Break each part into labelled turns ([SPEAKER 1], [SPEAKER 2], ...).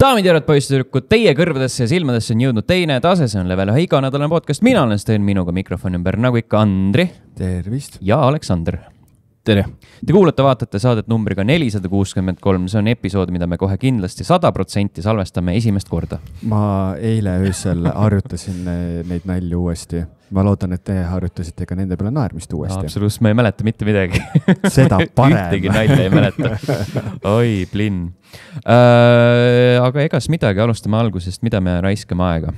[SPEAKER 1] Daamid ja poisitüdrukud, teie kõrvadesse ja silmadesse on jõudnud teine tase, see on Level 1 iganädalane podcast. Mina olen Sten, minuga mikrofoni ümber nagu ikka Andri.
[SPEAKER 2] Tervist.
[SPEAKER 1] Ja Aleksander.
[SPEAKER 3] Tere.
[SPEAKER 1] Te kuulate-vaatate saadet numbriga 463. See on episood, mida me kohe kindlasti 100% salvestame esimest korda.
[SPEAKER 2] Ma eile öösel harjutasin neid nalju uuesti. Ma loodan, et te harjutasite ka nende peale naermist uuesti.
[SPEAKER 1] Absoluutselt, ma ei mäleta mitte midagi.
[SPEAKER 2] Seda parem.
[SPEAKER 1] Ühtegi nalja ei mäleta. Oi, plinn. Aga egas midagi, alustame algusest, mida me raiskame aega.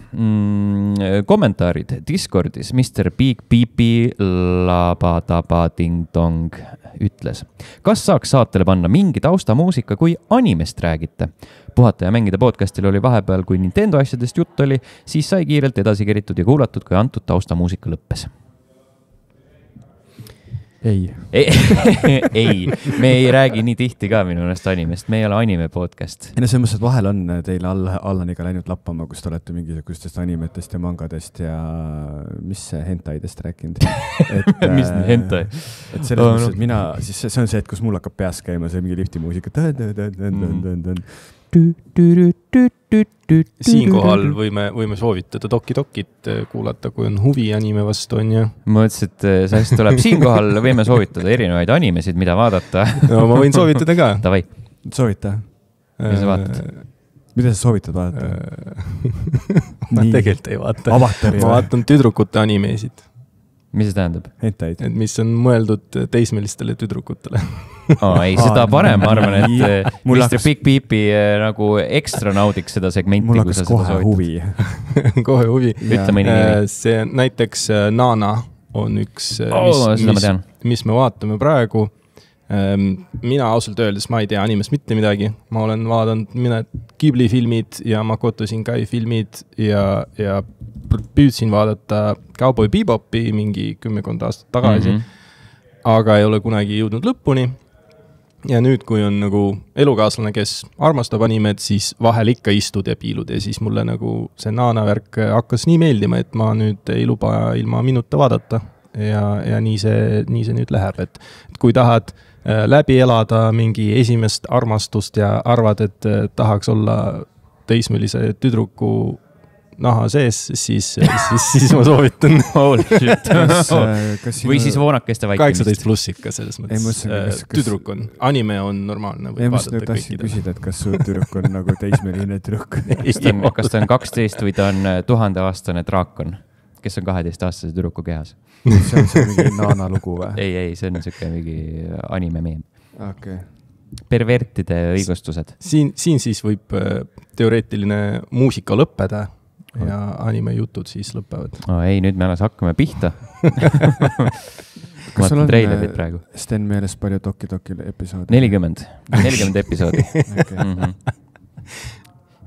[SPEAKER 1] Kommentaarid Discordis. Mr. Big Pipi Labadaba Ding Dong ütles. Kas saaks saatele panna mingi taustamuusika, kui animest räägite? Puhata ja mängida podcastil oli vahepeal, kui Nintendo asjadest jutt oli, siis sai kiirelt edasi keritud ja kuulatud, kui antud taustamuusika lõppes.
[SPEAKER 2] Ei,
[SPEAKER 1] me ei räägi nii tihti ka minu ennast animest, me ei ole anime podcast.
[SPEAKER 2] No see mõttes, et vahel on teile Allaniga läinud lappama, kus te olete mingisugustest animetest ja mangadest ja mis hentaidest rääkinud.
[SPEAKER 1] Mis hentai?
[SPEAKER 2] Et selles mõttes, et mina, siis see on see, et kus mul hakkab peas käima, see mingi liftimuusika.
[SPEAKER 3] Siinkohal võime soovitada Dokki-Dokit kuulata, kui on huvi anime vastu, on ju.
[SPEAKER 1] Ma mõtlesin, et see tuleb siinkohal, võime soovitada erinevaid animesid, mida vaadata.
[SPEAKER 3] No ma võin soovitada ka.
[SPEAKER 1] Tavai.
[SPEAKER 2] Soovita.
[SPEAKER 1] Mida sa vaatad?
[SPEAKER 2] Mida sa soovitad vaadata?
[SPEAKER 3] Ma tegelikult ei vaata.
[SPEAKER 2] Avatari
[SPEAKER 3] ma vaatan tüdrukute animesid.
[SPEAKER 1] Mis see tähendab?
[SPEAKER 2] Hentaid.
[SPEAKER 3] Et mis on mõeldud teismelistele tüdrukutele.
[SPEAKER 1] Ei, seda parem, ma arvan, et Mr. Big Pipi nagu ekstra naudiks seda segmenti.
[SPEAKER 2] Mul hakkas kohe huvi.
[SPEAKER 3] Kohe huvi.
[SPEAKER 1] Ütle mõni nimi.
[SPEAKER 3] See näiteks Nana on üks, mis me vaatame praegu. Mina ausalt öeldes, ma ei tea animest mitte midagi. Ma olen vaadanud Ghibli filmid ja Makoto Shinkai filmid ja püüdsin vaadata Cowboy Bebopi mingi 10 aastat tagasi, aga ei ole kunagi jõudnud lõpuni. Ja nüüd, kui on nagu elukaaslane, kes armastab animet, siis vahel ikka istud ja piilud ja siis mulle nagu see Nana värk hakkas nii meeldima, et ma nüüd ei luba ilma minuta vaadata ja nii see nüüd läheb, et kui tahad läbi elada mingi esimest armastust ja arvad, et tahaks olla teismelise tüdruku naha sees, siis ma soovitan.
[SPEAKER 1] Või siis voonakeste vaikimist.
[SPEAKER 3] 18 pluss ikka selles mõttes. Tüdruk on. Anime on normaalne.
[SPEAKER 2] Ei, ma tahtsin küsida, et kas su tüdruk on nagu teismeline tüdruk.
[SPEAKER 1] Kas ta on 12 või ta on 1000-aastane draakon, kes on 12-aastase tüdruku kehas?
[SPEAKER 2] See on see mingi Nana lugu või?
[SPEAKER 1] Ei, see on siuke mingi anime meem.
[SPEAKER 2] Okay.
[SPEAKER 1] Pervertide õigustused.
[SPEAKER 3] Siin siis võib teoreetiline muusika lõppeda ja anime jutud siis lõpevad.
[SPEAKER 1] Ei, nüüd me alles hakkame pihta.
[SPEAKER 2] Kas sul on Sten meeles palju Dokki-Dokki episoodi?
[SPEAKER 1] 40 episoodi. Okay.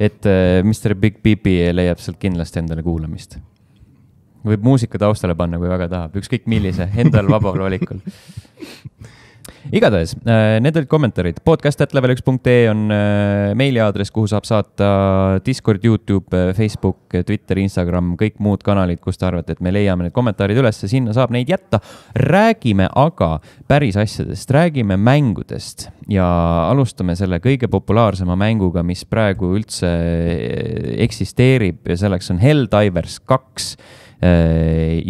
[SPEAKER 1] Et Mr. Big Pipi leiab sealt kindlasti endale kuulamist. Võib muusika taustale panna, kui väga tahab. Ükskõik millise, endal vabal valikul. Igatahes, need olid kommentaarid. podcast@level1.ee on meiliaadress, kuhu saab saata Discord, YouTube, Facebook, Twitter, Instagram, kõik muud kanalid, kus te arvate, et me leiame need kommentaarid üles. Sinna saab neid jätta. Räägime aga päris asjadest, räägime mängudest ja alustame selle kõige populaarsema mänguga, mis praegu üldse eksisteerib ja selleks on Helldivers 2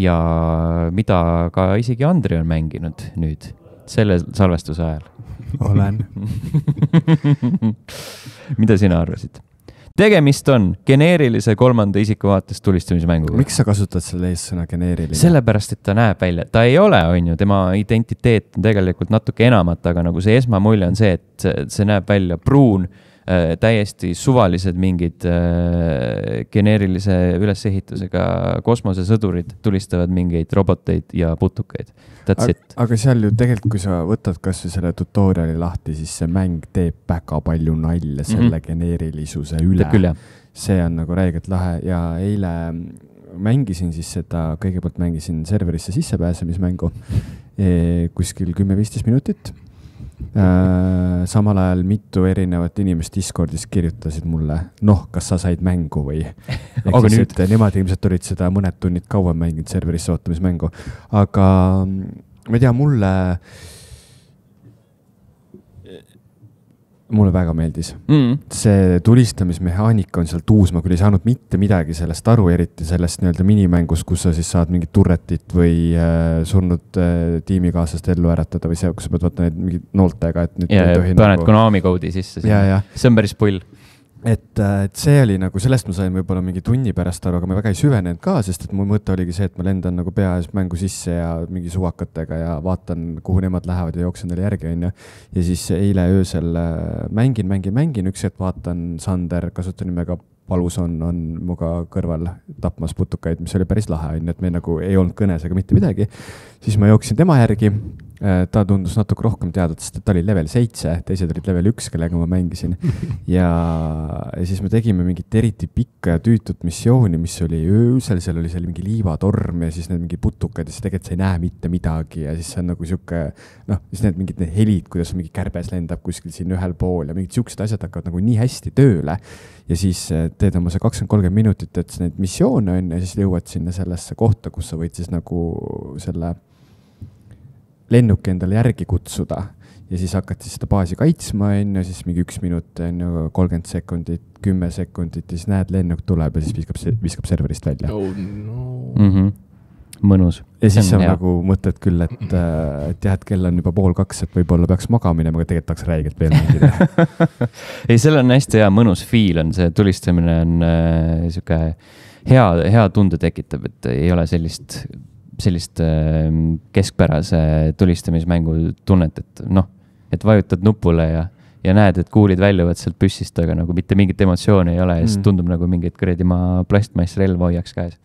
[SPEAKER 1] ja mida ka isegi Andri on mänginud nüüd. Selle salvestuse ajal.
[SPEAKER 2] Olen.
[SPEAKER 1] Mida sina arvasid? Tegemist on geneerilise kolmanda isiku vaatest tulistamismänguga.
[SPEAKER 2] Miks sa kasutad selle eessõna geneeriline?
[SPEAKER 1] Sellepärast, et ta näeb välja. Ta ei ole, on ju, tema identiteet on tegelikult natuke enamat, aga nagu see esmamulje on see, et see näeb välja pruun, täiesti suvalised mingid geneerilise ülesehitusega kosmosesõdurid tulistavad mingeid roboteid ja putukaid. That's it.
[SPEAKER 2] Aga seal ju tegelikult, kui sa võtad kas või selle tutoriali lahti, siis see mäng teeb väga palju nalja selle geneerilisuse üle. See on nagu räigelt lahe ja eile mängisin siis seda, kõigepealt mängisin serverisse sissepääsemismängu kuskil 10-15 minutit. Samal ajal mitu erinevat inimest Discordis kirjutasid mulle, kas sa said mängu või
[SPEAKER 1] aga nüüd
[SPEAKER 2] nemad ilmselt olid seda mõned tunnid kauem mänginud serverisse ootamismängu, aga ma ei tea, mulle Mulle väga meeldis. See tulistamismehaanika on seal tuus, ma küll ei saanud mitte midagi sellest aru, eriti sellest nii-öelda minimängus, kus sa siis saad mingit turretit või surnud tiimikaaslast ellu äratada või see, kus sa pead võtta neid mingid nooltega, et nüüd
[SPEAKER 1] ja paned nagu... Konami koodi sisse. See on päris pull.
[SPEAKER 2] Et see oli nagu, sellest ma sain võib-olla mingi tunni pärast aru, aga ma väga ei süvenenud ka, sest et mu mõte oligi see, et ma lendan nagu pea ees mängu sisse ja mingi suvakatega ja vaatan, kuhu nemad lähevad ja jooksen neile järgi, on ju. Ja siis eile öösel mängin, üks hetk vaatan Sander, kasutanimega Palus on muga kõrval tapmas putukaid, mis oli päris lahe, on ju, et me nagu ei olnud kõnes ega mitte midagi. Siis ma jooksin tema järgi, ta tundus natuke rohkem teadvat, sest ta oli level 7, teised olid level 1, kellega ma mängisin. Ja siis me tegime mingit eriti pikka ja tüütut missiooni, mis oli öösel, seal oli mingi liivatorm ja siis need mingi putukad ja siis tegelikult sa ei näe mitte midagi ja siis see on nagu siuke, siis need mingid need helid, kuidas mingi kärbes lendab kuskil siin ühel pool ja mingid siuksed asjad hakkavad nagu nii hästi tööle ja siis teed oma see 20-30 minutit, et neid missioone on ja siis jõuad sinna sellesse kohta, kus sa võid siis nagu selle lennuki endale järgi kutsuda ja siis hakkad siis seda baasi kaitsma, ja siis mingi 1 minut, 30 sekundit, 10 sekundit ja siis näed, lennuk tuleb ja siis viskab serverist välja.
[SPEAKER 3] Oh, no.
[SPEAKER 1] Mõnus.
[SPEAKER 2] Ja siis on nagu mõtled küll, et jah, et kell on juba 1:30, et võib-olla peaks magamine, aga tegelikult tahaks räigelt veel mängida.
[SPEAKER 1] Ei, seal on hästi hea mõnus feel on, see tulistamine on siuke hea tunde tekitab, et ei ole sellist keskpärase tulistamismängu tunnet, et vajutad nupule ja näed, et kuulid väljuvad sealt püssist, aga nagu mitte mingit emotsiooni ei ole ja siis tundub nagu mingit ma plastmassrelva hoiaks käes.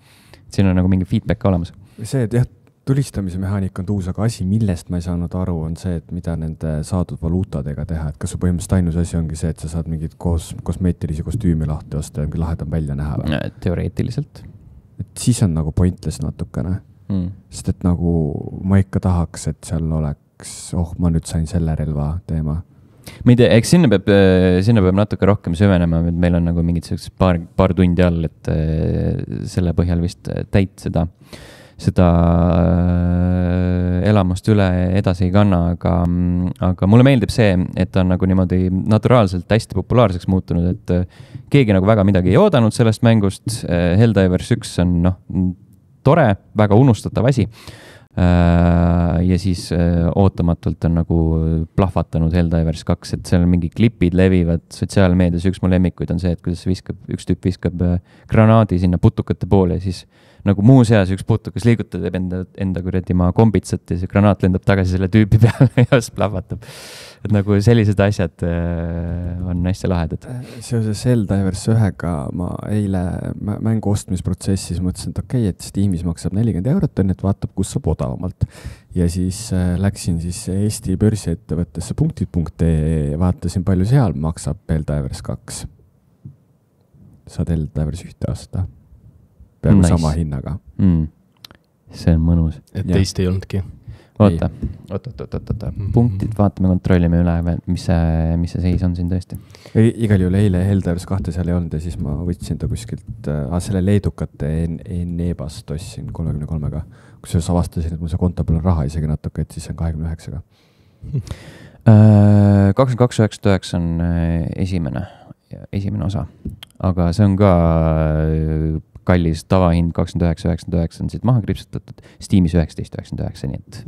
[SPEAKER 1] Siin on nagu mingi feedback olemas.
[SPEAKER 2] See, et jah, tulistamise mehaanika on tuus, aga asi, millest ma ei saanud aru, on see, et mida nende saadud valuutadega teha, et kas su põhimõtteliselt ainus asi ongi see, et sa saad mingid kosmeetilisi kostüümi lahti osta ja mingi lahedam välja näha või?
[SPEAKER 1] Teoreetiliselt.
[SPEAKER 2] Et siis on nagu pointless natukene. Sest et nagu ma ikka tahaks, et seal oleks, ma nüüd sain selle relva teema.
[SPEAKER 1] Ma ei tea, eks sinna peab natuke rohkem süvenema, et meil on nagu mingid paar tundi all, et selle põhjal vist täit seda elamust üle edasi ei kanna, aga mulle meeldib see, et on nagu niimoodi naturaalselt hästi populaarseks muutunud, et keegi nagu väga midagi ei oodanud sellest mängust. Helldivers 1 on tore, väga unustatav asi. Ja siis ootamatult on nagu plahvatanud Helldivers 2, et seal mingi klipid levivad sotsiaalmeedias. Üks mu lemmikuid on see, et kuidas üks tüüp viskab granaadi sinna putukate poole ja siis nagu muu seas üks putukas liigutab, teeb enda kuradi kombitsat ja see granaat lendab tagasi selle tüüpi peale ja siis plahvatab. Et nagu sellised asjad on hästi lahedad.
[SPEAKER 2] Seoses Helldivers 1-ga ma eile mängu ostmisprotsessis mõtlesin, et okei, et Steamis maksab 40 €, et vaatab, kus saab odavamalt. Ja siis läksin siis Eesti börsiettevõttesse punktid.ee ja vaatasin, palju seal maksab Helldivers 2. Saad Helldivers 1 aasta. Peaaegu sama hinnaga.
[SPEAKER 1] See on mõnus.
[SPEAKER 3] Et teist ei olnudki.
[SPEAKER 1] Oota. Punktid, vaatame, kontrollime üle, mis see seis on siin tõesti.
[SPEAKER 2] Igal juhul eile Helldivers 2 seal ei olnud ja siis ma võtsin ta kuskilt, selle leedukate Enebast ostsin 33-ga, kus sa avastasin, et mul see konto peal on raha isegi natuke, et siis on 29-ga.
[SPEAKER 1] 22.99 on esimene osa, aga see on ka kallis tavahind 29.99 on siit maha kripsutatud, Steamis 19.99, nii et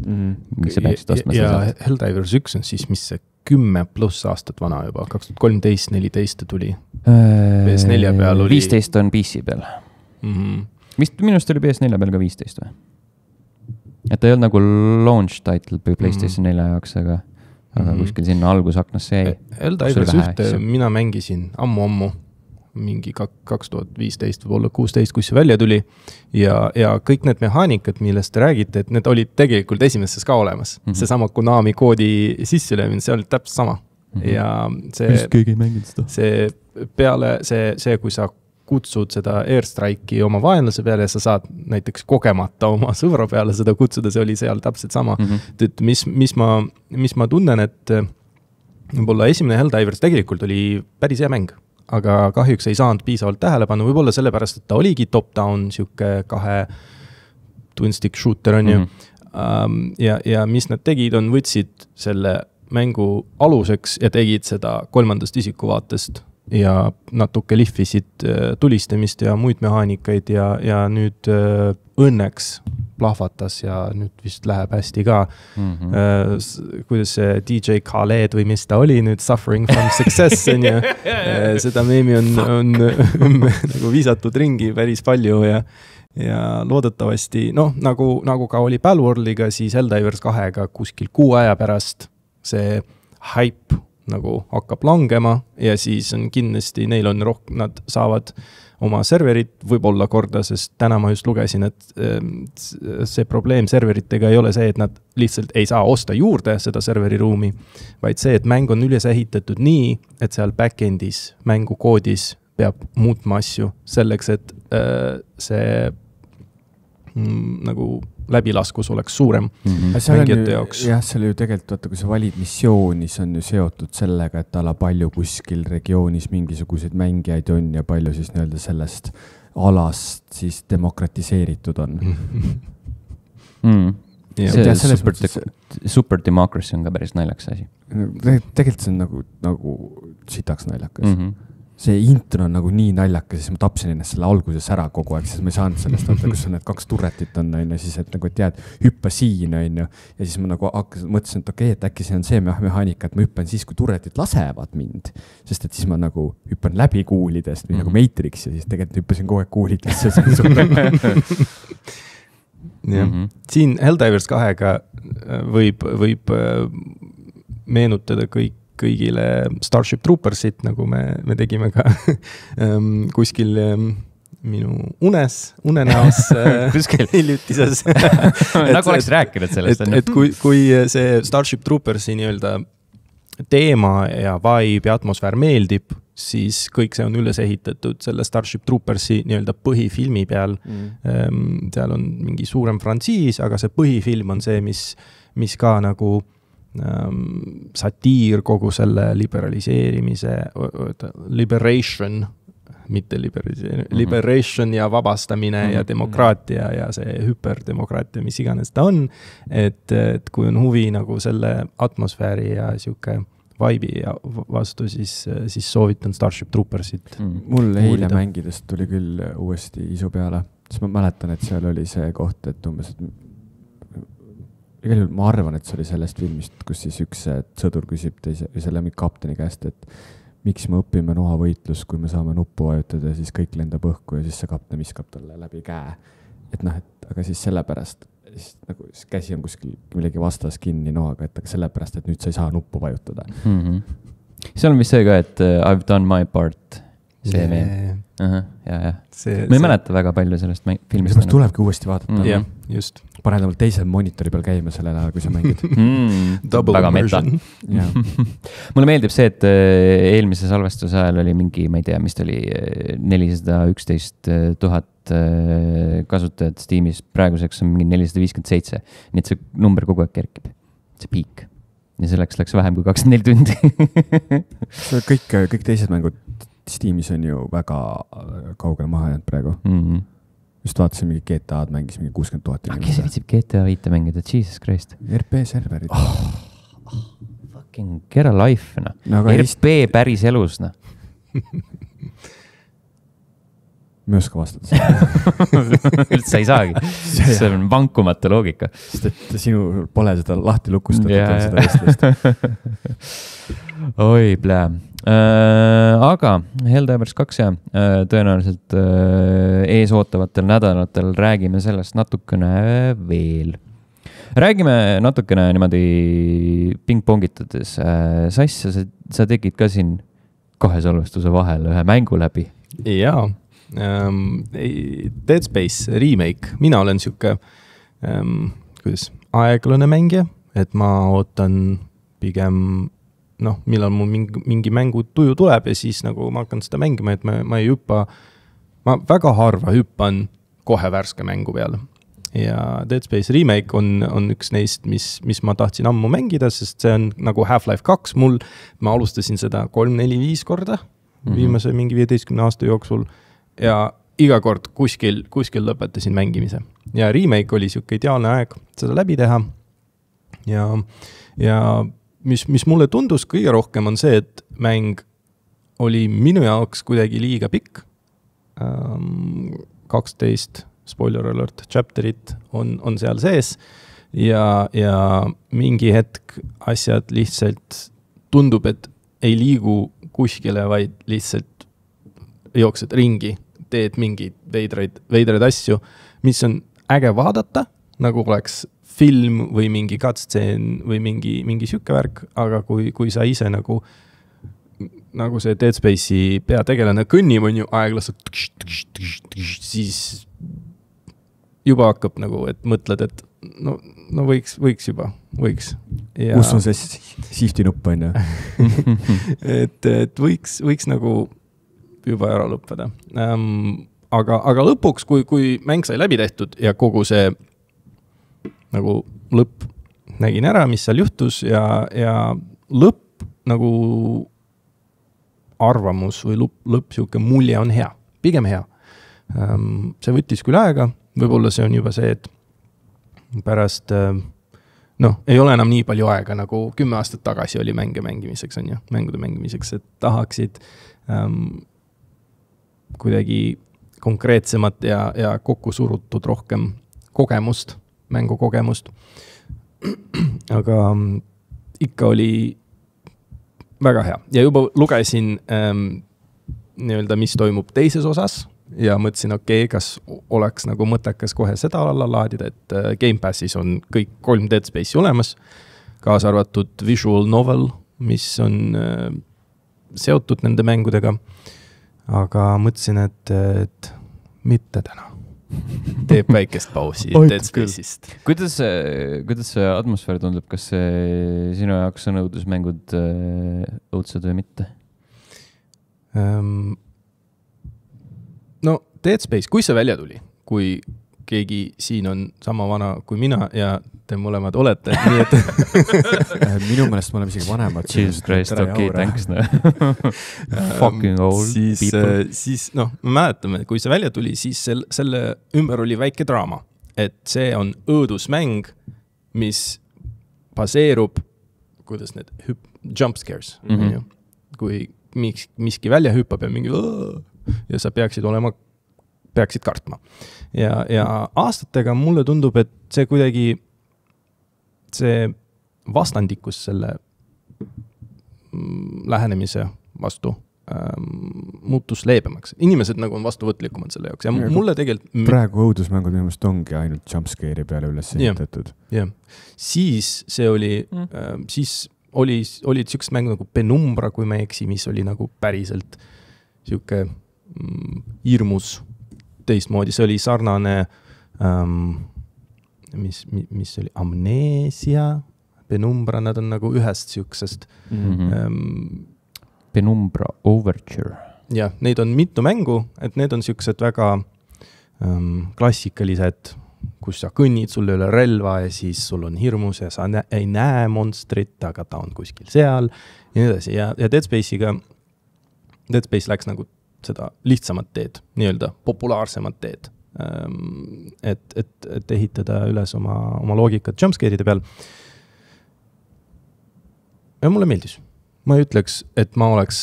[SPEAKER 1] mis sa peaksid ostma
[SPEAKER 3] ja Helldivers 1 on siis, mis see 10+ aastat vana juba, 2013-14 tuli. PS4 peal oli
[SPEAKER 1] 15 on PC peal. Minust oli PS4 peal ka 15 või? Et ta ei olnud nagu launch title PlayStation 4 jaoks, aga kuskil sinna algusaknas see jäi.
[SPEAKER 3] Helldivers 1 mina mängisin ammu mingi 2015 või 16, kus see välja tuli ja kõik need mehaanikad, millest te räägite, et need olid tegelikult esimeses ka olemas. See sama Konami koodi sisselöömine, see oli täpselt sama. Ja see peale see, kui sa kutsud seda airstrike'i oma vaenlase peale ja sa saad näiteks kogemata oma sõbra peale seda kutsuda, see oli seal täpselt sama. Et mis ma tunnen, et võib-olla esimene Helldivers tegelikult oli päris hea mäng. Aga kahjuks ei saanud piisavalt tähelepanu, võib-olla sellepärast, et ta oligi top-down, siuke 2 twin-stick shooter on ju. Ja mis nad tegid, on võtsid selle mängu aluseks ja tegid seda kolmandast isikuvaatest ja natuke lihvisid tulistamist ja muid mehaanikaid ja nüüd õnneks plahvatas ja nüüd vist läheb hästi ka. Kuidas see DJ Khaled või mis ta oli nüüd Suffering from Success on ju, seda meemi on nagu viisatud ringi päris palju ja loodetavasti, nagu ka oli Palworldiga, siis Helldivers 2-ga kuskil 6 aja pärast see hype nagu hakkab langema ja siis on kindlasti, nad saavad oma serverit võib-olla korda, sest täna ma just lugesin, et see probleem serveritega ei ole see, et nad lihtsalt ei saa osta juurde seda serveriruumi, vaid see, et mäng on üles ehitatud nii, et seal backendis, mängukoodis peab muutma asju selleks, et see nagu läbilaskus oleks suurem mängijate jaoks.
[SPEAKER 2] Jah, see oli ju tegelikult, vaata, kui sa valid missioonis, on ju seotud sellega, et ala palju kuskil regioonis mingisuguseid mängijaid on ja palju siis nii-öelda sellest alast siis demokratiseeritud on.
[SPEAKER 1] Super Democracy on ka päris naljakas asi.
[SPEAKER 2] Tegelikult see on nagu sitaks naljakas. See intro on nagu nii naljakas, siis ma tapsin ennast selle alguses ära kogu aeg, siis ma ei saanud sellest, kus on need 2 turretit on, siis et nagu tead, hüppa siin, ja siis ma nagu mõtlesin, et okei, et äkki see on see mehaanika, et ma hüppan siis, kui turretid lasevad mind, sest et siis ma nagu hüppan läbi kuulidest või nagu Matrix ja siis tegelikult hüppasin kogu aeg kuulidesse.
[SPEAKER 3] Siin Helldivers 2-ga võib meenutada kõigile Starship Troopersit, nagu me tegime ka kuskil minu unenäos hiljutises.
[SPEAKER 1] Nagu oleks rääkinud sellest.
[SPEAKER 3] Et kui see Starship Troopersi nii-öelda teema ja vibe ja atmosfäär meeldib, siis kõik see on üles ehitatud selle Starship Troopersi nii-öelda põhifilmi peal. Seal on mingi suurem frantsiis, aga see põhifilm on see, mis ka nagu satiir kogu selle liberation ja vabastamine ja demokraatia ja see hyperdemokraatia, mis iganes ta on, et kui on huvi nagu selle atmosfääri ja siuke vibe'i vastu, siis soovitan Starship Troopersit.
[SPEAKER 2] Mul eile mängidest tuli küll uuesti isu peale, siis ma mäletan, et seal oli see koht, et umbes ma arvan, et see oli sellest filmist, kus siis üks sõdur küsib selle kapteni käest, et miks me õpime noavõitlus, kui me saame nuppu vajutada ja siis kõik lendab õhku ja siis see kapten viskab talle läbi käe. Et aga siis sellepärast, nagu käsi on kuskil millegi vastas kinni noaga, et aga sellepärast, et nüüd sa ei saa nuppu vajutada.
[SPEAKER 1] Seal on vist see ka, et I've done my part. See meel. Ja. Ma ei mäleta väga palju sellest filmist.
[SPEAKER 2] Sellest tulebki uuesti vaadata.
[SPEAKER 3] Jah, just.
[SPEAKER 2] Paned veel teisel monitori peal käima sellel ajal, kui sa mängid.
[SPEAKER 3] Double immersion.
[SPEAKER 1] Mulle meeldib see, et eelmise salvestuse ajal oli mingi, ma ei tea, mis ta oli 411,000 kasutajat Steamis. Praeguseks on mingi 457. Nii et see number kogu aeg kerkib. See piik. Ja selleks läks vähem kui 24 tundi.
[SPEAKER 2] Kõik teised mängud Steamis on ju väga kaugele maha jäänud praegu. Just vaatasin mingi GTA-d mängis mingi 60,000.
[SPEAKER 1] Kes viitsib GTA 5 mängida? Jesus Christ.
[SPEAKER 2] RP serverid.
[SPEAKER 1] Fucking get a life. RP päris elus.
[SPEAKER 2] Ma ei oska vastata.
[SPEAKER 1] Üldse ei saagi. See on vankumatu loogika.
[SPEAKER 2] Sest et sinu pole seda lahti lukustatud seda vestlust.
[SPEAKER 1] Oi, plää. Aga Helldivers 2 ja tõenäoliselt ees ootavatel nädalatel räägime sellest natukene veel. Räägime natukene niimoodi pingpongitades. Sass, sa tegid ka siin 2 salvestuse vahel ühe mängu läbi.
[SPEAKER 3] Jaa. Dead Space remake. Mina olen siuke aeglane mängija, et ma ootan pigem millal mul mingi mängu tuju tuleb ja siis nagu ma hakkan seda mängima, et ma ei hüppa, ma väga harva hüppan kohe värske mängu peale. Ja Dead Space remake on üks neist, mis ma tahtsin ammu mängida, sest see on nagu Half-Life 2 ma alustasin seda 3-4-5 korda viimase mingi 15 aasta jooksul ja iga kord kuskil lõpetasin mängimise. Ja remake oli siuke ideaalne aeg seda läbi teha ja mis mulle tundus kõige rohkem on see, et mäng oli minu jaoks kuidagi liiga pikk. 12, spoiler alert, chapterit on seal sees ja mingi hetk asjad lihtsalt tundub, et ei liigu kuskile, vaid lihtsalt jooksed ringi, teed mingeid veidraid asju, mis on äge vaadata, nagu oleks film või mingi cutscene või mingi siuke värk, aga kui sa ise nagu see Dead Space'i peategelane kõnnib, on ju aeglaselt, siis juba hakkab nagu, et mõtled, et no võiks juba.
[SPEAKER 2] Kus on see shifti nupp, on ju?
[SPEAKER 3] et võiks nagu juba ära lõppeda. Aga lõpuks, kui mäng sai läbi tehtud ja kogu see nagu lõpp nägin ära, mis seal juhtus ja lõpp nagu arvamus või lõpp siuke mulje on hea, pigem hea. See võttis küll aega, võib-olla see on juba see, et pärast, ei ole enam nii palju aega, nagu 10 aastat tagasi oli mängude mängimiseks, et tahaksid kuidagi konkreetsemat ja kokku surutud rohkem mängukogemust. Aga ikka oli väga hea. Ja juba lugesin nii-öelda, mis toimub teises osas ja mõtlesin, kas oleks nagu mõttekas kohe seda alla laadida, et Game Passis on kõik 3 Dead Space'i olemas, kaasa arvatud visual novel, mis on seotud nende mängudega. Aga mõtlesin, et mitte täna. Teeb väikest pausi Dead Space'ist.
[SPEAKER 1] Kuidas see atmosfäär tundub? Kas sinu jaoks on õudusmängud õudsed või mitte?
[SPEAKER 3] Dead Space, kui see välja tuli, kui keegi siin on sama vana kui mina ja te mõlemad olete, nii et
[SPEAKER 2] minu meelest me oleme isegi vanemad.
[SPEAKER 1] Jesus Christ, okei, thanks. Fucking old people.
[SPEAKER 3] Siis me mäletame, kui see välja tuli, siis selle ümber oli väike draama, et see on õõdusmäng, mis baseerub, kuidas need jump scares, kui miski välja hüppab ja mingi ja sa peaksid kartma. Ja aastatega mulle tundub, et see kuidagi see vastandikus selle lähenemise vastu muutus leebemaks. Inimesed nagu on vastuvõtlikumad selle jaoks. Ja mulle tegelikult
[SPEAKER 2] praegu õudusmängud minu meelest ongi ainult jumpscare'i peale üles ehitatud.
[SPEAKER 3] Jah. Siis see oli siis olid siuksed mängud nagu Penumbra, kui ma eksi, mis oli nagu päriselt siuke hirmus teistmoodi. See oli sarnane mis oli Amnesia, Penumbra, nad on nagu ühest siuksest
[SPEAKER 1] Penumbra Overture.
[SPEAKER 3] Ja, neid on mitu mängu, et need on siuksed väga klassikalised, kus sa kõnnid, sul ei ole relva ja siis sul on hirmus ja sa ei näe monstrit, aga ta on kuskil seal ja nii edasi. Ja Dead Space läks nagu seda lihtsamat teed, nii-öelda populaarsemat teed, et ehitada üles oma loogikat jumpscare'ide peal. Ja mulle meeldis. Ma ei ütleks, et ma oleks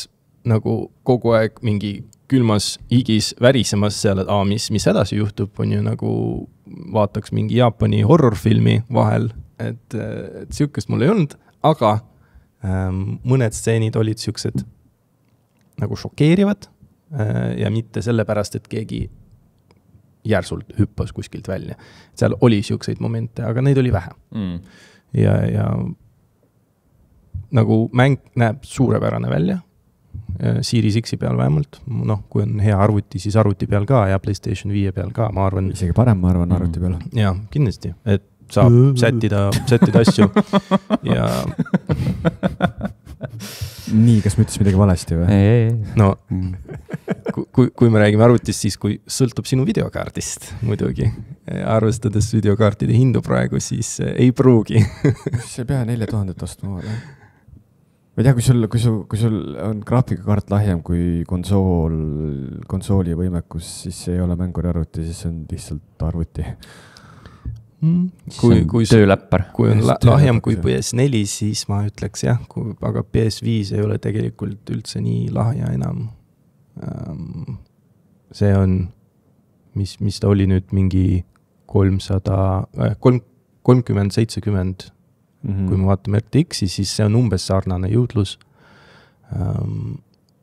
[SPEAKER 3] nagu kogu aeg mingi külmas higis värisemas seal, et mis edasi juhtub, on ju nagu vaataks mingi Jaapani horrorfilmi vahel, et siukest mul ei olnud, aga mõned stseenid olid siuksed nagu šokeerivad ja mitte sellepärast, et keegi järsult hüppas kuskilt välja. Seal oli siukseid momente, aga neid oli vähe. Ja nagu mäng näeb suurepärane välja, Series X peal vähemalt, kui on hea arvuti, siis arvuti peal ka ja PlayStation 5 peal ka, ma arvan.
[SPEAKER 2] Isegi parem, ma arvan, arvuti peal.
[SPEAKER 3] Ja, kindlasti, et saab sättida asju ja
[SPEAKER 2] nii, kas ma ütlesin midagi valesti või?
[SPEAKER 3] No, kui me räägime arvutist, siis kui sõltub sinu videokaardist muidugi, arvestades videokaartide hindu praegu, siis ei pruugi.
[SPEAKER 2] See pea 4000 ostma või? Ma ei tea, kui sul on graafikakaart lahjem kui konsooli võimekus, siis ei ole mänguri arvuti, siis on lihtsalt arvuti.
[SPEAKER 1] Kui tööläppar.
[SPEAKER 3] Kui on lahjem kui PS4, siis ma ütleks jah, aga PS5 ei ole tegelikult üldse nii lahja enam. See on, mis ta oli nüüd mingi 30-70, kui me vaatame RTX-i, siis see on umbes sarnane jõudlus.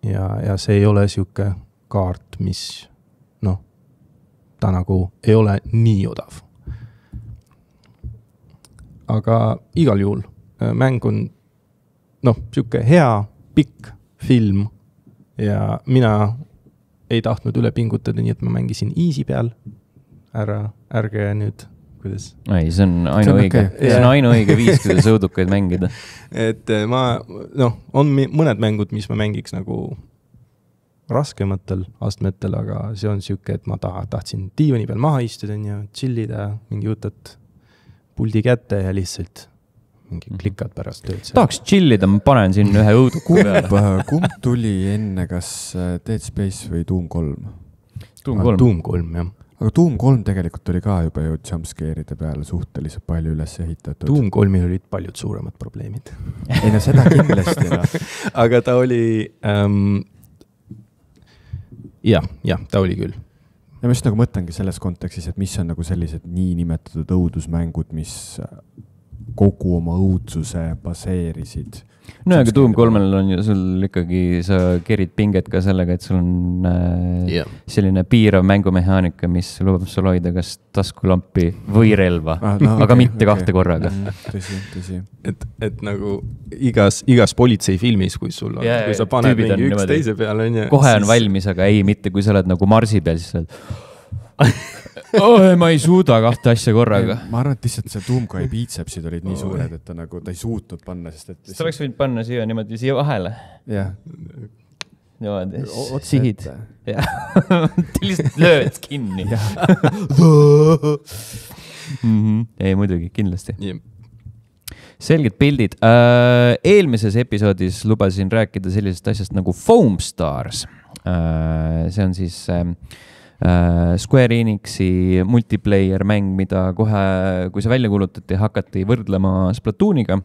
[SPEAKER 3] Ja see ei ole siuke kaart, mis ta nagu ei ole nii odav. Aga igal juhul mäng on siuke hea, pikk film ja mina ei tahtnud üle pingutada, nii et ma mängisin easy peal. Ärge nüüd, kuidas?
[SPEAKER 1] Ei, see on ainuõige. See on ainuõige viis, kuidas õudukaid mängida.
[SPEAKER 3] Et on mõned mängud, mis ma mängiks nagu raskematel astmetel, aga see on siuke, et ma tahtsin diivani peal maha istuda ja chillida, mingi võtad puldi kätte ja lihtsalt mingi klikad pärast tööd.
[SPEAKER 1] Tahaks chillida, ma panen siin ühe õuduku peale.
[SPEAKER 2] Kumb tuli enne, kas Dead Space või Doom 3?
[SPEAKER 3] Doom 3, jah.
[SPEAKER 2] Aga Doom 3 tegelikult oli ka juba ju jumpscare'ide peale suhteliselt palju üles ehitatud.
[SPEAKER 3] Doom 3-il olid paljud suuremad probleemid.
[SPEAKER 2] Ei no seda kindlasti.
[SPEAKER 3] Aga ta oli... jah, ta oli küll.
[SPEAKER 2] Ja ma just nagu mõtlengi selles kontekstis, et mis on nagu sellised nii nimetatud õudusmängud, mis kogu oma õudsuse baseerisid.
[SPEAKER 1] No aga Doom 3-l on ju sul ikkagi, sa kerid pinget ka sellega, et sul on selline piirav mängumehaanika, mis lubab sul hoida kas taskulampi või relva, aga mitte kahte korraga.
[SPEAKER 2] Tõsi.
[SPEAKER 3] Et nagu igas politseifilmis, kui sul on, kui sa paned mingi üks teise peale.
[SPEAKER 1] Kohe on valmis, aga ei, mitte kui sa oled nagu Marsi peal, siis sa oled... ma ei suuda kahte asja korraga.
[SPEAKER 2] Ma arvan, et lihtsalt see Doomkai biitsepsid olid nii suured, et ta ei suutnud panna.
[SPEAKER 1] Sa oleks võinud panna siia niimoodi siia vahele.
[SPEAKER 2] Jah.
[SPEAKER 1] Niimoodi, sihid. Lihtsalt lööd kinni. Ei, muidugi, kindlasti. Selged pildid. Eelmises episoodis lubasin rääkida sellisest asjast nagu Foam Stars. See on siis... Square Enixi multiplayer mäng, mida kohe, kui see välja kuulutati, hakati võrdlema Splatooniga,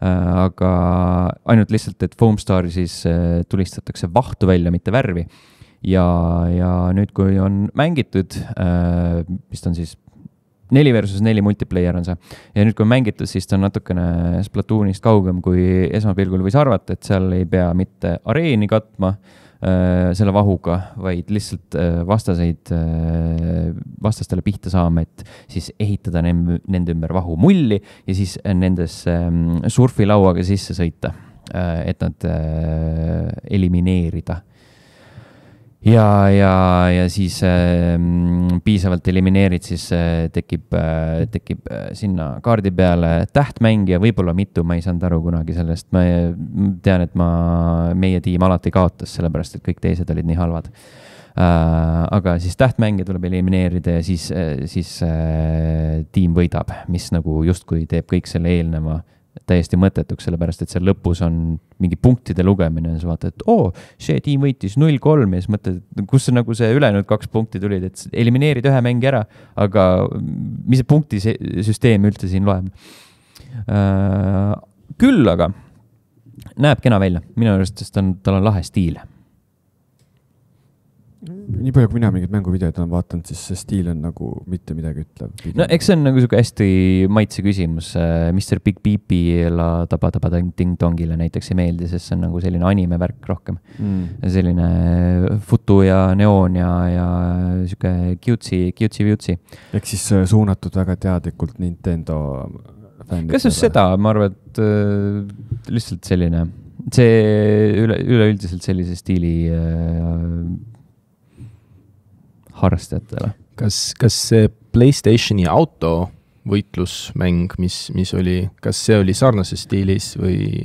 [SPEAKER 1] aga ainult lihtsalt, et Foam Star siis tulistatakse vahtu välja, mitte värvi. Ja nüüd, kui on mängitud, vist on siis 4 versus 4 multiplayer on see, ja nüüd, kui on mängitud, siis ta on natukene Splatoonist kaugem, kui esmapilgul võis arvata, et seal ei pea mitte areeni katma, selle vahuga, vaid lihtsalt vastastele pihta saama, et siis ehitada nende ümber vahu mulli ja siis nendes surfilauaga sisse sõita, et nad elimineerida. Ja siis piisavalt elimineerid, siis tekib sinna kaardi peale tähtmängija, võib-olla mitu, ma ei saanud aru kunagi sellest. Ma tean, et meie tiim alati kaotas, sellepärast, et kõik teised olid nii halvad. Aga siis tähtmängija tuleb elimineerida ja siis tiim võidab, mis nagu justkui teeb kõik selle eelneva täiesti mõttetuks, sellepärast, et seal lõpus on mingi punktide lugemine ja sa vaatad, et see tiim võitis 0-3 ja siis mõtled, kus nagu see ülejäänud 2 punkti tulid, et elimineerid ühe mängi ära, aga mis see punktisüsteem üldse siin loeb? Küll aga näeb kena välja, minu arust, sest tal on lahe stiil.
[SPEAKER 2] Nii palju, kui mina mingid mänguvideod olen vaatanud, siis see stiil on nagu mitte midagi ütlev.
[SPEAKER 1] No eks see on nagu siuke hästi maitse küsimus. Mr. Big Beepila Taba-Taba-Ding-Dongile näiteks ei meeldi, sest see on nagu selline anime-värk rohkem. Selline futu ja neoon ja siuke cutesy. Ehk
[SPEAKER 2] siis suunatud väga teadlikult Nintendo fännidele.
[SPEAKER 1] Kas just seda? Ma arvan, et lihtsalt selline, see üleüldiselt sellise stiili harrastajatele.
[SPEAKER 3] Kas see PlayStationi autovõitlusmäng, mis oli, kas see oli sarnases stiilis või...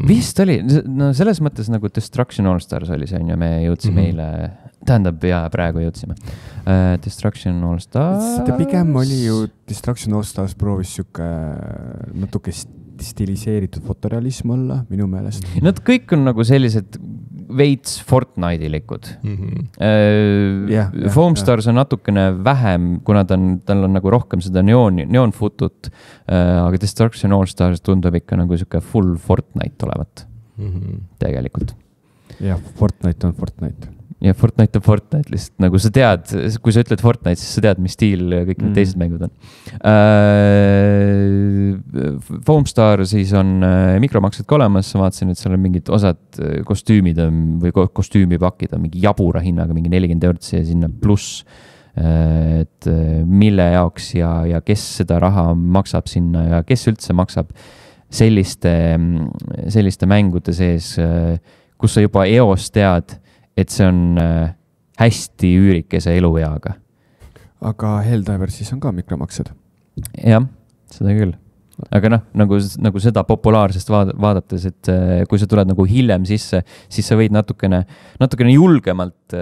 [SPEAKER 1] Vist oli, no selles mõttes nagu Destruction All Stars oli see, ja me jõudsime eile, tähendab, ja praegu jõudsime. Destruction All Stars...
[SPEAKER 2] Seda pigem oli ju Destruction All Stars proovis siuke natuke stiliseeritud fotorealism olla, minu meelest.
[SPEAKER 1] Nad kõik on nagu sellised veits Fortnite'ilikud. Foamstars on natukene vähem, kuna tal on nagu rohkem seda neonfutut, aga Destruction All Stars tundub ikka nagu siuke full Fortnite olevat tegelikult.
[SPEAKER 2] Jah, Fortnite on Fortnite.
[SPEAKER 1] Ja Fortnite on Fortnite, lihtsalt nagu sa tead, kui sa ütled Fortnite, siis sa tead, mis stiil kõik need teised mängud on. Foamstar siis on mikromaksed ka olemas, ma vaatasin, et seal on mingid osad kostüümid või kostüümipakid on mingi jabura hinnaga, mingi 40 eurot ja sinna pluss, et mille jaoks ja kes seda raha maksab sinna ja kes üldse maksab selliste mängude sees, kus sa juba eos tead, et see on hästi üürikese elueaga.
[SPEAKER 2] Aga Helldivers siis on ka mikromaksed?
[SPEAKER 1] Jah, seda küll. Aga nagu seda populaarsest vaadates, et kui sa tuled nagu hiljem sisse, siis sa võid natukene julgemalt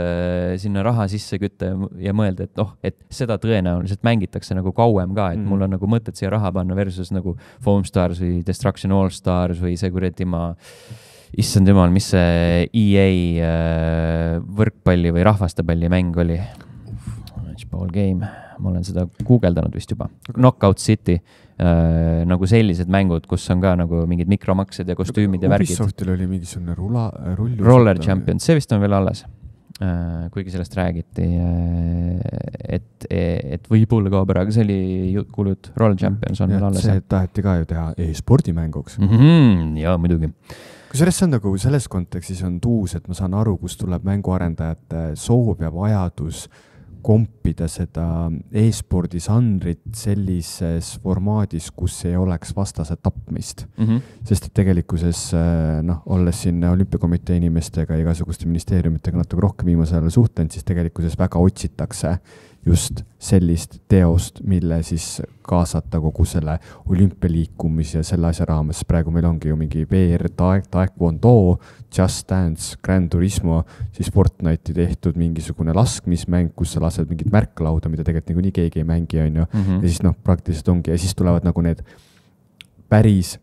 [SPEAKER 1] sinna raha sisse kütta ja mõelda, et seda tõenäoliselt mängitakse nagu kauem ka, et mul on nagu mõtet siia raha panna versus nagu Foamstars või Destruction All Stars või see kuradi issand jumal, mis see EA võrkpalli või rahvastepalli mäng oli? Matchball game. Ma olen seda guugeldanud vist juba. Knockout City, nagu sellised mängud, kus on ka nagu mingid mikromaksed ja kostüümid ja värgid.
[SPEAKER 2] Ubisoftil oli mingisugune
[SPEAKER 1] Roller Champions, see vist on veel alles. Kuigi sellest räägiti, et võib-olla ka pära, aga see oli kuulut, Roller Champions on veel alles.
[SPEAKER 2] See taheti ka ju teha e-spordimänguks.
[SPEAKER 1] Jaa, muidugi.
[SPEAKER 2] Kusjuures see on nagu selles kontekstis on tuus, et ma saan aru, kus tuleb mänguarendajate soov ja vajadus kompida seda e-spordi žanrit sellises formaadis, kus ei oleks vastase tapmist. Sest et tegelikkuses, olles siin olümpiakomitee inimestega ja igasuguste ministeeriumitega natuke rohkem viimasel ajal suhtlenud, siis tegelikkuses väga otsitakse just sellist teost, mille siis kaasata kogu selle olümpialiikumis ja selle asja raames. Praegu meil ongi ju mingi VR, Taekwondo, Just Dance, Gran Turismo, siis Fortnite'i tehtud mingisugune laskmismäng, kus sa lased mingit märklauda, mida tegelikult nagu nii keegi ei mängi, on ju. Ja siis praktiliselt ongi, ja siis tulevad nagu need päris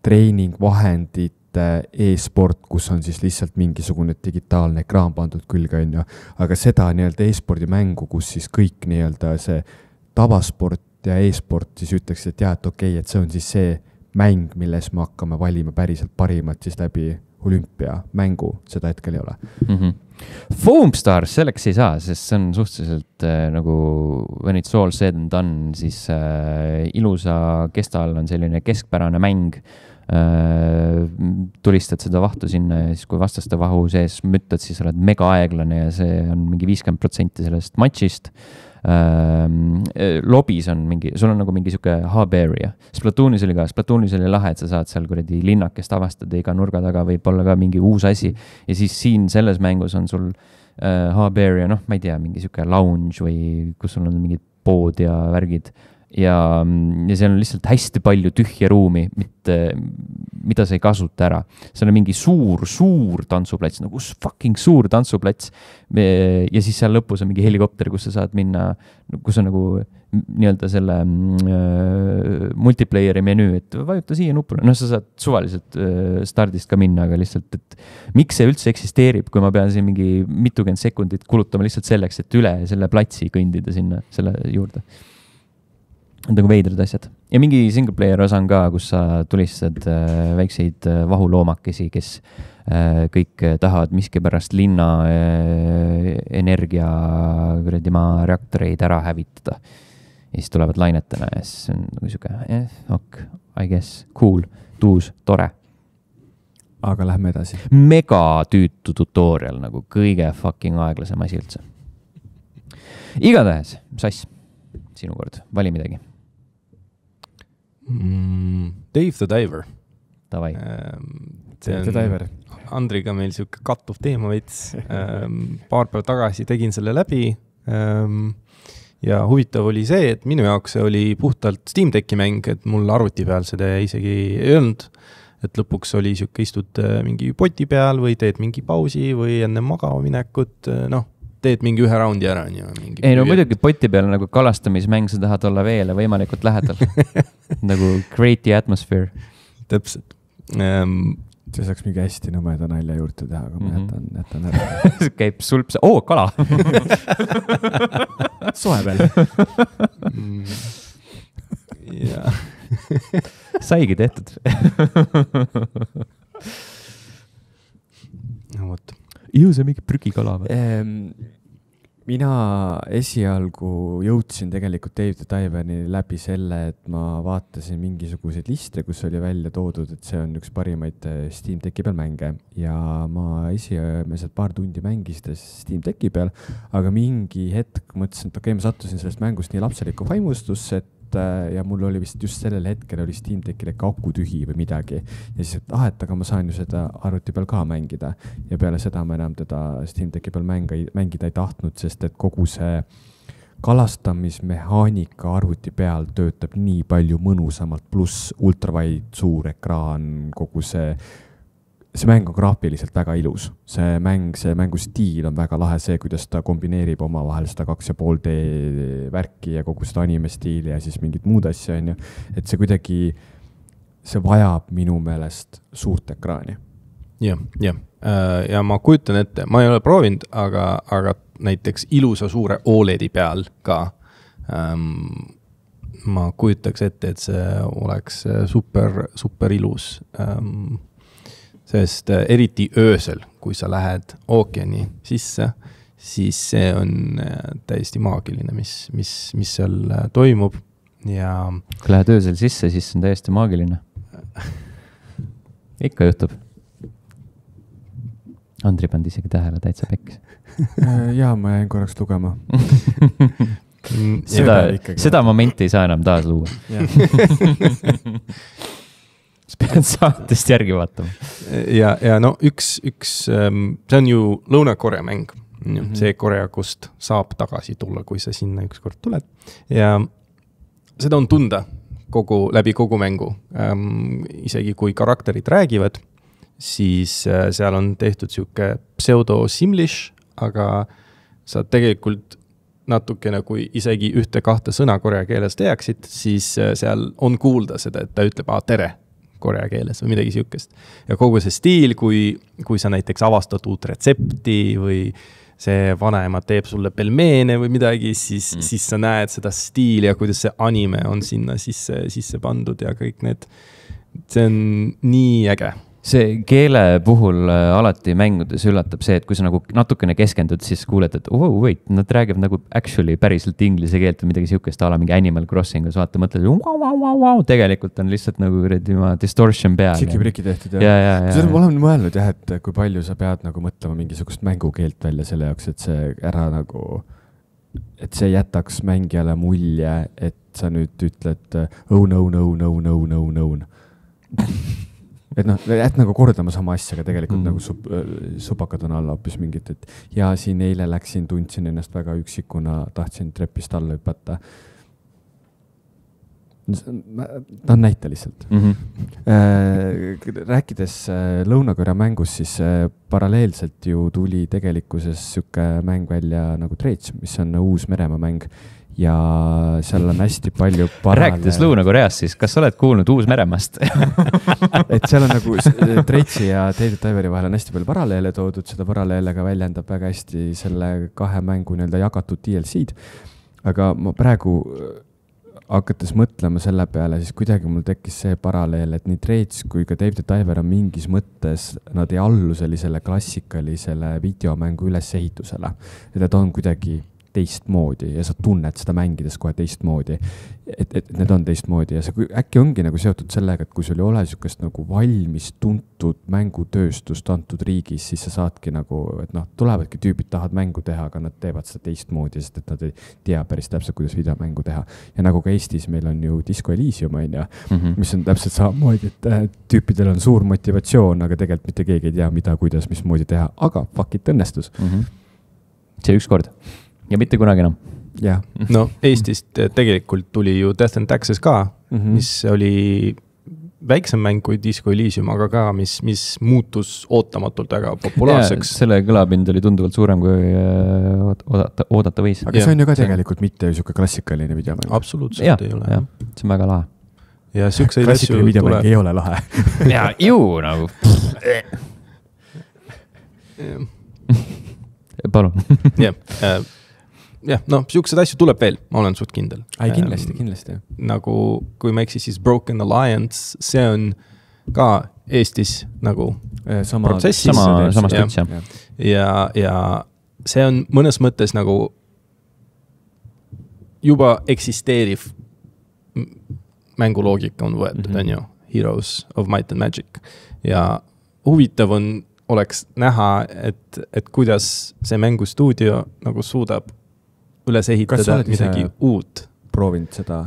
[SPEAKER 2] treeningvahendid, e-sport, kus on siis lihtsalt mingisugune digitaalne ekraan pandud külge, on ju. Aga seda nii-öelda e-spordi mängu, kus siis kõik nii-öelda see tavasport ja e-sport siis ütleks, et jah, et okei, et see on siis see mäng, milles me hakkame valima päriselt parimat siis läbi olümpiamängu, seda hetkel ei ole.
[SPEAKER 1] Foamstars selleks ei saa, sest see on suhteliselt nagu when it's all said and done, siis ilusa kestal on selline keskpärane mäng, tulistad seda vahtu sinna ja siis kui vastaste vahu sees müttad, siis oled mega aeglane ja see on mingi 50% sellest matšist. Lobis on mingi, sul on nagu mingi siuke hub area. Splatoonis oli lahe, et sa saad seal kuradi linnakest avastada iga nurga taga, võib olla ka mingi uus asi ja siis siin selles mängus on sul hub area, ma ei tea, mingi siuke lounge või kus sul on mingid pood ja värgid ja seal on lihtsalt hästi palju tühja ruumi, mida sa ei kasuta ära. Seal on mingi suur tantsuplats, nagu fucking suur tantsuplats ja siis seal lõpus on mingi helikopter, kus sa saad minna, kus on nagu nii-öelda selle multiplayeri menüü, et vajuta siia nupule. Sa saad suvaliselt stardist ka minna, aga lihtsalt, et miks see üldse eksisteerib, kui ma pean siin mingi mitukümmend sekundit kulutama lihtsalt selleks, et üle selle platsi kõndida sinna selle juurde. Nagu veidrad asjad. Ja mingi single player osa on ka, kus sa tulistad väikseid vahuloomakesi, kes kõik tahavad miski pärast linna energia reaktoreid ära hävitada. Ja siis tulevad lainetena ja siis on nagu siuke, I guess, cool, tuus, tore.
[SPEAKER 2] Aga lähme edasi.
[SPEAKER 1] Mega tüütu tutorial, nagu kõige fucking aeglasem asi üldse. Igatahes, Sass, sinu kord, vali midagi.
[SPEAKER 3] Dave the Diver.
[SPEAKER 1] Davai.
[SPEAKER 2] Dave the Diver.
[SPEAKER 3] Andriga meil siuke kattuv teema veits. Paar päeva tagasi tegin selle läbi. Ja huvitav oli see, et minu jaoks see oli puhtalt Steam Decki mäng, et mul arvuti peal seda isegi ei olnud. Et lõpuks oli siuke istud mingi poti peal või teed mingi pausi või enne magama minekut, teed mingi ühe raundi ära.
[SPEAKER 1] Ei, muidugi poti peal nagu kalastamismäng, sa tahad olla veele võimalikult lähedal. Nagu create the atmosphere.
[SPEAKER 3] Täpselt.
[SPEAKER 2] see saaks mingi hästi nõmeda nalja juurde teha, aga ma jätan ära.
[SPEAKER 1] Käib sulp, kala!
[SPEAKER 2] Soe veel.
[SPEAKER 3] Jaa.
[SPEAKER 1] Saigi tehtud.
[SPEAKER 3] No võt.
[SPEAKER 1] Ju see mingi prügikala või?
[SPEAKER 2] Mina esialgu jõudsin tegelikult Dave the Diveri läbi selle, et ma vaatasin mingisuguseid liste, kus oli välja toodud, et see on üks parimaid Steam Decki peal mänge ja ma esimesed paar tundi mängisin Steam Decki peal, aga mingi hetk mõtlesin, et okei, ma sattusin sellest mängust nii lapselikku vaimustusse, ja mul oli vist just sellel hetkel oli Steam Deckile aku tühi või midagi ja siis, et aga ma saan ju seda arvuti peal ka mängida ja peale seda ma enam teda Steam Decki peal mängida ei tahtnud, sest et kogu see kalastamismehaanika arvuti peal töötab nii palju mõnusamalt, pluss ultravide suur ekraan, kogu see mäng on graafiliselt väga ilus. See mängu stiil on väga lahe, see, kuidas ta kombineerib omavahel seda 2,5D värki ja kogu seda anime stiili ja siis mingid muud asja, on ju. Et see kuidagi, see vajab minu meelest suurt ekraani.
[SPEAKER 3] Ja ma kujutan ette, ma ei ole proovinud, aga näiteks ilusa suure OLED-i peal ka ma kujutaks ette, et see oleks super ilus. Sest eriti öösel, kui sa lähed ookeani sisse, siis see on täiesti maagiline, mis seal toimub. Ja
[SPEAKER 1] kui lähed öösel sisse, siis on täiesti maagiline. Ikka juhtub. Andri pandi isegi tähele täitsa pekkis.
[SPEAKER 2] Jaa, ma jäin korraks lugema.
[SPEAKER 1] Seda momenti ei saa enam taas luua. Pead saatest järgi vaatama.
[SPEAKER 3] Ja no üks see on ju Lõuna-Korea mäng. See Korea, kust saab tagasi tulla, kui sa sinna ükskord tuled. Ja seda on tunda läbi kogu mängu. Isegi kui karakterid räägivad, siis seal on tehtud siuke pseudo-simlish, aga sa tegelikult natukene, kui isegi 1-2 sõna korea keeles teaksid, siis seal on kuulda seda, et ta ütleb tere korea keeles või midagi siukest. Ja kogu see stiil, kui sa näiteks avastad uut retsepti või see vanaema teeb sulle pelmeene või midagi, siis sa näed seda stiili ja kuidas see anime on sinna sisse pandud ja kõik need. See on nii äge.
[SPEAKER 1] See keele puhul alati mängudes üllatab see, et kui sa nagu natukene keskendud, siis kuuled, et wait, nad räägivad nagu actually päriselt inglise keelt või midagi siukest ala mingi Animal Crossingus, vaata, mõtled, tegelikult on lihtsalt nagu distortion peal.
[SPEAKER 2] Siki-priki tehtud, jah. Seda ma olen mõelnud, jah, et kui palju sa pead nagu mõtlema mingisugust mängukeelt välja selle jaoks, et see ära nagu, et see jätaks mängijale mulje, et sa nüüd ütled no. Et nagu kordama sama asja, aga tegelikult nagu supakad on alla hoopis mingit, et ja siin eile tundsin ennast väga üksikuna, tahtsin trepist alla hüpata. Ta on näite lihtsalt. Rääkides Lõuna-Korea mängus, siis paralleelselt ju tuli tegelikkuses süke mäng välja nagu Traits, mis on uus Meremaa mäng. Ja seal on hästi palju
[SPEAKER 1] Rääkides Lõuna-Koreast, siis kas sa oled kuulnud Uus-Meremaast?
[SPEAKER 2] Et seal on nagu Traitsi ja Dave the Diveri vahel on hästi palju paralleele toodud, seda paralleelega väljendab väga hästi selle 2 mängu jagatud DLC-d. Aga ma praegu hakates mõtlema selle peale, siis kuidagi mul tekkis see paralleel, et nii Traits kui ka Dave the Diver on mingis mõttes, nad ei allu sellisele klassikalisele videomängu ülesehitusele. Et nad on kuidagi teistmoodi ja sa tunned seda mängides kohe teistmoodi, et need on teistmoodi ja see äkki ongi nagu seotud sellega, et kui sul ei ole sükest nagu valmis tuntud mängutööstust antud riigis, siis sa saadki nagu, et tulevadki tüübid tahavad mängu teha, aga nad teevad seda teistmoodi, sest et nad ei tea päris täpselt, kuidas videomängu teha. Ja nagu ka Eestis meil on ju Disco Elysium, mis on täpselt samamoodi, et tüüpidel on suur motivatsioon, aga tegelikult mitte keegi ei tea, mida, kuidas, mismoodi teha, aga fuck it õnnestus.
[SPEAKER 1] See üks kord. Ja mitte kunagi enam.
[SPEAKER 2] Yeah.
[SPEAKER 3] No Eestist tegelikult tuli ju Death and Taxes ka, mis oli väiksem mäng kui Disco Elysium, aga ka, mis muutus ootamatult väga populaarseks.
[SPEAKER 1] Ja, selle kõlapind oli tunduvalt suurem kui oodata võis.
[SPEAKER 2] Aga see on ju ka tegelikult mitte selline klassikaline videomäng.
[SPEAKER 3] Absoluutselt ei ole.
[SPEAKER 1] See on väga lahe.
[SPEAKER 3] ja siukseid asju
[SPEAKER 2] tuleb. Ei ole lahe.
[SPEAKER 1] ja ju nagu. Palun.
[SPEAKER 3] jah, noh, siukseid asju tuleb veel, ma olen suht kindel.
[SPEAKER 2] Ai, kindlasti.
[SPEAKER 3] Nagu, kui ma eksin, siis Broken Alliance, see on ka Eestis nagu protsessis.
[SPEAKER 1] Sama stüts,
[SPEAKER 3] jah. Ja see on mõnes mõttes nagu juba eksisteeriv mänguloogika on võetud, on ju, Heroes of Might and Magic. Ja huvitav oleks näha, et kuidas see mängustuudio nagu suudab üles ehitada midagi uut.
[SPEAKER 2] Proovinud seda?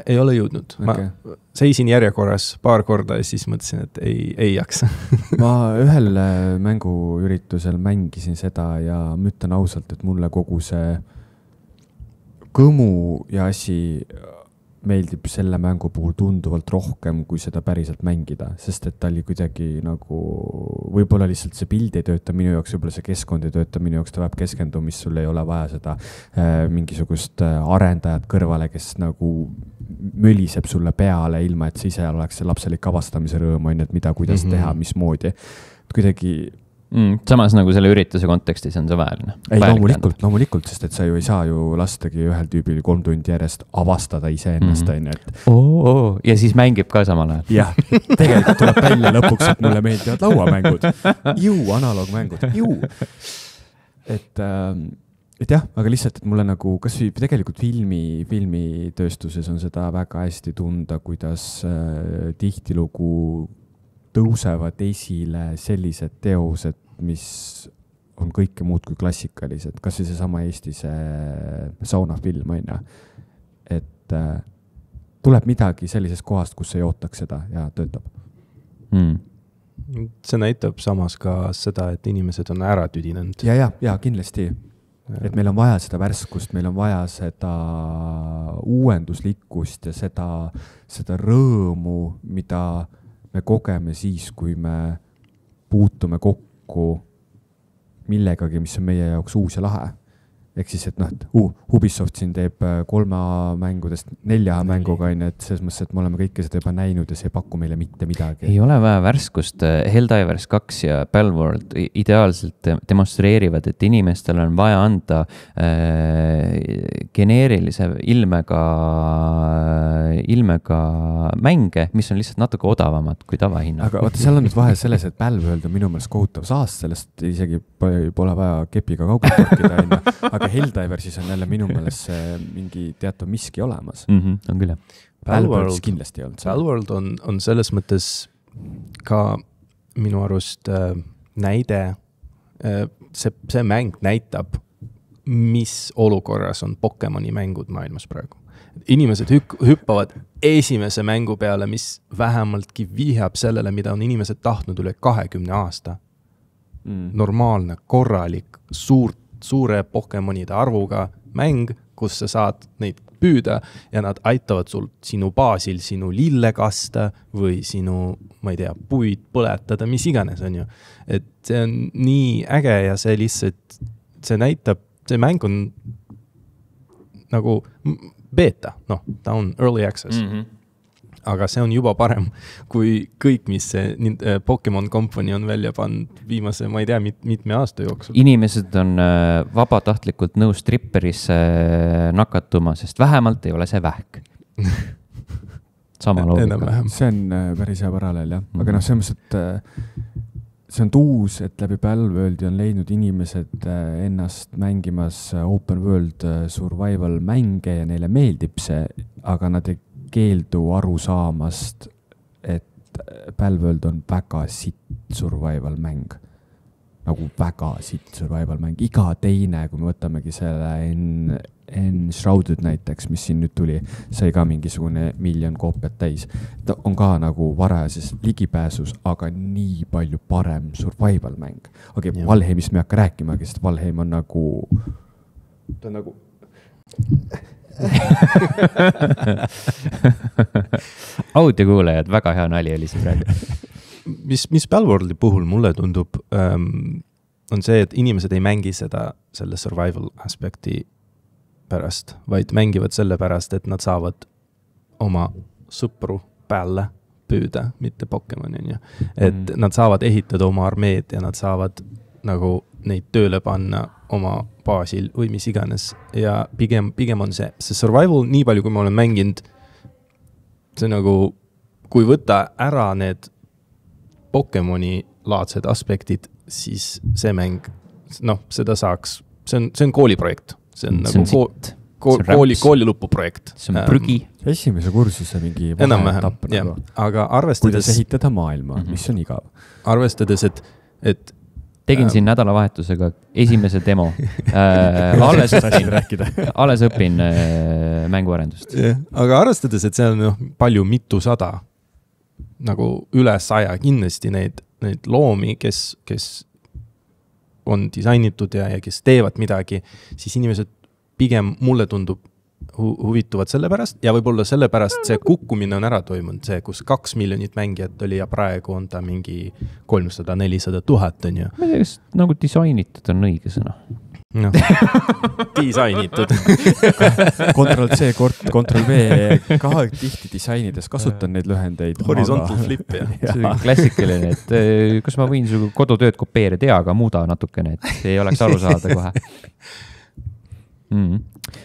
[SPEAKER 3] Ei ole jõudnud. Okay. Ma seisin järjekorras paar korda ja siis mõtlesin, et ei jaksa.
[SPEAKER 2] ma ühel mänguüritusel mängisin seda ja ma ütlen ausalt, et mulle kogu see kõmu ja asi meeldib selle mängu puhul tunduvalt rohkem, kui seda päriselt mängida, sest et ta oli kuidagi nagu, võib-olla lihtsalt see pild ei tööta minu jaoks, võib-olla see keskkond ei tööta minu jaoks, ta vajab keskendumist, sul ei ole vaja seda mingisugust arendajat kõrvale, kes nagu möliseb sulle peale, ilma et see ise oleks see lapselik avastamise rõõm, on, et mida, kuidas teha, mismoodi. Kuidagi
[SPEAKER 1] samas nagu selle ürituse kontekstis on see vääriline.
[SPEAKER 2] Ei, loomulikult, sest et sa ju ei saa ju lastagi ühel tüübil 3 tundi järjest avastada iseennast, on ju, et
[SPEAKER 1] ja siis mängib ka samal ajal.
[SPEAKER 2] Jah, tegelikult tuleb välja lõpuks, et mulle meeldivad lauamängud. Analoogmängud. Et jah, aga lihtsalt, et mulle nagu, kas tegelikult filmitööstuses on seda väga hästi tunda, kuidas tihtilugu tõusevad esile sellised teosed, mis on kõike muud kui klassikalised. Kas see sama Eesti saunafilm, on ju? Et tuleb midagi sellisest kohast, kus ei ootaks seda ja töötab.
[SPEAKER 3] See näitab samas ka seda, et inimesed on ära tüdinenud.
[SPEAKER 2] Ja, kindlasti. Et meil on vaja seda värskust, meil on vaja seda uuenduslikkust ja seda rõõmu, mida me kogeme siis, kui me puutume kokku millegagi, mis on meie jaoks uus ja lahe. Ehk siis, et Ubisoft siin teeb 3 mängudest 4 mänguga, et selles mõttes, et me oleme kõike seda juba näinud ja see ei paku meile mitte midagi.
[SPEAKER 1] Ei ole vaja värskust. Helldivers 2 ja Palworld ideaalselt demonstreerivad, et inimestel on vaja anda geneerilise ilmega mänge, mis on lihtsalt natuke odavamad kui tavahinna.
[SPEAKER 2] Aga vaata, seal on nüüd vahe selles, et Palworld on minu mõelest kohutav saast, sellest isegi pole vaja kepiga kaugelt korkida, aga Helldiversis on jälle minu meelest mingi teatav miski olemas.
[SPEAKER 1] On küll, jah.
[SPEAKER 2] Palworld kindlasti ei olnud.
[SPEAKER 3] Palworld on selles mõttes ka minu arust näide, see mäng näitab, mis olukorras on Pokemoni mängud maailmas praegu. Inimesed hüppavad esimese mängu peale, mis vähemaltki vihjab sellele, mida on inimesed tahtnud üle 20 aasta. Normaalne, korralik, suure Pokemonide arvuga mäng, kus sa saad neid püüda ja nad aitavad sul sinu baasil sinu lille kasta või sinu, ma ei tea, puid põletada, mis iganes on ju. Et see on nii äge ja see lihtsalt, see näitab, see mäng on nagu beta, ta on early access. Aga see on juba parem kui kõik, mis see Pokemon Company on välja pannud viimase, ma ei tea, mitme aasta jooksul.
[SPEAKER 1] Inimesed on vabatahtlikult nõus stripperisse nakatuma, sest vähemalt ei ole see vähk. Sama loogika.
[SPEAKER 2] See on päris hea paralleel, jah. Aga selles mõttes, et see on uus, et läbi Palworldi on leidnud inimesed ennast mängimas open world survival mänge ja neile meeldib see, aga nad ei keeldu aru saamast, et Palworld on väga sitt survival mäng. Nagu väga sitt survival mäng. Iga teine, kui me võtamegi selle Enshrouded näiteks, mis siin nüüd tuli, sai ka mingisugune 1 miljon koopiat täis. Ta on ka nagu varajases ligipääsus, aga nii palju parem survival mäng. Okei, Valheimist me ei hakka rääkimagi, sest Valheim on nagu... Ta on nagu...
[SPEAKER 1] Audiokuulajad, väga hea nali oli see praegu.
[SPEAKER 3] Mis Palworldi puhul mulle tundub, on see, et inimesed ei mängi selle survival aspekti pärast, vaid mängivad selle pärast, et nad saavad oma sõpru päälle püüda, mitte Pokemoni, on ju. Et nad saavad ehitada oma armeed ja nad saavad nagu neid tööle panna oma baasil või mis iganes. Ja pigem on see survival, nii palju kui ma olen mänginud, see nagu, kui võtta ära need Pokemoni laadsed aspektid, siis see mäng, seda saaks, see on kooliprojekt. See on nagu kooli lõpuprojekt.
[SPEAKER 1] See on prügi.
[SPEAKER 2] Esimese kursuse mingi vahetapp nagu.
[SPEAKER 3] Aga arvestades...
[SPEAKER 2] Kuidas ehitada maailma, mis on igav.
[SPEAKER 3] Arvestades, et
[SPEAKER 1] tegin siin nädalavahetusega esimese demo. Alles õpin mänguarendust.
[SPEAKER 3] Aga arvestades, et see on palju mitusada, nagu üle 100 kindlasti neid loomi, kes on disainitud ja kes teevad midagi, siis inimesed pigem mulle tundub huvituvad selle pärast ja võib-olla selle pärast see kukkumine on ära toimunud, see, kus 2 miljonit mängijat oli ja praegu on ta mingi 300-400 000 on ju.
[SPEAKER 1] Ma ei tea, kas nagu disainitud on õige sõna.
[SPEAKER 3] No, disainitud.
[SPEAKER 2] Ctrl-C, Ctrl-V, ka tihti disainides kasutan neid lühendeid.
[SPEAKER 3] Horizontal flip, jah.
[SPEAKER 1] See on klassikaline, et kas ma võin su kodutööd kopeerida, aga muuda natukene, et ei oleks aru saada kohe.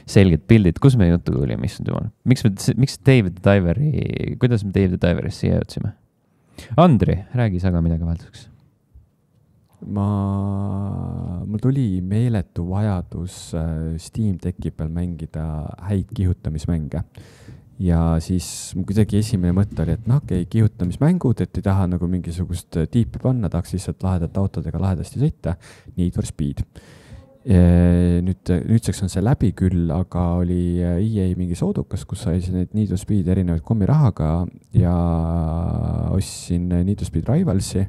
[SPEAKER 1] Selged pildid, kus me jutu oli, mis on tumal? Miks David the Diveri, kuidas me David the Diverist siia jõudsime? Andri, räägi sa ka midagi vahelduseks.
[SPEAKER 2] Mul tuli meeletu vajadus Steam Decki peal mängida häid kihutamismänge. Ja siis kuidagi esimene mõte oli, et kihutamismängud, et ei taha nagu mingisugust tiipi panna, tahaks lihtsalt lahedat autodega lahedasti sõita. Need for Speed. Nüüdseks on see läbi küll, aga oli EA mingi soodukas, kus sai need Need for Speed erinevaid kommirahaga ja ostsin Need for Speed Rivalsi,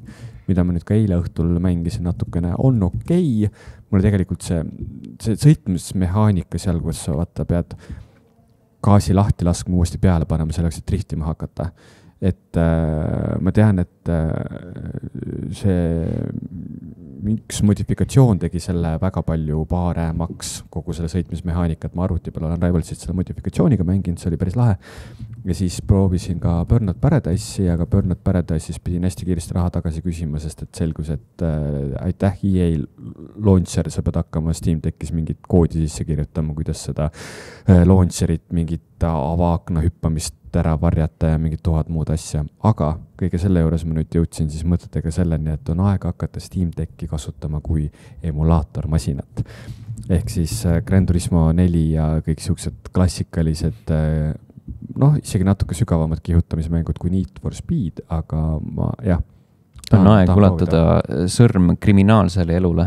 [SPEAKER 2] mida ma nüüd ka eile õhtul mängisin natukene, on okei. Mulle tegelikult see sõitmismehaanika seal, kus sa pead gaasi lahti laskma uuesti peale panema selleks, et driftima hakata. Et ma tean, et see üks modifikatsioon tegi selle väga palju paaremaks kogu selle sõitmismehaanikat. Ma arvuti peal olen Rivalsit selle modifikatsiooniga mänginud, see oli päris lahe. Ja siis proovisin ka Burnout Paradise'i, aga Burnout Paradise'is pidin hästi kiiresti raha tagasi küsima, sest et selgus, et aitäh EA launcher, sa pead hakkama Steam Deckis mingit koodi sisse kirjutama, kuidas seda launcherit, mingit avaakna hüppamist ära varjata ja mingid 1000 muud asja. Aga kõige selle juures ma nüüd jõudsin siis mõtetega selleni, et on aeg hakata Steam Decki kasutama kui emulaatormasinat. Ehk siis Gran Turismo 4 ja kõik siuksed klassikalised, isegi natuke sügavamad kihutamismängud kui Need for Speed, aga
[SPEAKER 1] on aeg ulatada sõrm kriminaalsele elule.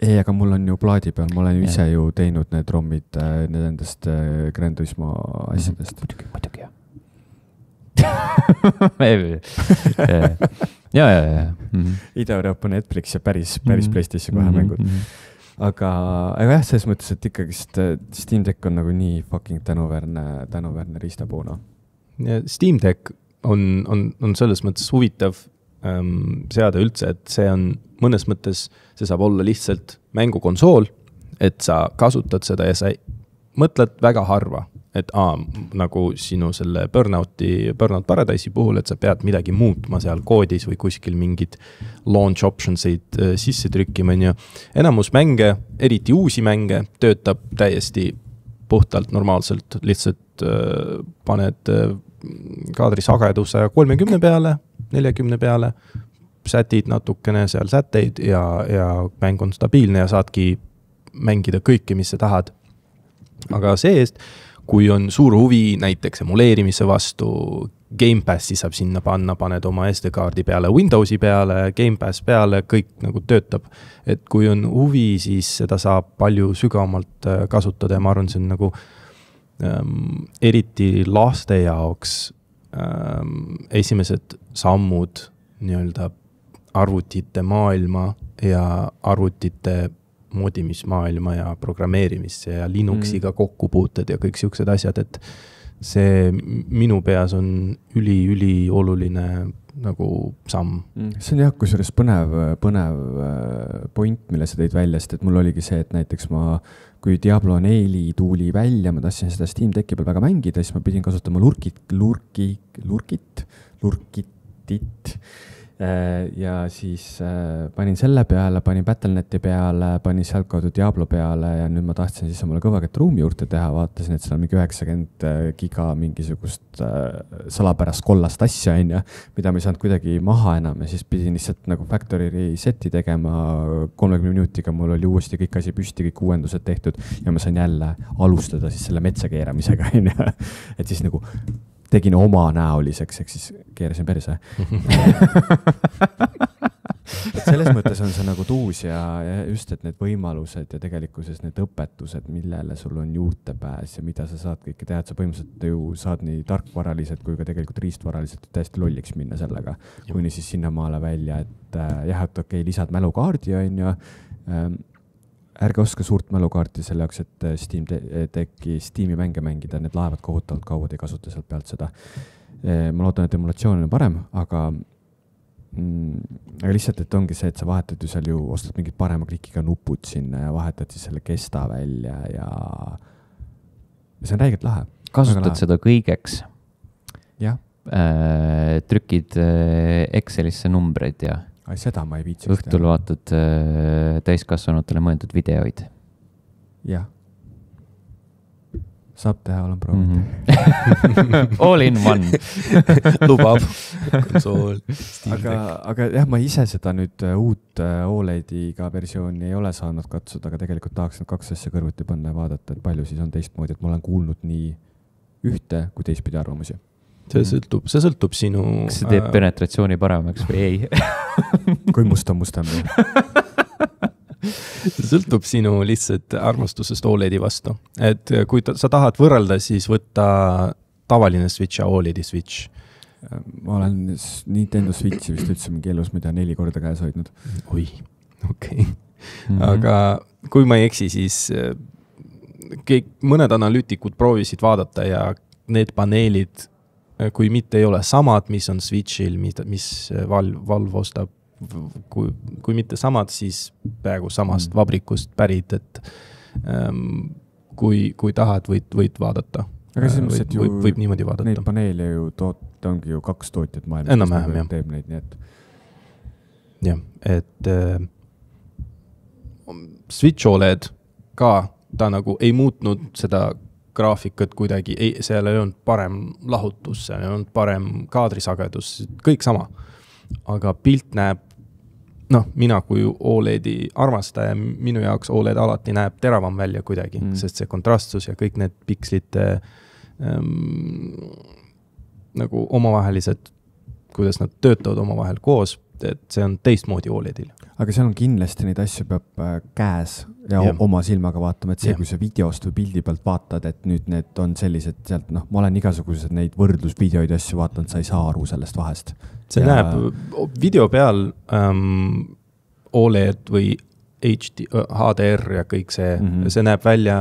[SPEAKER 2] Ei, aga mul on ju plaadi peal, ma olen ju ise ju teinud need rommid nendest Gran Turismo asjadest.
[SPEAKER 1] Muidugi, jah.
[SPEAKER 2] Ida-Euroopa Netflix ja päris PlayStation 2 mängud. Aga jah, selles mõttes, et ikkagi Steam Deck on nagu nii fucking tänuväärne riistapuuna.
[SPEAKER 3] Steam Deck on selles mõttes huvitav seada üldse, et see on mõnes mõttes, see saab olla lihtsalt mängukonsool, et sa kasutad seda ja sa mõtled väga harva, et nagu sinu selle Burnout Paradise'i puhul, et sa pead midagi muutma seal koodis või kuskil mingid launch optionsid sisse trükkima. Enamus mänge, eriti uusi mänge, töötab täiesti puhtalt normaalselt, lihtsalt paned kaadri sageduse 30 peale, 40 peale, sätid natukene seal sätteid ja mäng on stabiilne ja saadki mängida kõike, mis sa tahad. Aga see-eest, kui on suur huvi näiteks emuleerimise vastu, Game Passi saab sinna panna, paned oma SD-kaardi peale, Windowsi peale, Game Pass peale, kõik nagu töötab. Et kui on huvi, siis seda saab palju sügavamalt kasutada ja ma arvan, see on nagu eriti laste jaoks esimesed sammud nii-öelda arvutite maailma ja arvutite moodimismaailma ja programmeerimisse ja Linuxiga kokkupuuted ja kõik siuksed asjad, et see minu peas on üli oluline nagu samm.
[SPEAKER 2] See on jah, kusjuures põnev point, mille sa tõid välja, sest et mul oligi see, et näiteks kui Diablo 4 tuuli välja, ma tahtsin seda Steam Decki peal väga mängida, siis ma pidin kasutama lurkitit. Ja siis panin selle peale, panin Battle.neti peale, panin sealtkaudu Diablo peale ja nüüd ma tahtsin siis omale kõvakett ruumi juurde teha, vaatasin, et seal on mingi 90 giga mingisugust salapärast kollast asja, mida ma ei saanud kuidagi maha enam ja siis pidin lihtsalt nagu factory reseti tegema 30 minutiga, mul oli uuesti kõik asi püsti, kõik uuendused tehtud ja ma sain jälle alustada siis selle metsa keeramisega, et siis nagu tegin oma näoliseks, ehk siis keerasin perse. Et selles mõttes on see nagu tuus ja just, et need võimalused ja tegelikkuses need õpetused, millele sul on juurdepääs ja mida sa saad kõike teha, et sa põhimõtteliselt ju saad nii tarkvaraliselt kui ka tegelikult riistvaraliselt täiesti lolliks minna sellega, kuni siis sinnamaale välja, et jah, et okei, lisad mälukaardi on ju, ärge oska suurt mälukaarti selle jaoks, et Steam'i mänge mängida, need laevad kohutavalt kauad ei kasuta sealt pealt seda. Ma loodan, et emulatsioon on parem, aga lihtsalt, et ongi see, et sa vahetad ju seal ju, ostad mingid parema klikiga nupud sinna ja vahetad siis selle kesta välja ja see on räigelt lahe.
[SPEAKER 1] Kasutad seda kõigeks?
[SPEAKER 2] Jah.
[SPEAKER 1] Trükid Excelisse numbreid ja
[SPEAKER 2] seda ma ei viitsiks.
[SPEAKER 1] Õhtul vaatad täiskasvanutele mõeldud videoid.
[SPEAKER 2] Jah. Saab teha, olen proovinud.
[SPEAKER 1] All in one.
[SPEAKER 3] Lubab.
[SPEAKER 2] aga jah, ma ise seda nüüd uut OLED-iga versiooni ei ole saanud katsuda, aga tegelikult tahaks need kaks asja kõrvuti panna ja vaadata, et palju siis on teistmoodi, et ma olen kuulnud nii ühte kui teistpidi arvamusi.
[SPEAKER 3] See sõltub sinu...
[SPEAKER 1] Kas see teeb penetratsiooni paremaks või ei?
[SPEAKER 2] Kui mustam.
[SPEAKER 3] See sõltub sinu lihtsalt armastusest OLED-i vastu. Et kui sa tahad võrrelda, siis võtta tavaline Switch ja OLED-i Switch.
[SPEAKER 2] Ma olen Nintendo Switchi vist üldse mingi elus, mida 4 korda käes hoidnud.
[SPEAKER 3] Oi, okei. Aga kui ma ei eksi, siis mõned analüütikud proovisid vaadata ja need paneelid, kui mitte ei ole samad, mis on Switchil, mis Valve ostab, kui mitte samad, siis peaaegu samast vabrikust pärit, et kui tahad, võid vaadata.
[SPEAKER 2] Aga selles mõttes, et
[SPEAKER 3] võib niimoodi vaadata.
[SPEAKER 2] Neid paneele ju ongi ju 2 tootjat maailmas.
[SPEAKER 3] Enam-vähem, jah.
[SPEAKER 2] Teeb neid, nii et...
[SPEAKER 3] Jah, et Switch OLED ka, ta nagu ei muutnud seda graafikat kuidagi, seal ei olnud parem lahutus, seal ei olnud parem kaadrisagedus, kõik sama. Aga pilt näeb, mina kui OLED-i armastaja, minu jaoks OLED alati näeb teravam välja kuidagi, sest see kontrastsus ja kõik need pikslite nagu omavahelised, kuidas nad töötavad omavahel koos, et see on teistmoodi OLED-il.
[SPEAKER 2] Aga seal on kindlasti neid asju peab käes ja oma silmaga vaatama, et see, kui sa videost või pildi pealt vaatad, et nüüd need on sellised sealt, ma olen igasugused neid võrdlusvideoid asju vaatanud, sa ei saa aru sellest vahest.
[SPEAKER 3] See näeb video peal OLED või HDR ja kõik see, see näeb välja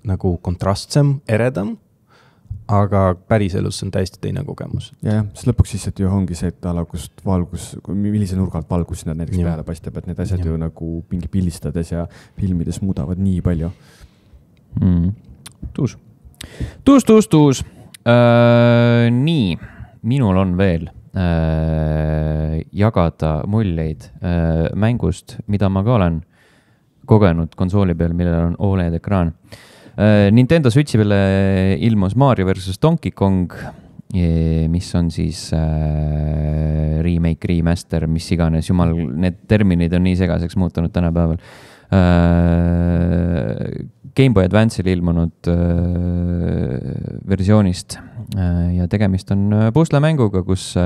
[SPEAKER 3] nagu kontrastsem, eredam, aga päriselus on täiesti teine kogemus.
[SPEAKER 2] Ja, siis lõpuks siis, et ju ongi see, et kust valgus, millise nurgalt valgus sinna näiteks peale paistab, et need asjad ju nagu mingi pildistades ja filmides muudavad nii palju.
[SPEAKER 1] Tuus. Nii, minul on veel jagada muljeid mängust, mida ma ka olen kogenud konsooli peal, millel on OLED-ekraan. Nintendo Switchi peale ilmus Mario versus Donkey Kong, mis on siis remake, remaster, mis iganes, jumal, need terminid on nii segaseks muutunud tänapäeval. Game Boy Advance'il ilmunud versioonist ja tegemist on puslemänguga, kus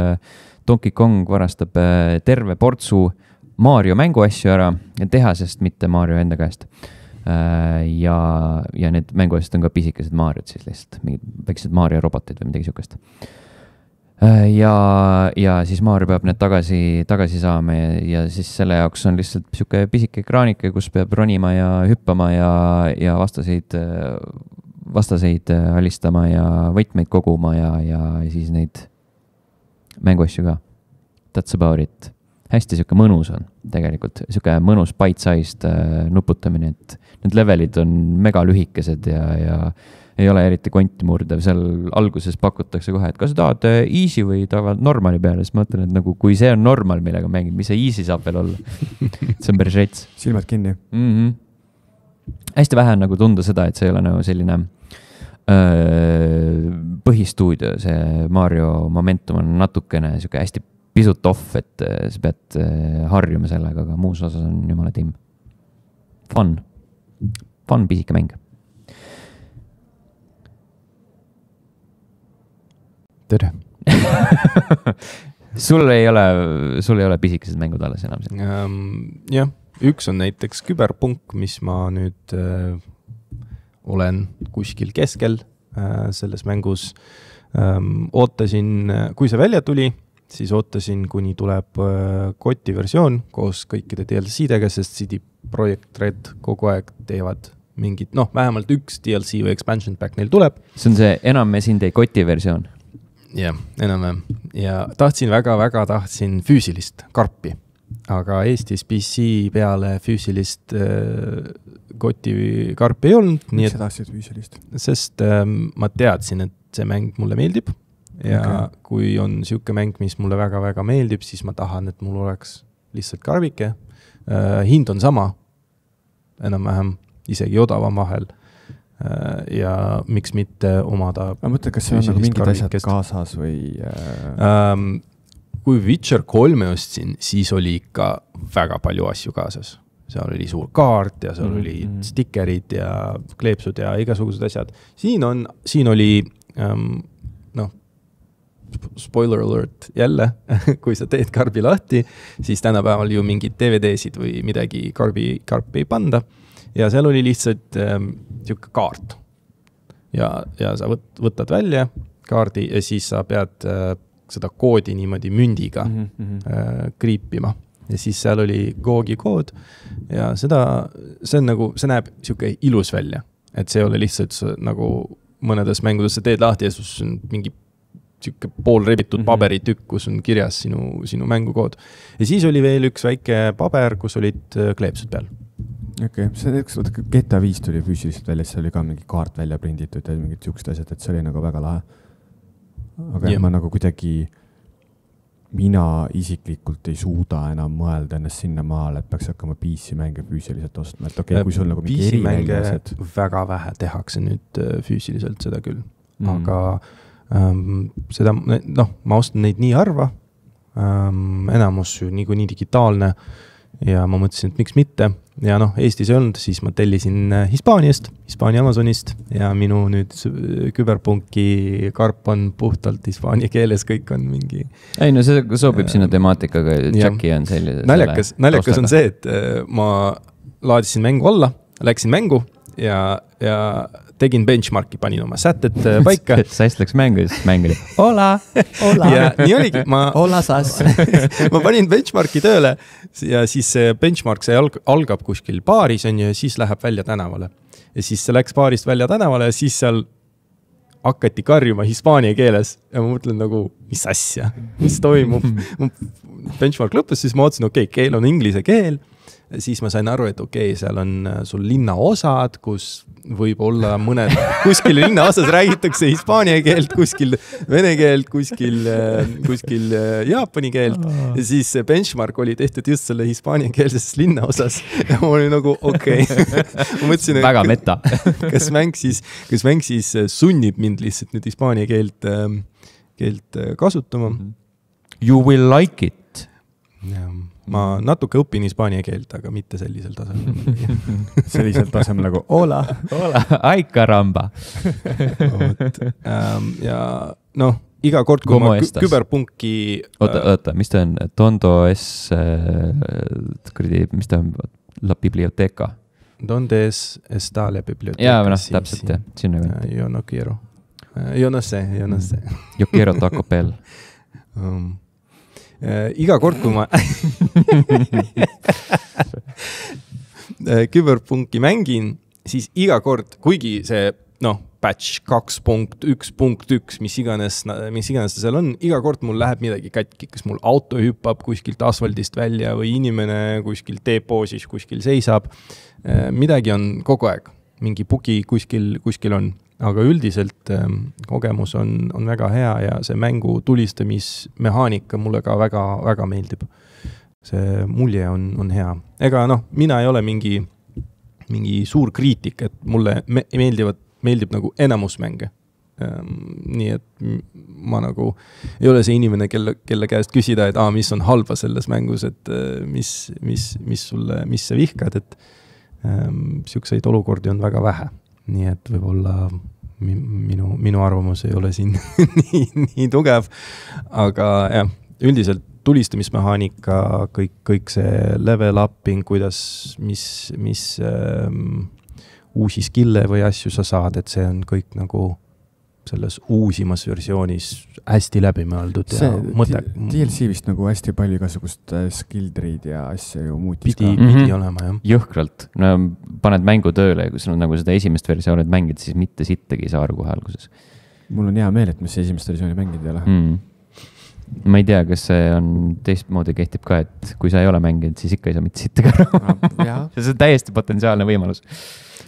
[SPEAKER 1] Donkey Kong varastab terve portsu Mario mänguasju ära ja tehasest, mitte Mario enda käest. Ja need mänguasjad on ka pisikesed Mariod siis lihtsalt, mingid väiksed Mario robotid või midagi sukest. Ja siis Mario peab need tagasi saama ja siis selle jaoks on lihtsalt siuke pisike ekraanike, kus peab ronima ja hüppama ja vastaseid alistama ja võtmeid koguma ja siis neid mänguasju ka. That's about it. Hästi siuke mõnus on tegelikult, siuke mõnus bite-sized nuputamine, et need levelid on mega lühikesed ja ei ole eriti konti murdev. Seal alguses pakutakse kohe, et kas sa tahad easy või tahad normali peale, siis ma mõtlen, et nagu kui see on normal, millega mängid, mis see easy saab veel olla. See on päris rets.
[SPEAKER 2] Silmad kinni.
[SPEAKER 1] Hästi vähe on nagu tunda seda, et see ei ole nagu selline põhistuudio, see Mario Momentum on natukene siuke hästi pisut off, et sa pead harjuma sellega, aga muus osas on jumala tiim. Fun pisike mäng.
[SPEAKER 3] Tere.
[SPEAKER 1] sul ei ole pisikesed mängud alles enam siin?
[SPEAKER 3] Jah, üks on näiteks Küberpunk, mis ma nüüd olen kuskil keskel selles mängus. Ootasin, kui see välja tuli, siis ootasin, kuni tuleb koti versioon koos kõikide DLC-dega, sest CD Projekt Red kogu aeg teevad mingid, vähemalt üks DLC või expansion pack neil tuleb.
[SPEAKER 1] See on see enam sind ei koti versioon?
[SPEAKER 3] Jah, enam. Ja väga tahtsin füüsilist karpi, aga Eestis PC peale füüsilist koti karpi ei olnud.
[SPEAKER 2] Miks sa tahtsid füüsilist?
[SPEAKER 3] Sest ma teadsin, et see mäng mulle meeldib. Ja kui on siuke mäng, mis mulle väga meeldib, siis ma tahan, et mul oleks lihtsalt karbike. Hind on sama, enam-vähem isegi odavam vahel. Ja miks mitte omada...
[SPEAKER 2] Ma mõtlen, kas see on nagu mingid asjad kaasas või...
[SPEAKER 3] Kui Witcher 3 ostsin, siis oli ikka väga palju asju kaasas. Seal oli suur kaart ja seal oli stikerid ja kleepsud ja igasugused asjad. Siin oli... spoiler alert jälle, kui sa teed karbi lahti, siis tänapäeval ju mingid DVD-sid või midagi karpi ei panda. Ja seal oli lihtsalt siuke kaart. Ja sa võtad välja kaardi ja siis sa pead seda koodi niimoodi mündiga kriipima. Ja siis seal oli Googi kood ja see näeb siuke ilus välja. Et see oli lihtsalt nagu mõnedes mängudes sa teed lahti ja sus on mingi siuke pool rebitud paberitükk, kus on kirjas sinu mängukood. Ja siis oli veel üks väike paber, kus olid kleepsud peal.
[SPEAKER 2] Okei, GTA 5 tuli füüsiliselt välja, see oli ka mingi kaart välja prinditud ja mingid siuksed asjad, et see oli nagu väga lahe. Aga ma nagu kuidagi, mina isiklikult ei suuda enam mõelda ennast sinna maale, et peaks hakkama PC mänge füüsiliselt ostma. Et okei, kui sul nagu mingi
[SPEAKER 3] PC-mänge väga vähe tehakse nüüd füüsiliselt seda küll, aga seda, ma ostan neid nii harva, enamus ju nii digitaalne ja ma mõtlesin, et miks mitte. Ja Eestis ei olnud, siis ma tellisin Hispaania Amazonist ja minu nüüd Küberpunki karp on puhtalt hispaania keeles, kõik on mingi...
[SPEAKER 1] Ei, see sobib sinna temaatikaga, Jacki on selline...
[SPEAKER 3] Naljakas on see, et ma laadisin mängu alla, läksin mängu ja tegin benchmarki, panin oma sätted paika.
[SPEAKER 1] Sa hästi läks mängu, siis mäng oli hola.
[SPEAKER 3] Ja nii oligi,
[SPEAKER 2] hola sas.
[SPEAKER 3] Ma panin benchmarki tööle ja siis see benchmark, see algab kuskil baaris on ja siis läheb välja tänavale. Ja siis see läks baarist välja tänavale ja siis seal hakati karjuma hispaania keeles ja ma mõtlen nagu, mis asja, mis toimub. Benchmark lõppes, siis ma otsin, keel on inglise keel. Siis ma sain aru, et seal on sul linnaosad, kus võib olla kuskil linnaosas räägitakse hispaania keelt, kuskil vene keelt, kuskil jaapani keelt. Ja siis see benchmark oli tehtud just selle hispaania keelses linnaosas. Ja ma olin nagu, Ma mõtlesin,
[SPEAKER 1] väga meta.
[SPEAKER 3] kas mäng siis sunnib mind lihtsalt nüüd hispaania keelt kasutama.
[SPEAKER 1] You will like it.
[SPEAKER 3] Ma natuke õpin hispaania keelt, aga mitte sellisel tasemel.
[SPEAKER 2] Sellisel tasemel nagu hola.
[SPEAKER 1] Ai caramba.
[SPEAKER 3] Ja iga kord, kui ma Küberpunki...
[SPEAKER 1] Oota, mis ta on? Tondo S... mis ta on? La biblioteca.
[SPEAKER 3] Donde está la biblioteca?
[SPEAKER 1] Jaa, täpselt, jah. Sinna ka.
[SPEAKER 3] Yo no quiero. Yo no sé.
[SPEAKER 1] Yo quiero Taco Bell.
[SPEAKER 3] Iga kord, kui ma Küberpunki mängin, siis iga kord, kuigi see patch 2.1.1, mis iganes ta seal on, iga kord mul läheb midagi katki, kas mul auto hüppab kuskilt asfaldist välja või inimene kuskil depoosis kuskil seisab. Midagi on kogu aeg, mingi bugi kuskil on, aga üldiselt kogemus on väga hea ja see mängu tulistamismehaanika mulle ka väga, väga meeldib. See mulje on hea. Ega mina ei ole mingi suur kriitik, et mulle meeldib nagu enamus mänge. Nii et ma nagu ei ole see inimene, kelle käest küsida, et mis on halba selles mängus, et mis sa vihkad, et siukseid olukordi on väga vähe. Nii et võib-olla minu arvamus ei ole siin nii tugev, aga jah, üldiselt tulistamismehaanika, kõik see level upping, kuidas, mis uusi skille või asju sa saad, et see on kõik nagu selles uusimas versioonis hästi läbi mõeldud ja mõte.
[SPEAKER 2] DLC vist nagu hästi palju igasugust skill tree'd ja asja ju muutis
[SPEAKER 3] pidi olema, jah.
[SPEAKER 1] Jõhkralt. No, paned mängu tööle ja kui sul on nagu seda esimest versioonid mängid, siis mitte sittagi ei saa aru kohe alguses.
[SPEAKER 2] Mul on hea meel, et mis esimest versiooni mängid ei ole.
[SPEAKER 1] Ma ei tea, kas see on teistmoodi kehtib ka, et kui sa ei ole mänginud, siis ikka ei saa mitte sittagi aru. See on täiesti potentsiaalne võimalus.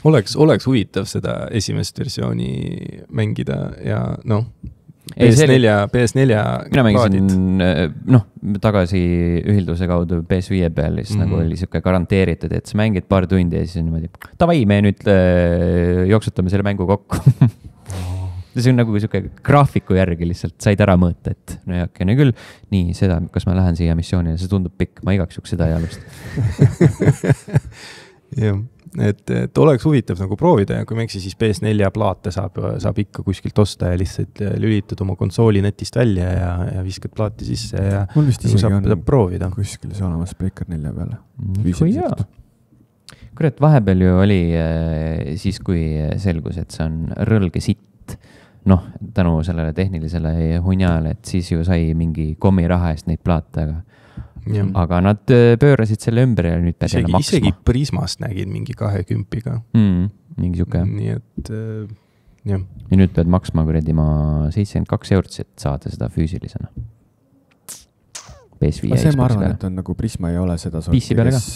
[SPEAKER 3] Oleks huvitav seda esimest versiooni mängida ja PS4
[SPEAKER 1] mina mängisin tagasi ühilduse kaudu PS5 peal, siis nagu oli siuke garanteeritud, et sa mängid paar tundi ja siis on niimoodi, tavai, me nüüd jooksutame selle mängu kokku. See on nagu siuke graafiku järgi lihtsalt said ära mõõta, et no küll, nii seda, kas ma lähen siia missioonile, see tundub pikk, ma igaks juks seda ei alust.
[SPEAKER 3] Jah. Et oleks huvitav nagu proovida ja kui meksi, siis PS4 plaate saab ikka kuskilt osta ja lihtsalt lülitad oma konsooli netist välja ja viskad plaati sisse ja
[SPEAKER 2] mul vist isegi
[SPEAKER 3] saab proovida.
[SPEAKER 2] Kuskil see olemas Breaker 4 peale.
[SPEAKER 1] Kurat, vahepeal ju oli siis, kui selgus, et see on rõlge sitt, tänu sellele tehnilisele hunjale, et siis ju sai mingi kommiraha eest neid plaate, aga nad pöörasid selle ümber ja nüüd pead jälle maksma.
[SPEAKER 3] Isegi Prismast nägid mingi 20-ga.
[SPEAKER 1] Mingi siuke.
[SPEAKER 3] Nii et,
[SPEAKER 1] jah. Ja nüüd pead maksma kuradi 72 €, et saada seda füüsilisena. PS5
[SPEAKER 2] ja see ma arvan, et on nagu Prisma ei ole seda sorti, kes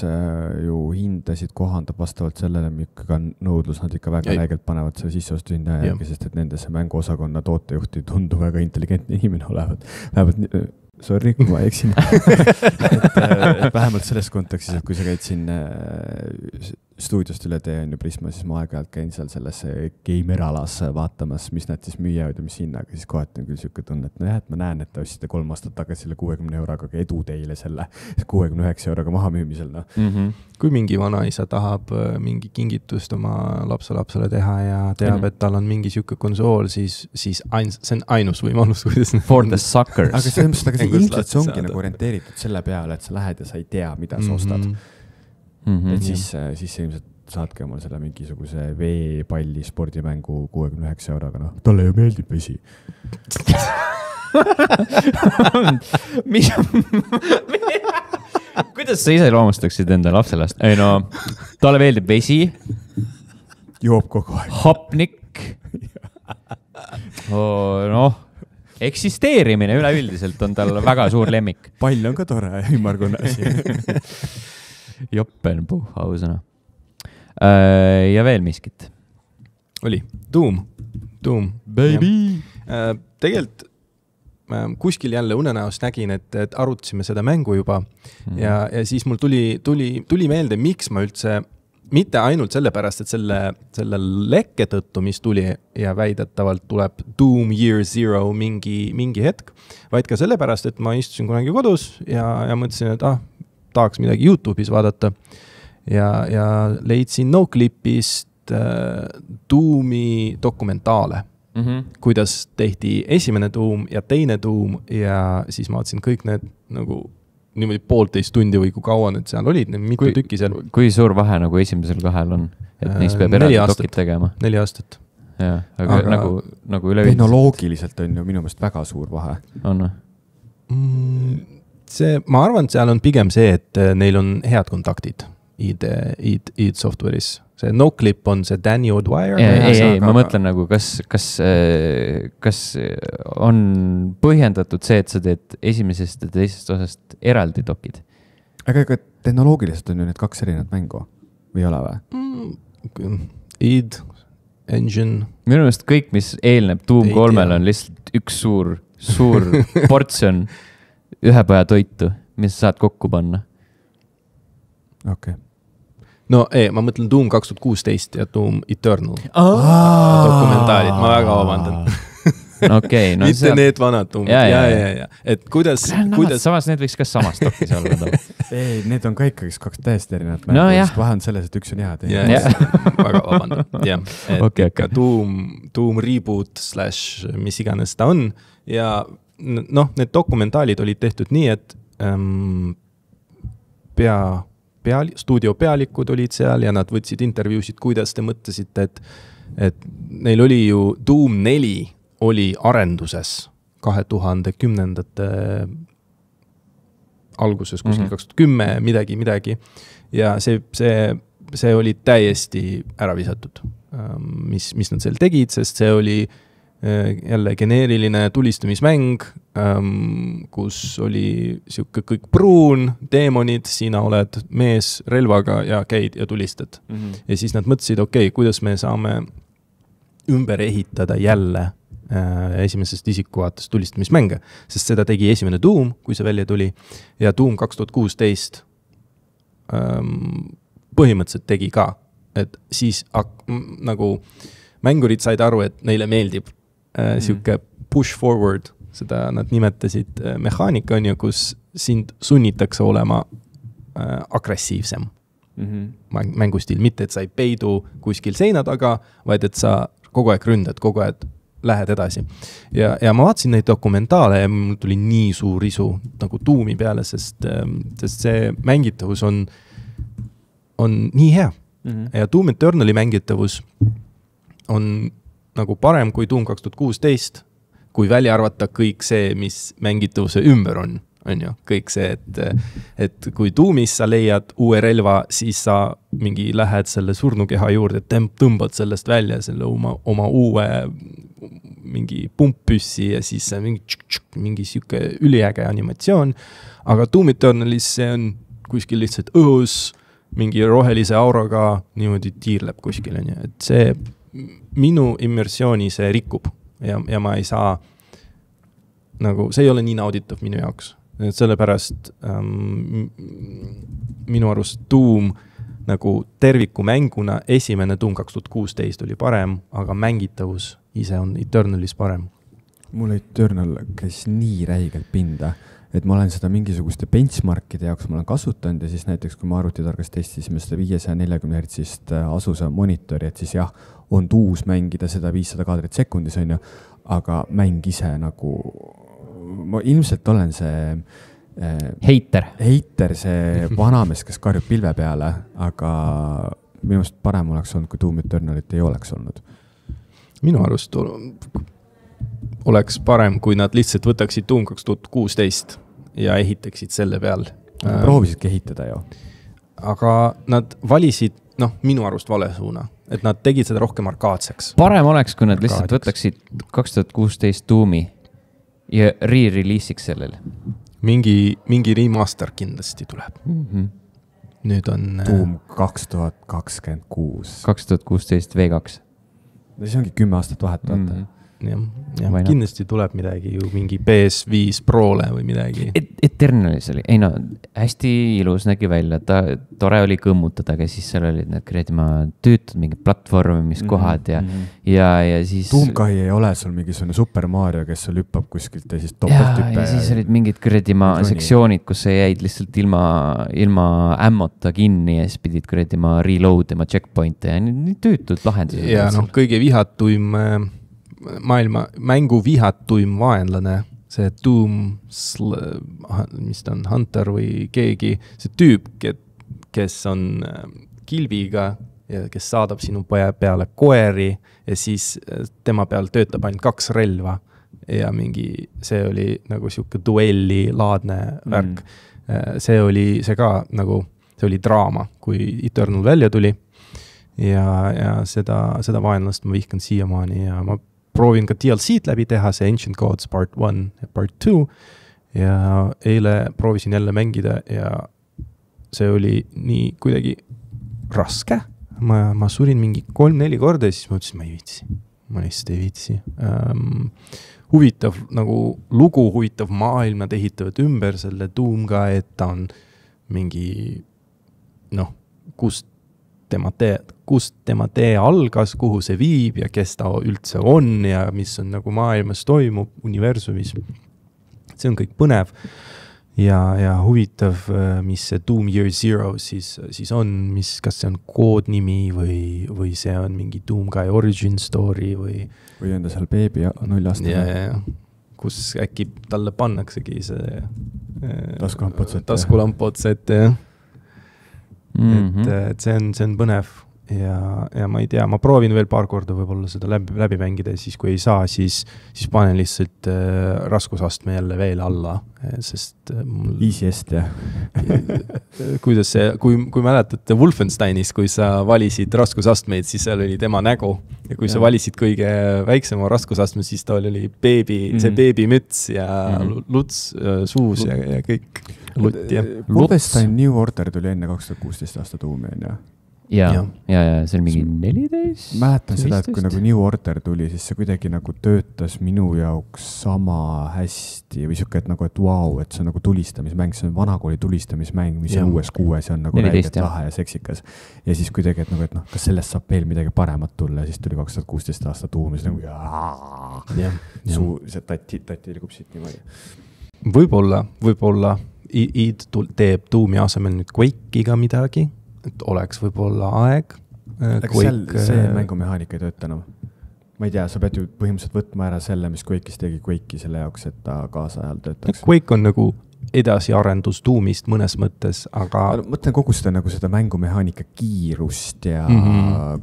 [SPEAKER 2] ju hindasid kohandab vastavalt sellele, mikka nõudlus nad ikka väga läigelt panevad selle sisseostu hinda järgi, sest et nendesse mänguosakonna tootejuhti tundu väga intelligentne inimene olevat. Vähemalt sorry, kui ma eksin. et vähemalt selles kontekstis, et kui sa käid siin stuudiost üle tee on ju Prisma, siis ma aeg-ajalt käin seal selles gamer-alas vaatamas, mis nad siis müüavad ja mis hinnaga, siis kohati on küll siuke tunne, et et ma näen, et te ostsite 3 aastat tagasi selle 60 €, aga edu teile selle 69 € maha müümisel.
[SPEAKER 3] Kui mingi vanaisa tahab mingi kingitust oma lapselapsele teha ja teab, et tal on mingi siuke konsool, siis see on ainus võimalus, kuidas
[SPEAKER 1] for the suckers.
[SPEAKER 2] Aga see ilmselt see ongi nagu orienteeritud selle peale, et sa lähed ja sa ei tea, mida sa ostad. Et siis ilmselt saadki omale selle mingisuguse veepalli spordimängu 69 €, talle ju meeldib vesi.
[SPEAKER 1] Kuidas sa ise loomustaksid enda lapselast? Ei talle meeldib vesi.
[SPEAKER 2] Joob kogu aeg.
[SPEAKER 1] Hapnik. Eksisteerimine üleüldiselt on tal väga suur lemmik.
[SPEAKER 2] Pall on ka tore ja ümmargune asi.
[SPEAKER 1] Joppenpuh, ausõna. Ja veel miskit.
[SPEAKER 3] Oli. Doom.
[SPEAKER 1] Baby.
[SPEAKER 3] Tegelikult kuskil jälle unenäost nägin, et arutasime seda mängu juba ja siis mul tuli meelde, miks ma üldse mitte ainult sellepärast, et selle lekke tõttu, mis tuli ja väidetavalt tuleb Doom Year Zero mingi hetk, vaid ka sellepärast, et ma istusin kunagi kodus ja mõtlesin, et tahaks midagi YouTube'is vaadata ja leidsin Noclipist Doomi dokumentaale. Kuidas tehti esimene Doom ja teine Doom ja siis ma vaatasin kõik need nagu niimoodi 1,5 tundi või kui kaua need seal olid, mitu tükki seal.
[SPEAKER 1] Kui suur vahe nagu esimesel kahel on, et neist peab eraldi dokid tegema?
[SPEAKER 3] 4 aastat.
[SPEAKER 1] Jah, aga nagu üleüldiselt.
[SPEAKER 2] Tehnoloogiliselt on ju minu meelest väga suur vahe.
[SPEAKER 1] On?
[SPEAKER 3] Ma arvan, et seal on pigem see, et neil on head kontaktid. id Software'is. See Noclip on see Danny O'Dwyer.
[SPEAKER 1] Ei, ma mõtlen nagu, kas on põhjendatud see, et sa teed esimesest ja teisest osast eraldi dokid?
[SPEAKER 2] Aga tehnoloogiliselt on ju need 2 erinevat mängu või ei ole või?
[SPEAKER 3] id, engine.
[SPEAKER 1] Minu meelest kõik, mis eelneb Doom 3-le on lihtsalt üks suur portsjon ühepaja toitu, mis saad kokku panna.
[SPEAKER 2] Okei.
[SPEAKER 3] No ma mõtlen Doom 2016 ja Doom Eternal dokumentaalid, ma väga vabandan.
[SPEAKER 1] Okay, no
[SPEAKER 3] mitte need vanad Doomid, ja. Et kuidas...
[SPEAKER 1] Samas need võiks ka samast dokis olla.
[SPEAKER 2] Ei, need on ka ikkagi 2 täiesti erinevat mängu, vahe on selles, et üks on head.
[SPEAKER 3] Väga vabandan, jah. Et ikka Doom reboot / mis iganes ta on ja need dokumentaalid olid tehtud nii, et stuudio pealikud olid seal ja nad võtsid intervjuusid, kuidas te mõtlesite, et neil oli ju Doom 4 oli arenduses 2010. alguses, kuskil 2010, midagi. Ja see oli täiesti ära visatud, mis nad seal tegid, sest see oli jälle geneeriline tulistamismäng, kus oli siuke kõik pruun, deemonid, sina oled mees relvaga ja käid ja tulistad. Ja siis nad mõtlesid, kuidas me saame ümber ehitada jälle esimesest isikuvaates tulistamismänge, sest seda tegi esimene Doom, kui see välja tuli, ja Doom 2016 põhimõtteliselt tegi ka, et siis nagu mängurid said aru, et neile meeldib siuke push forward, seda nad nimetasid mehaanika on ju, kus sind sunnitakse olema agressiivsem mängustiil, mitte et sa ei peidu kuskil seina taga, vaid et sa kogu aeg ründad, kogu aeg lähed edasi. Ja ma vaatasin neid dokumentaale ja mul tuli nii suur isu nagu Doomi peale, sest see mängitavus on nii hea. Ja Doom Eternali mängitavus on nagu parem kui Doom 2016, kui välja arvata kõik see, mis mängitavuse ümber on ju, kõik see, et kui Doomis sa leiad uue relva, siis sa mingi lähed selle surnukeha juurde, tõmbad sellest välja selle oma uue mingi pumppüssi ja siis mingi siuke üliäge animatsioon, aga Doom Eternalis see on kuskil lihtsalt õhus, mingi rohelise auraga niimoodi tiirleb kuskil, et see minu immersiooni see rikub ja ma ei saa nagu, see ei ole nii nauditav minu jaoks. Et sellepärast minu arust Doom nagu terviku mänguna esimene Doom 2016 oli parem, aga mängitavus ise on Eternalis parem.
[SPEAKER 2] Mul Eternal käis nii räigelt pinda, et ma olen seda mingisuguste benchmarkide jaoks ma olen kasutanud ja siis näiteks kui ma arvutitargas testisime seda 540 Hz asusa monitori, et siis jah, on tuus mängida seda 500 kaadrit sekundis on ju, aga mäng ise nagu ma ilmselt olen see
[SPEAKER 1] Heiter,
[SPEAKER 2] see vanamees, kes karjub pilve peale, aga minu arust parem oleks olnud, kui Doom Eternalit ei oleks olnud.
[SPEAKER 3] Minu arust oleks parem, kui nad lihtsalt võtaksid Doom 2016 ja ehitaksid selle peal.
[SPEAKER 2] Proovisidki ehitada ju.
[SPEAKER 3] Aga nad valisid, minu arust vale suuna, et nad tegid seda rohkem arkaadseks.
[SPEAKER 1] Parem oleks, kui nad lihtsalt võtaksid 2016 Doomi ja re-releasiks sellele.
[SPEAKER 3] Mingi remaster kindlasti tuleb. Nüüd on
[SPEAKER 2] Doom 2026.
[SPEAKER 1] 2016 V2.
[SPEAKER 2] See ongi 10 aastat vahet vaata.
[SPEAKER 3] Ja kindlasti tuleb midagi ju mingi PS5 Prole või midagi.
[SPEAKER 1] Eternalis oli, hästi ilus nägi välja, tore oli kõmmutada, aga siis seal olid need töötud mingid platvormimiskohad ja siis...
[SPEAKER 2] Doomkai ei ole sul mingisugune Super Mario, kes sul hüppab kuskilt ja siis topelthüppe.
[SPEAKER 1] Ja siis olid mingid sektsioonid, kus sa jäid lihtsalt ilma ämmota kinni ja siis pidid reload ima checkpointe ja nii töötud lahendused.
[SPEAKER 3] Ja kõige vihatuim mängu vihatuim vaenlane, see Doom, mis ta on, Hunter või keegi, see tüüp, kes on kilbiga ja kes saadab sinu peale koeri ja siis tema peal töötab ainult 2 relva ja see oli nagu siuke duelli laadne värk. See ka nagu see oli draama, kui Eternal välja tuli ja seda vaenlast ma vihkan siiamaani ja ma proovin ka DLC-d läbi teha, see Ancient Gods Part 1 ja Part 2 ja eile proovisin jälle mängida ja see oli nii kuidagi raske. Ma surin mingi 3-4 korda ja siis ma ütlesin, ma lihtsalt ei viitsi. Huvitav nagu lugu, huvitav maailm, nad ehitavad ümber selle Doom ka, et ta on mingi kust tema tee algas, kuhu see viib ja kes ta üldse on ja mis on nagu maailmas toimub, universumis. See on kõik põnev ja huvitav, mis see Doom Year Zero siis on, kas see on koodnimi või see on mingi Doom Guy origin story või
[SPEAKER 2] on ta seal beebi 0 aastane.
[SPEAKER 3] Kus äkki talle pannaksegi see
[SPEAKER 2] taskulamp
[SPEAKER 3] otsa ette, jah. Et see on põnev ja ma ei tea, ma proovin veel paar korda võib-olla seda läbi mängida ja siis kui ei saa, siis panen lihtsalt raskusastme jälle veel alla, sest
[SPEAKER 2] Easyest, jah.
[SPEAKER 3] Kuidas see, kui mäletate Wolfensteinis, kui sa valisid raskusastmeid, siis seal oli tema nägu ja kui sa valisid kõige väiksema raskusastme, siis ta oli see beebimüts ja luts suus ja kõik lutt.
[SPEAKER 2] Wolfenstein New Order tuli enne 2016 aasta Doomi, on ju?
[SPEAKER 1] Ja see on mingi 14.
[SPEAKER 2] Mäletan seda, et kui nagu New Order tuli, siis see kuidagi nagu töötas minu jaoks sama hästi või siuke, et nagu, et vau, et see on nagu tulistamismäng, see on vanakooli tulistamismäng, mis on uues kuues ja on nagu räigelt lahe ja seksikas. Ja siis kuidagi, et nagu, et kas sellest saab veel midagi paremat tulla ja siis tuli 2016 aasta Doom ja siis nagu see tatti ilgub siit niimoodi. Võib-olla id teeb Doomi asemel nüüd Quake'iga midagi, et oleks võib-olla aeg. See mängumehaanika ei tööta enam. Ma ei tea, sa pead ju põhimõtteliselt võtma ära selle, mis Quake'is tegi Quake'i selle jaoks, et ta kaasajal töötaks.
[SPEAKER 3] Quake on nagu edasiarendus Doomist mõnes mõttes, aga
[SPEAKER 2] mõtlen kogu seda, nagu seda mängumehaanika kiirust ja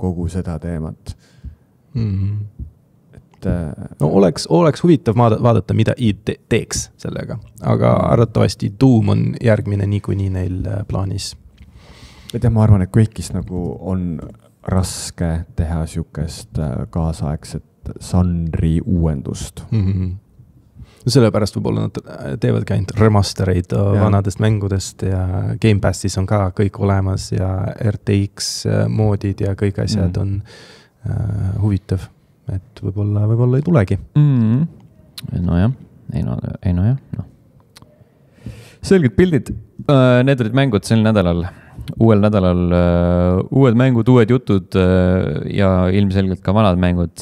[SPEAKER 2] kogu seda teemat.
[SPEAKER 3] No oleks huvitav vaadata, mida id teeks sellega, aga arvatavasti Doom on järgmine niikuinii neil plaanis.
[SPEAKER 2] Ma arvan, et Quake'is nagu on raske teha siukest kaasaegset žanri uuendust.
[SPEAKER 3] Sellepärast võib-olla nad teevad ainult remastereid vanadest mängudest ja Game Passis on ka kõik olemas ja RTX moodid ja kõik asjad on huvitav, et võib-olla ei tulegi.
[SPEAKER 1] Nojah. Selged pildid. Need olid mängud sel nädalal. Uuel nädalal uued mängud, uued jutud ja ilmselgelt ka vanad mängud.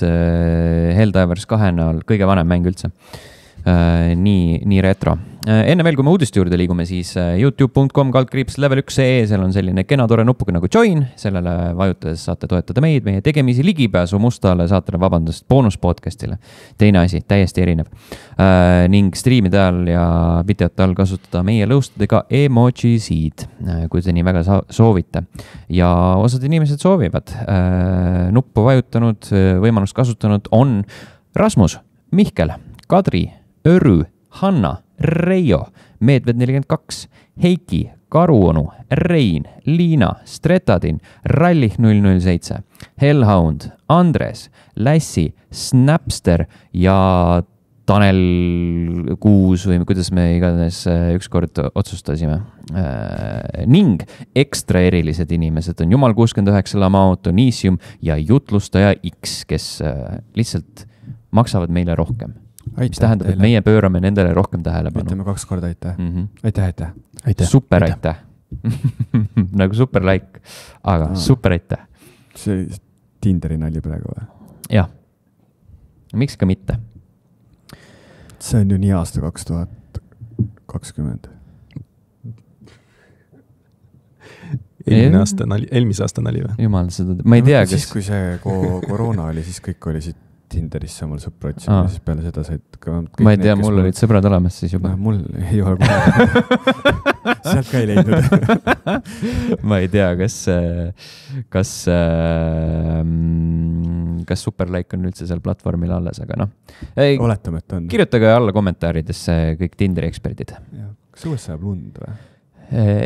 [SPEAKER 1] Helldivers 2 näol kõige vanem mäng üldse. Nii retro. Enne veel, kui me uudiste juurde liigume, siis youtube.com/level1.ee, seal on selline kena tore nupuga nagu join, sellele vajutades saate toetada meid, meie tegemisi ligipääsu mustale saatele, boonuspodcastile. Teine asi, täiesti erinev. Ning striimide all ja videote all kasutada meie lõustadega emojisid, kui te nii väga soovite. Ja osad inimesed soovivad. Nuppu vajutanud, võimalust kasutanud on Rasmus, Mihkel, Kadri, Örü, Hanna, Reijo, Meedved 42, Heiki, Karuonu, Rein, Liina, Stretadin, Rallih 007, Hellhound, Andres, Lässi, Snapster ja Tanel 6 või kuidas me iganes ükskord otsustasime. Ning ekstra erilised inimesed on Jumal 69, Lamao, Tonisium ja Jutlustaja X, kes lihtsalt maksavad meile rohkem. Mis tähendab, et meie pöörame nendele rohkem tähelepanu.
[SPEAKER 2] Ütleme 2 korda aitäh.
[SPEAKER 1] Aitäh. Super aitäh. Nagu super like, aga super aitäh.
[SPEAKER 2] See Tinderi nali praegu või?
[SPEAKER 1] Jah. Miks ka mitte?
[SPEAKER 2] See on ju nii aasta 2020.
[SPEAKER 3] Eelmise aasta nali või?
[SPEAKER 1] Jumal, seda, ma ei tea,
[SPEAKER 2] siis kui see koroona oli, siis kõik oli siit Tinderisse omal sõpra otsima ja siis peale seda said
[SPEAKER 1] ma ei tea, mul olid sõbrad olemas siis juba.
[SPEAKER 2] Mul ei ole sealt ka ei leidnud.
[SPEAKER 1] Ma ei tea, kas Superlike on üldse seal platvormil alles, aga
[SPEAKER 2] oletame, et on.
[SPEAKER 1] Kirjutage alla kommentaaridesse kõik Tinderi eksperdid.
[SPEAKER 2] Kas õues sajab lund või?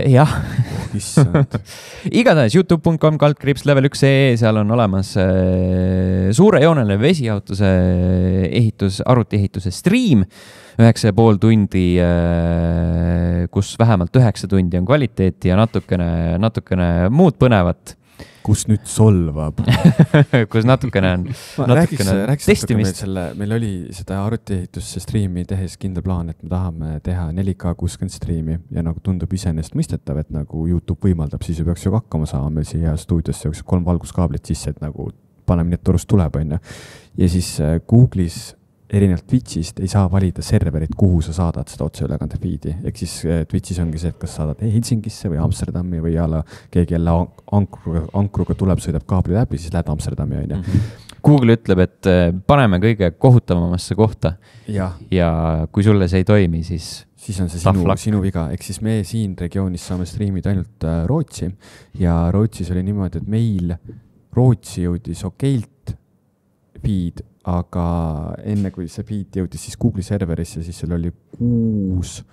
[SPEAKER 1] Jah. Igatahes youtube.com/level1.ee, seal on olemas suurejooneline vesijaotuse arvutiehituse stream, 9,5 tundi, kus vähemalt 9 tundi on kvaliteeti ja natukene muud põnevat.
[SPEAKER 2] Kus nüüd solvab.
[SPEAKER 1] Kus natukene on
[SPEAKER 2] testimist. Meil oli seda arvutiehitusse striimi tehes kindel plaan, et me tahame teha 4K 60 striimi ja nagu tundub iseenesest mõistetav, et nagu YouTube võimaldab, siis ju peaks ju hakkama saama meil siia stuudiosse 3 valguskaablit sisse, et nagu paneme nii, et torust tuleb, on ju. Ja siis Google'is erinevalt Twitchist ei saa valida serverit, kuhu sa saadad seda otseülekande feed'i. Ehk siis Twitchis ongi see, et kas saadad Helsingisse või Amsterdami või keegi jälle ankruga tuleb, sõidab kaabli läbi, siis lähed Amsterdami, on ju.
[SPEAKER 1] Google ütleb, et paneme kõige kohutavamasse kohta
[SPEAKER 2] ja
[SPEAKER 1] kui sulle see ei toimi, siis
[SPEAKER 2] on see sinu viga. Ehk siis me siin regioonis saame striimida ainult Rootsi ja Rootsis oli niimoodi, et meil Rootsi jõudis okeilt feed, aga enne kui see feed jõudis siis Google'i serverisse, siis seal oli 6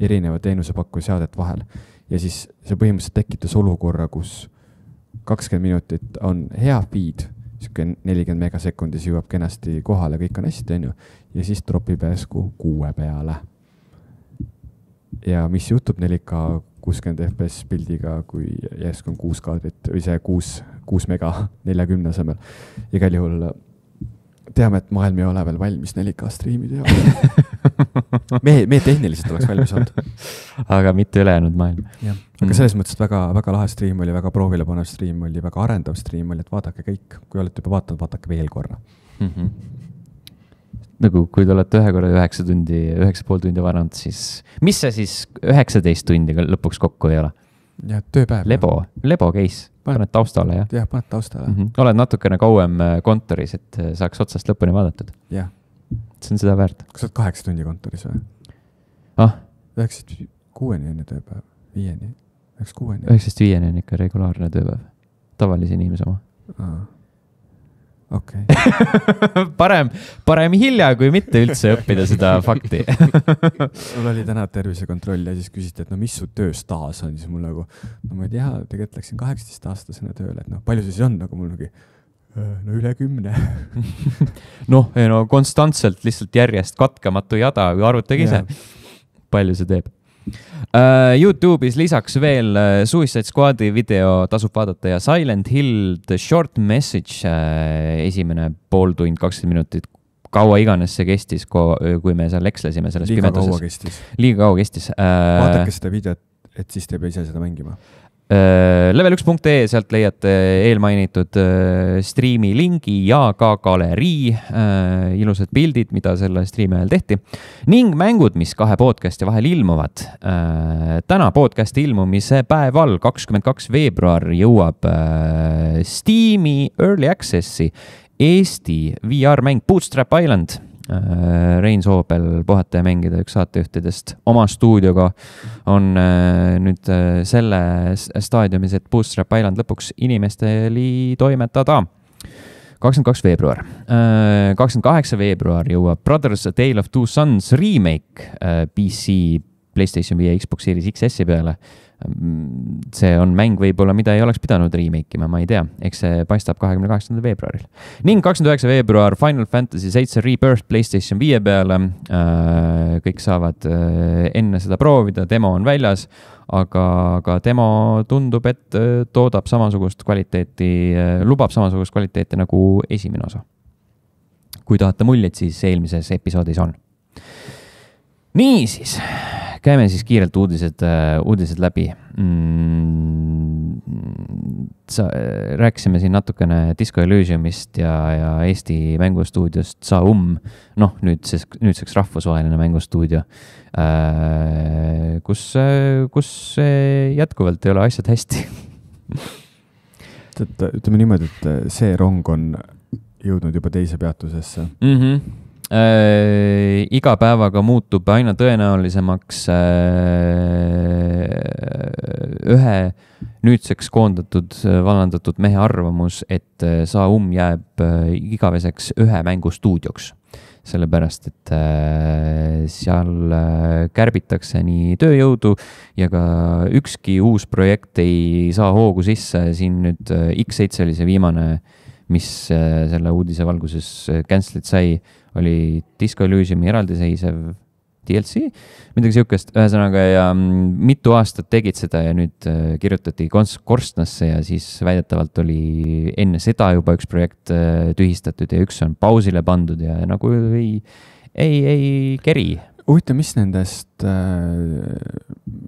[SPEAKER 2] erineva teenusepakkuja seadet vahel. Ja siis see põhimõtteliselt tekitas olukorra, kus 20 minutit on hea feed, 40 megasekundis jõuab kenasti kohale, kõik on hästi, on ju, ja siis tropib järsku 6 peale. Ja mis juhtub 4K 60 FPS pildiga, kui järsku on 6 kaadrit või see 6 mega 40 asemel. Igal juhul teame, et maailm ei ole veel valmis 4K striimide jaoks. Me tehniliselt oleks valmis olnud.
[SPEAKER 1] Aga mitte ülejäänud maailm.
[SPEAKER 2] Aga selles mõttes, et väga lahe striim oli, väga proovile panev striim oli, väga arendav striim oli, et vaadake kõik. Kui olete juba vaatanud, vaadake veel korra.
[SPEAKER 1] Nagu kui te olete 9,5 tundi varanud, siis mis see siis 19 tundi lõpuks kokku ei ole?
[SPEAKER 2] Ja tööpäev.
[SPEAKER 1] Lebo case. Paned taustale, jah?
[SPEAKER 2] Jah, paned taustale.
[SPEAKER 1] Oled natukene kauem kontoris, et saaks otsast lõpuni vaadatud.
[SPEAKER 2] Jah.
[SPEAKER 1] See on seda väärt.
[SPEAKER 2] Kas oled 8 tundi kontoris või? 9-6 on tööpäev. 5-ni. 9-6.
[SPEAKER 1] 9-5 on ikka regulaarne tööpäev. Tavalise inimese oma.
[SPEAKER 2] Okay.
[SPEAKER 1] parem hilja, kui mitte üldse õppida seda fakti.
[SPEAKER 2] Mul oli täna tervisekontroll ja siis küsiti, et mis su tööstaas on, siis mul nagu, ma ei tea, tegelikult läksin 18-aastasena tööle, et palju see siis on, nagu mul üle 10.
[SPEAKER 1] Konstantselt lihtsalt järjest katkematu jada, kui arvutage ise, palju see teeb. YouTube'is lisaks veel Suicide Squadi video tasub vaadata ja Silent Hill The Short Message esimene pool tund, 20 minutit, kaua iganes see kestis, kui me seal ekslesime selles pimeduses. Liiga kaua kestis.
[SPEAKER 2] Vaadake seda videot, et siis te ei pea ise seda mängima.
[SPEAKER 1] Level1.ee, sealt leiate eelmainitud striimi lingi ja ka galerii, ilusad pildid, mida selle striimi ajal tehti, ning mängud, mis 2 podcasti vahel ilmuvad. Täna podcasti ilmumise päeval, 22 veebruar, jõuab Steam'i Early Access'i Eesti VR-mäng Bootstrap Island. Rein Soobel, puhata ja mängida üks saatejuhtidest oma stuudioga on nüüd selle staadiumis, et Bootstrap Island lõpuks inimesteli toimetada. 22 veebruar. 28 veebruar jõuab Brothers A Tale of Two Sons remake PC, PlayStation 5 ja Xbox Series XS-i peale. See on mäng võib-olla, mida ei oleks pidanud remake ima, ma ei tea. Eks see paistab 28. veebruaril. Ning 29 veebruar Final Fantasy 7 Rebirth PlayStation 5 peale. Kõik saavad enne seda proovida, demo on väljas, aga demo tundub, et toodab samasugust kvaliteeti, lubab samasugust kvaliteeti nagu esimene osa. Kui tahate muljeid, siis eelmises episoodis on. Nii siis, käime siis kiirelt uudised läbi. Rääkisime siin natukene Disco Elysiumist ja Eesti mängustuudiost Saum, nüüdseks rahvusvaheline mängustuudio, kus jätkuvalt ei ole asjad hästi.
[SPEAKER 2] Ütleme niimoodi, et see rong on jõudnud juba teise peatusesse.
[SPEAKER 1] Iga päevaga muutub aina tõenäolisemaks ühe nüüdseks koondatud, vallandatud mehe arvamus, et Saum jääb igaveseks ühe mängustuudioks. sellepärast et seal kärbitakse nii tööjõudu ja ka ükski uus projekt ei saa hoogu sisse. Siin nüüd X7 oli see viimane, mis selle uudise valguses cancel'id sai, oli Disco Elysiumi eraldiseisev DLC, midagi siukest, ühesõnaga ja mitu aastat tegid seda ja nüüd kirjutati korstnasse ja siis väidetavalt oli enne seda juba üks projekt tühistatud ja üks on pausile pandud ja nagu ei keri.
[SPEAKER 2] Huvitav, mis nendest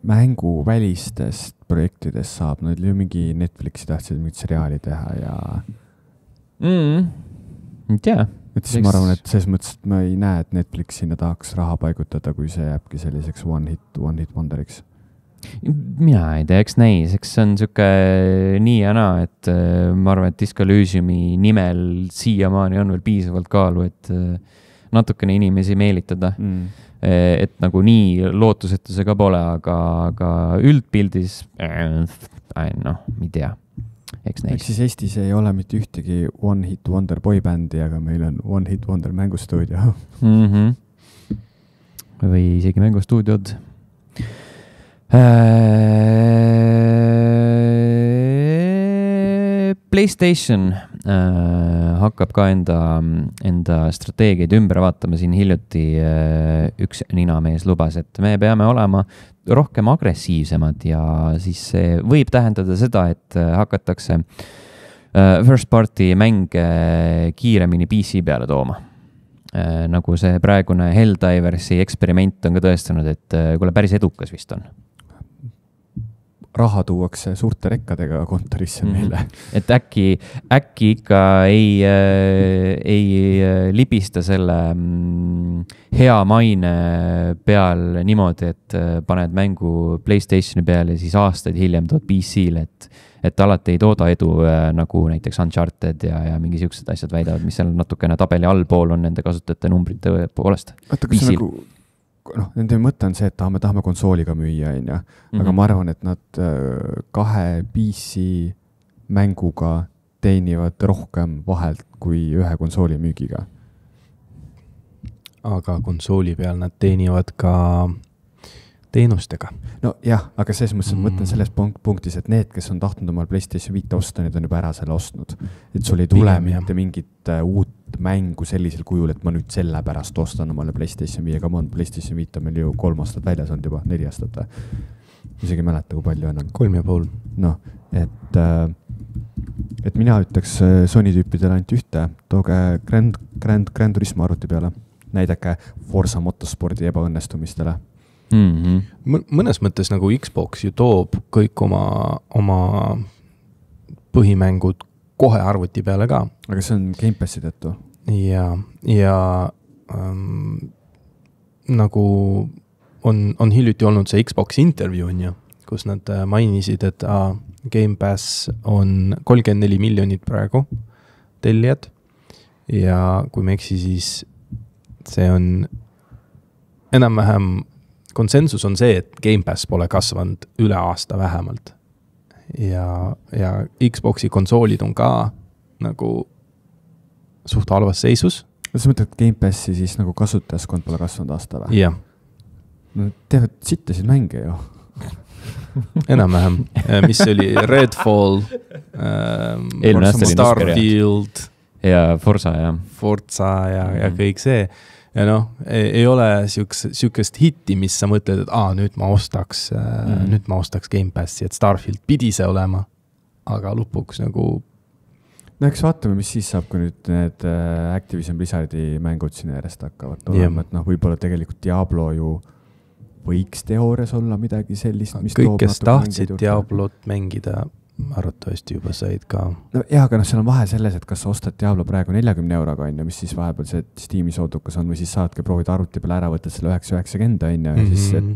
[SPEAKER 2] mänguvälistest projektidest saab? Nad ju mingi Netflixi tahtsid mingit seriaali teha ja...
[SPEAKER 1] ei tea.
[SPEAKER 2] Et siis ma arvan, et selles mõttes, et ma ei näe, et Netflix sinna tahaks raha paigutada, kui see jääbki selliseks one hit wonderiks.
[SPEAKER 1] Mina ei tea, eks näis, eks see on siuke nii ja naa, et ma arvan, et Disco Elysiumi nimel siiamaani on veel piisavalt kaalu, et natukene inimesi meelitada. Et nagu nii lootusetuse ka pole, aga üldpildis, ei tea. Eks
[SPEAKER 2] siis Eestis ei ole mitte ühtegi One Hit Wonder boybändi, aga meil on One Hit Wonder mängustuudio.
[SPEAKER 1] Või isegi mängustuudiod. PlayStation hakkab ka enda strateegiaid ümber vaatama. Siin hiljuti üks ninamees lubas, et me peame olema rohkem agressiivsemad ja siis see võib tähendada seda, et hakatakse first party mänge kiiremini PC peale tooma. Nagu see praegune Helldiversi eksperiment on ka tõestanud, et kuule päris edukas vist on.
[SPEAKER 2] Raha tuuakse suurte rekkadega kontorisse meile.
[SPEAKER 1] Et äkki ikka ei libista selle hea maine peal niimoodi, et paned mängu PlayStationi peale ja siis aastaid hiljem tood PC-le, et alati ei tooda edu nagu näiteks Uncharted ja mingi siuksed asjad väidavad, mis seal natukene tabeli allpool on nende kasutajate numbrite poolest.
[SPEAKER 2] Oota, kas see nagu... nende mõte on see, et tahame konsooliga müüa, aga ma arvan, et nad 2 PC mänguga teenivad rohkem vahelt kui 1 konsooli müügiga.
[SPEAKER 3] Aga konsooli peal nad teenivad ka teenustega.
[SPEAKER 2] No jah, aga selles mõttes mõtlen selles punktis, et need, kes on tahtnud omal PlayStation 5 osta, need on juba ära selle ostnud. Et sul ei tule mitte mingit uut mängu sellisel kujul, et ma nüüd selle pärast ostan omale PlayStation 5, aga PlayStation 5 on meil ju 3 aastat väljas olnud juba, 4 aastat. Isegi ei mäleta, kui palju enam.
[SPEAKER 3] 3,5.
[SPEAKER 2] Noh, et mina ütleks Sony tüüpidele ainult ühte, tooge Grand Turismo arvuti peale, näidake Forza Motorspordi ebaõnnestumistele.
[SPEAKER 3] Mõnes mõttes nagu Xbox ju toob kõik oma põhimängud kohe arvuti peale ka.
[SPEAKER 2] Aga see on Game Passi tõttu.
[SPEAKER 3] Ja nagu on hiljuti olnud see Xbox interview, kus nad mainisid, et Game Pass on 34 miljonit praegu tellijad ja kui me eksi, siis see on enam-vähem konsensus on see, et Game Pass pole kasvanud üle aasta vähemalt. Ja Xboxi konsoolid on ka nagu suht halvas seisus.
[SPEAKER 2] Sa mõtled, et Game Passi siis nagu kasutajaskond pole kasvanud aasta või?
[SPEAKER 3] Jah.
[SPEAKER 2] No teevad sittasid mänge ju.
[SPEAKER 3] Enam-vähem. Mis oli Redfall, Starfield
[SPEAKER 1] ja Forza
[SPEAKER 3] ja kõik see. Ja ei ole siukest hitti, mis sa mõtled, et nüüd ma ostaks Game Passi, et Starfield pidi see olema, aga lõpuks nagu...
[SPEAKER 2] No eks vaatame, mis siis saab, kui nüüd need Activision Blizzardi mängud sinna järjest hakkavad olema, et võib-olla tegelikult Diablo ju võiks teoorias olla midagi sellist, mis
[SPEAKER 3] kõik, kes tahtsid Diablot mängida, arvatavasti juba said ka.
[SPEAKER 2] No jah, aga seal on vahe selles, et kas sa ostad Diablo praegu 40 euroga, mis siis vahepeal see Steam'i soodukas on, või siis saadki proovida arvuti peale ära, võtad selle 990, ja siis, et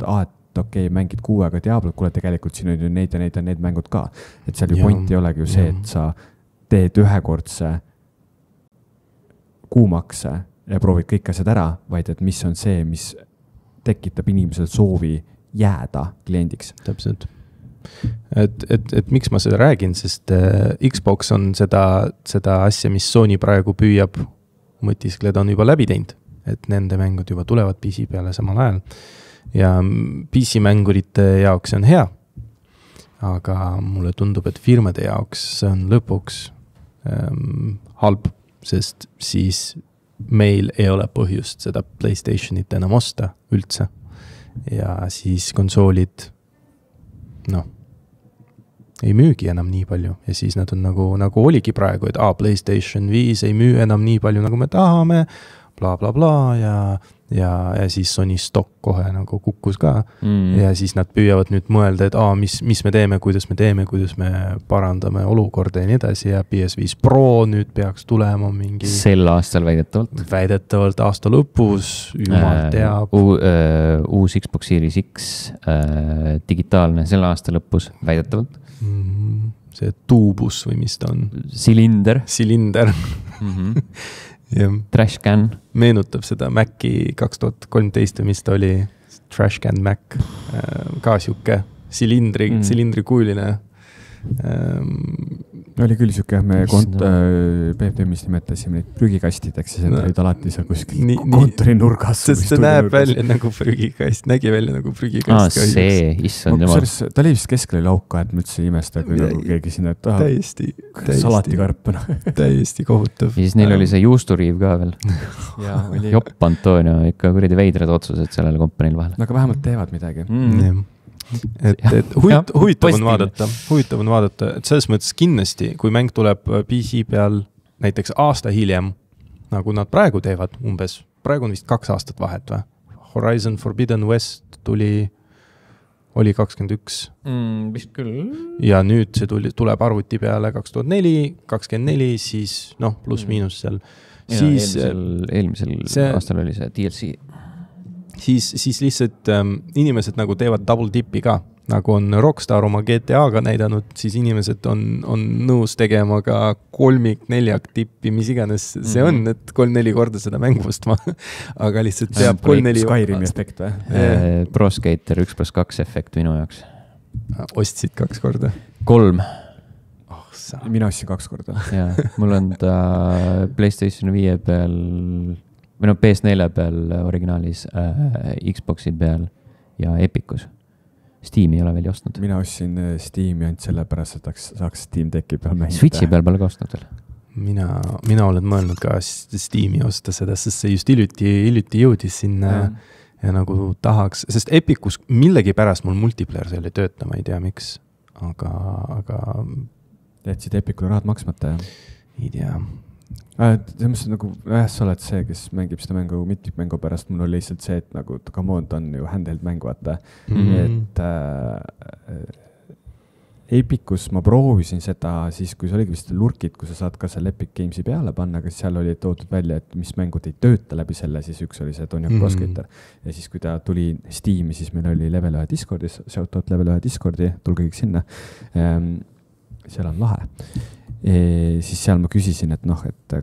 [SPEAKER 2] okei, mängid 6 Diablot, kuule tegelikult siin on ju need ja need mängud ka. Et seal ju point ei olegi ju see, et sa teed ühekordse kuumakse ja proovid kõik asjad ära, vaid et mis on see, mis tekitab inimesel soovi jääda kliendiks.
[SPEAKER 3] Täpselt. Et miks ma seda räägin, sest Xbox on seda asja, mis Sony praegu püüab mõtiskleda, on juba läbi teinud. et nende mängud juba tulevad PC peale samal ajal. Ja PC-mängurite jaoks see on hea, aga mulle tundub, et firmade jaoks see on lõpuks halb, sest siis meil ei ole põhjust seda PlayStationit enam osta üldse. Ja siis konsoolid, ei müügi enam nii palju. Ja siis nad on nagu oligi praegu, et PlayStation 5 ei müü enam nii palju, nagu me tahame, bla bla bla ja siis Sony stock kohe nagu kukkus ka. Ja siis nad püüavad nüüd mõelda, et mis me teeme, kuidas me parandame olukorda ja nii edasi ja PS5 Pro nüüd peaks tulema mingi...
[SPEAKER 1] Sel aastal väidetavalt.
[SPEAKER 3] Väidetavalt aasta lõpus, jumal teab.
[SPEAKER 1] Uus Xbox Series X digitaalne sel aasta lõpus väidetavalt.
[SPEAKER 3] See tuubus või mis ta on?
[SPEAKER 1] Silinder. Trash can.
[SPEAKER 3] Meenutab seda Maci 2013 või mis ta oli, Trash can Mac, ka siuke silindrikujuline.
[SPEAKER 2] Oli küll siuke, me PFM-is nimetasime neid prügikastideks ja see olid alati seal kuskil kontori nurgas.
[SPEAKER 3] Sest see näeb välja nagu prügikast, nägi välja nagu prügikast.
[SPEAKER 1] See, issand jumal.
[SPEAKER 2] Ta oli vist keskel lauka, et ma üldse imesta, kui nagu keegi sinna salatikarp.
[SPEAKER 3] Täiesti kohutav.
[SPEAKER 1] Ja siis neil oli see juusturiiv ka veel. Jopp Antonio, ikka kuridi veidrad otsused sellele kompaniil vahel.
[SPEAKER 2] Aga vähemalt teevad midagi.
[SPEAKER 3] Et huvitav on vaadata, et selles mõttes kindlasti, kui mäng tuleb PC peal näiteks aasta hiljem, nagu nad praegu teevad umbes, praegu on vist 2 aastat vahet või? Horizon Forbidden West oli 21.
[SPEAKER 1] Vist küll.
[SPEAKER 3] Ja nüüd see tuleb arvuti peale 2024, siis pluss miinus seal.
[SPEAKER 1] Eelmisel aastal oli see DLC.
[SPEAKER 3] Siis lihtsalt inimesed nagu teevad double dipi ka, nagu on Rockstar oma GTA-ga näidanud, siis inimesed on nõus tegema ka 3-4 tippi, mis iganes see on, et 3-4 korda seda mängu ostma, aga lihtsalt teab 3-4...
[SPEAKER 2] Skyrimi efekt või?
[SPEAKER 1] Pro Skater 1+2 efekt minu jaoks.
[SPEAKER 3] Ostsid 2 korda?
[SPEAKER 1] 3.
[SPEAKER 2] Mina ostsin 2 korda.
[SPEAKER 1] Ja, mul on ta PlayStation 5 peal... või PS4 peal originaalis, Xboxi peal ja Epicus. Steam ei ole veel ostnud.
[SPEAKER 2] Mina ostsin Steam'i ainult sellepärast, et saaks Steam Decki peal mängida.
[SPEAKER 1] Switchi peal pole ka ostnud veel.
[SPEAKER 3] Mina olen mõelnud ka Steam'i osta seda, sest see just hiljuti jõudis sinna ja nagu tahaks, sest Epicus millegi pärast mul multiplayer seal ei tööta, ma ei tea miks, aga...
[SPEAKER 2] Jätsid Epicule rahad maksmata, jah?
[SPEAKER 3] Ei tea.
[SPEAKER 2] Selles nagu, sa oled see, kes mängib seda mängu mitmikmängu pärast, mul oli lihtsalt see, et nagu come on, ta on ju handheld mängu, vaata. Et Epicus ma proovisin seda siis, kui see oligi vist lurkid, kui sa saad ka seal Epic Gamesi peale panna, aga seal oli toodud välja, et mis mängud ei tööta läbi selle, siis üks oli see Tony Hawk Pro Skater. Ja siis, kui ta tuli Steam'i, siis meil oli Level 1 Discordis, shoutout Level 1 Discordi, tulge kõik sinna. Seal on lahe. Siis seal ma küsisin, et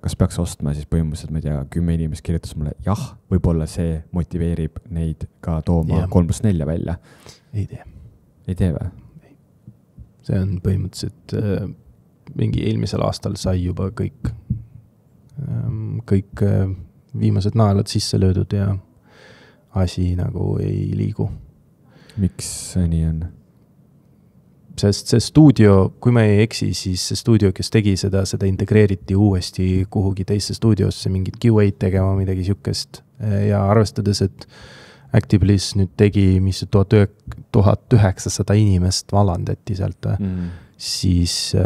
[SPEAKER 2] kas peaks ostma, siis põhimõtteliselt, ma ei tea, 10 inimest kirjutas mulle, jah, võib-olla see motiveerib neid ka tooma 3+4 välja.
[SPEAKER 3] Ei tee.
[SPEAKER 2] Ei tee või?
[SPEAKER 3] See on põhimõtteliselt mingi eelmisel aastal sai juba kõik viimased naelad sisse löödud ja asi nagu ei liigu.
[SPEAKER 2] Miks see nii on?
[SPEAKER 3] Sest see stuudio, kui ma ei eksi, siis see stuudio, kes tegi seda integreeriti uuesti kuhugi teisse stuudiosse mingit QA-d tegema, midagi siukest. Ja arvestades, et Actibliss nüüd tegi, mis 1900 inimest valandati sealt, siis...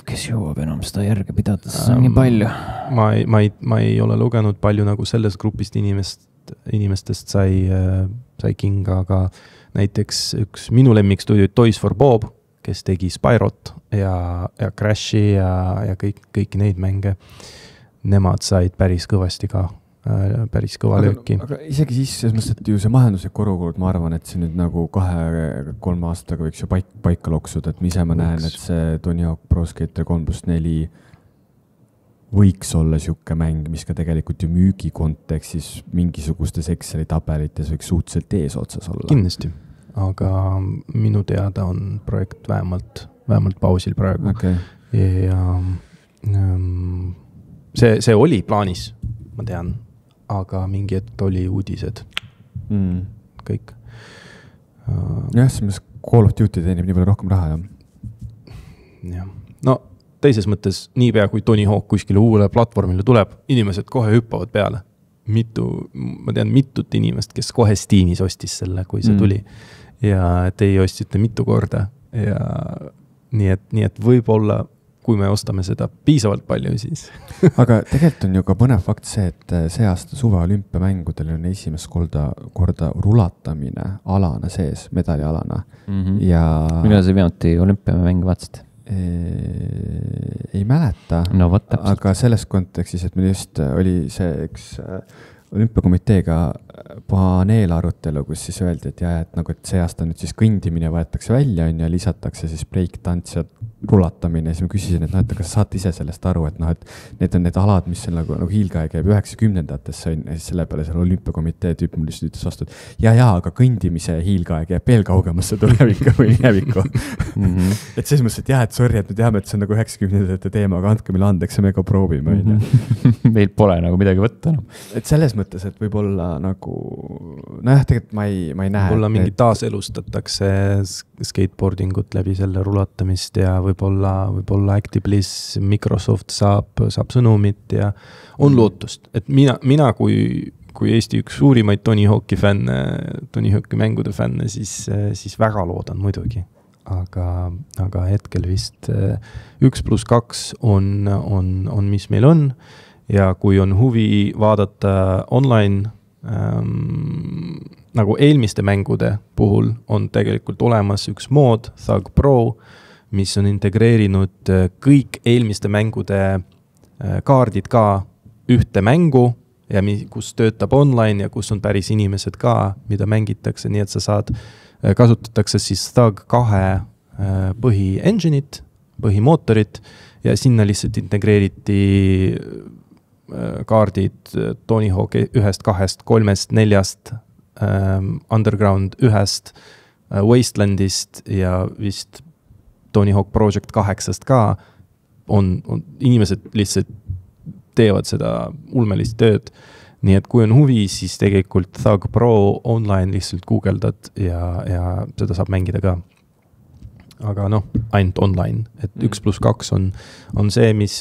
[SPEAKER 1] Kes jõuab enam seda järge pidada, see on nii palju.
[SPEAKER 3] Ma ei ole lugenud palju nagu selles grupist inimestest sai kinga, aga näiteks üks minu lemmikstuudio Toys for Bob, kes tegi Spyrot ja Crashi ja kõiki neid mänge. Nemad said päris kõvasti ka, päris kõva lööki.
[SPEAKER 2] Aga isegi siis, selles mõttes, et ju see majanduslik olukord, ma arvan, et see nüüd nagu 2-3 aastaga võiks ju paika loksuda, et ise ma näen, et see Tony Hawk Pro Skater 3+4 võiks olla siuke mäng, mis ka tegelikult ju müügi kontekstis mingisugustes Exceli tabelites võiks suhteliselt eesotsas olla.
[SPEAKER 3] Kindlasti. Aga minu teada on projekt vähemalt pausil praegu.
[SPEAKER 2] Okay.
[SPEAKER 3] Ja see oli plaanis, ma tean, aga mingi hetk oli uudised. Kõik.
[SPEAKER 2] Jah, siis Call of Duty teenib nii palju rohkem raha,
[SPEAKER 3] jah. No teises mõttes, niipea kui Tony Hawk kuskile uuele platvormile tuleb, inimesed kohe hüppavad peale. Ma tean mitut inimest, kes kohe Steamis ostis selle, kui see tuli. Ja teie ostsite mitu korda. Ja nii et võib-olla, kui me ostame seda piisavalt palju, siis.
[SPEAKER 2] Aga tegelikult on ju ka põnev fakt see, et see aasta suve olümpiamängudel on esimest korda rulatamine alana sees, medalialana. Ja
[SPEAKER 1] millal see viimati olümpiamäng vaatasid?
[SPEAKER 2] Ei mäleta,
[SPEAKER 1] no,
[SPEAKER 2] aga selles kontekstis, et meil just oli see üks olümpiakomiteega paneelarutelu, kus siis öeldi, et jah, et nagu, et see aasta nüüd siis kõndimine võetakse välja ja lisatakse siis break-tants ja rulatamine. Ja siis ma küsisin, et noh, et kas saate ise sellest aru, et noh, et need on need alad, mis on nagu hiilgaja käib 90-ndatesse ja siis selle peale selle olümpiakomitee tüüp mul lihtsalt ütles vastu, et ja, aga kõndimise hiilgaja käib veel kaugemasse tulevikku või minevikku. Et selles mõttes, et jah, et sorry, et me teame, et see on nagu 90-ndate teema, aga andke meile andeks ja me ka proovime.
[SPEAKER 1] Meil pole nagu midagi võtta. No.
[SPEAKER 2] Et selles mõttes, et võib-olla nagu, nojah, tegelikult ma ei näe.
[SPEAKER 3] Võib-olla mingi taaselustatakse skateboardingut läbi selle rulatamist ja võib-olla Actibliss, Microsoft saab sõnumit ja on lootust. Et mina kui Eesti üks suurimaid Tony Hawki mängude fänne, siis väga loodan muidugi. Aga hetkel vist 1+2 on mis meil on ja kui on huvi vaadata online nagu eelmiste mängude puhul on tegelikult olemas üks mood, Thug Pro, mis on integreerinud kõik eelmiste mängude kaardid ka ühte mängu ja kus töötab online ja kus on päris inimesed ka, mida mängitakse, nii et sa kasutatakse siis Thug 2 põhi-engine'it, põhimootorit ja sinna lihtsalt integreeriti kaardid Tony Hawk 1, 2, 3, 4, Underground 1, Wastelandist ja vist Tony Hawk Project 8 ka on inimesed lihtsalt teevad seda ulmelist tööd. Nii et kui on huvi, siis tegelikult Thug Pro online lihtsalt googeldad ja seda saab mängida ka. Aga ainult online. Et 1+2 on see, mis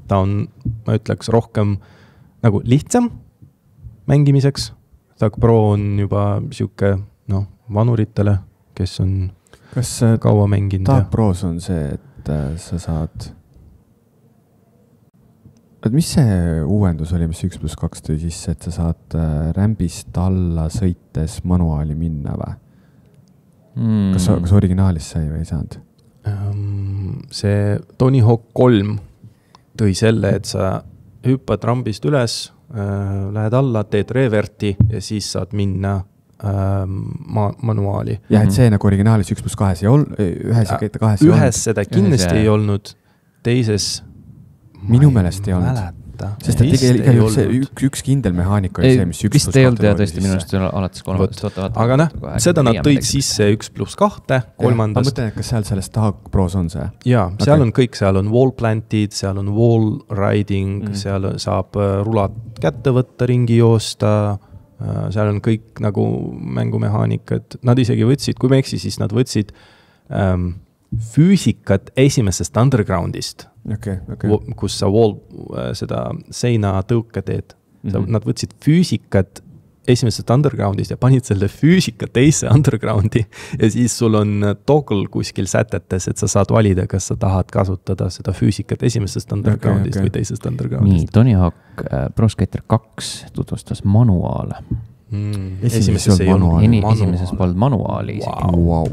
[SPEAKER 3] ta on, ma ütleks, rohkem nagu lihtsam mängimiseks. Thug Pro on juba siuke, vanuritele, kes on kaua mänginud.
[SPEAKER 2] Thug Pros on see, et sa saad... Mis see uuendus oli, mis 1+2 tõi sisse, et sa saad rämbist alla sõites manuaali minna või? Kas originaalis sai või ei saanud?
[SPEAKER 3] See Tony Hawk 3 tõi selle, et sa hüppad rambist üles, lähed alla, teed reverti ja siis saad minna manuaali.
[SPEAKER 2] Ja, et see nagu originaalis 1+2 ei olnud, ühes ja 2 ei olnud.
[SPEAKER 3] Ühes seda kindlasti ei olnud, teises
[SPEAKER 2] minu meelest ei olnud. Sest et tegelikult see üks kindel mehaanika oli see, mis 1+2
[SPEAKER 1] vist ei olnud ja tõesti minu arust alates 3.
[SPEAKER 3] Aga seda nad tõid sisse 1+2, 3.
[SPEAKER 2] Ma mõtlen, et kas seal selles Thug Pros on see?
[SPEAKER 3] Jaa, seal on kõik, seal on wall plantid, seal on wall riding, seal saab rulat kätte võtta, ringi joosta, seal on kõik nagu mängumehaanikad. Nad isegi võtsid, kui me eksi, siis nad võtsid füüsikat esimesest Undergroundist, kus sa seda seina tõuke teed. Nad võtsid füüsikat esimesest Undergroundist ja panid selle füüsika teise Undergroundi ja siis sul on toggle kuskil sätetes, et sa saad valida, kas sa tahad kasutada seda füüsikat esimesest Undergroundist või teisest Undergroundist.
[SPEAKER 1] Nii, Tony Hawk Pro Skater 2 tutvustas manuaale.
[SPEAKER 3] Esimeses ei olnud
[SPEAKER 1] Esimeses polnud manuaali isegi.
[SPEAKER 2] Wow.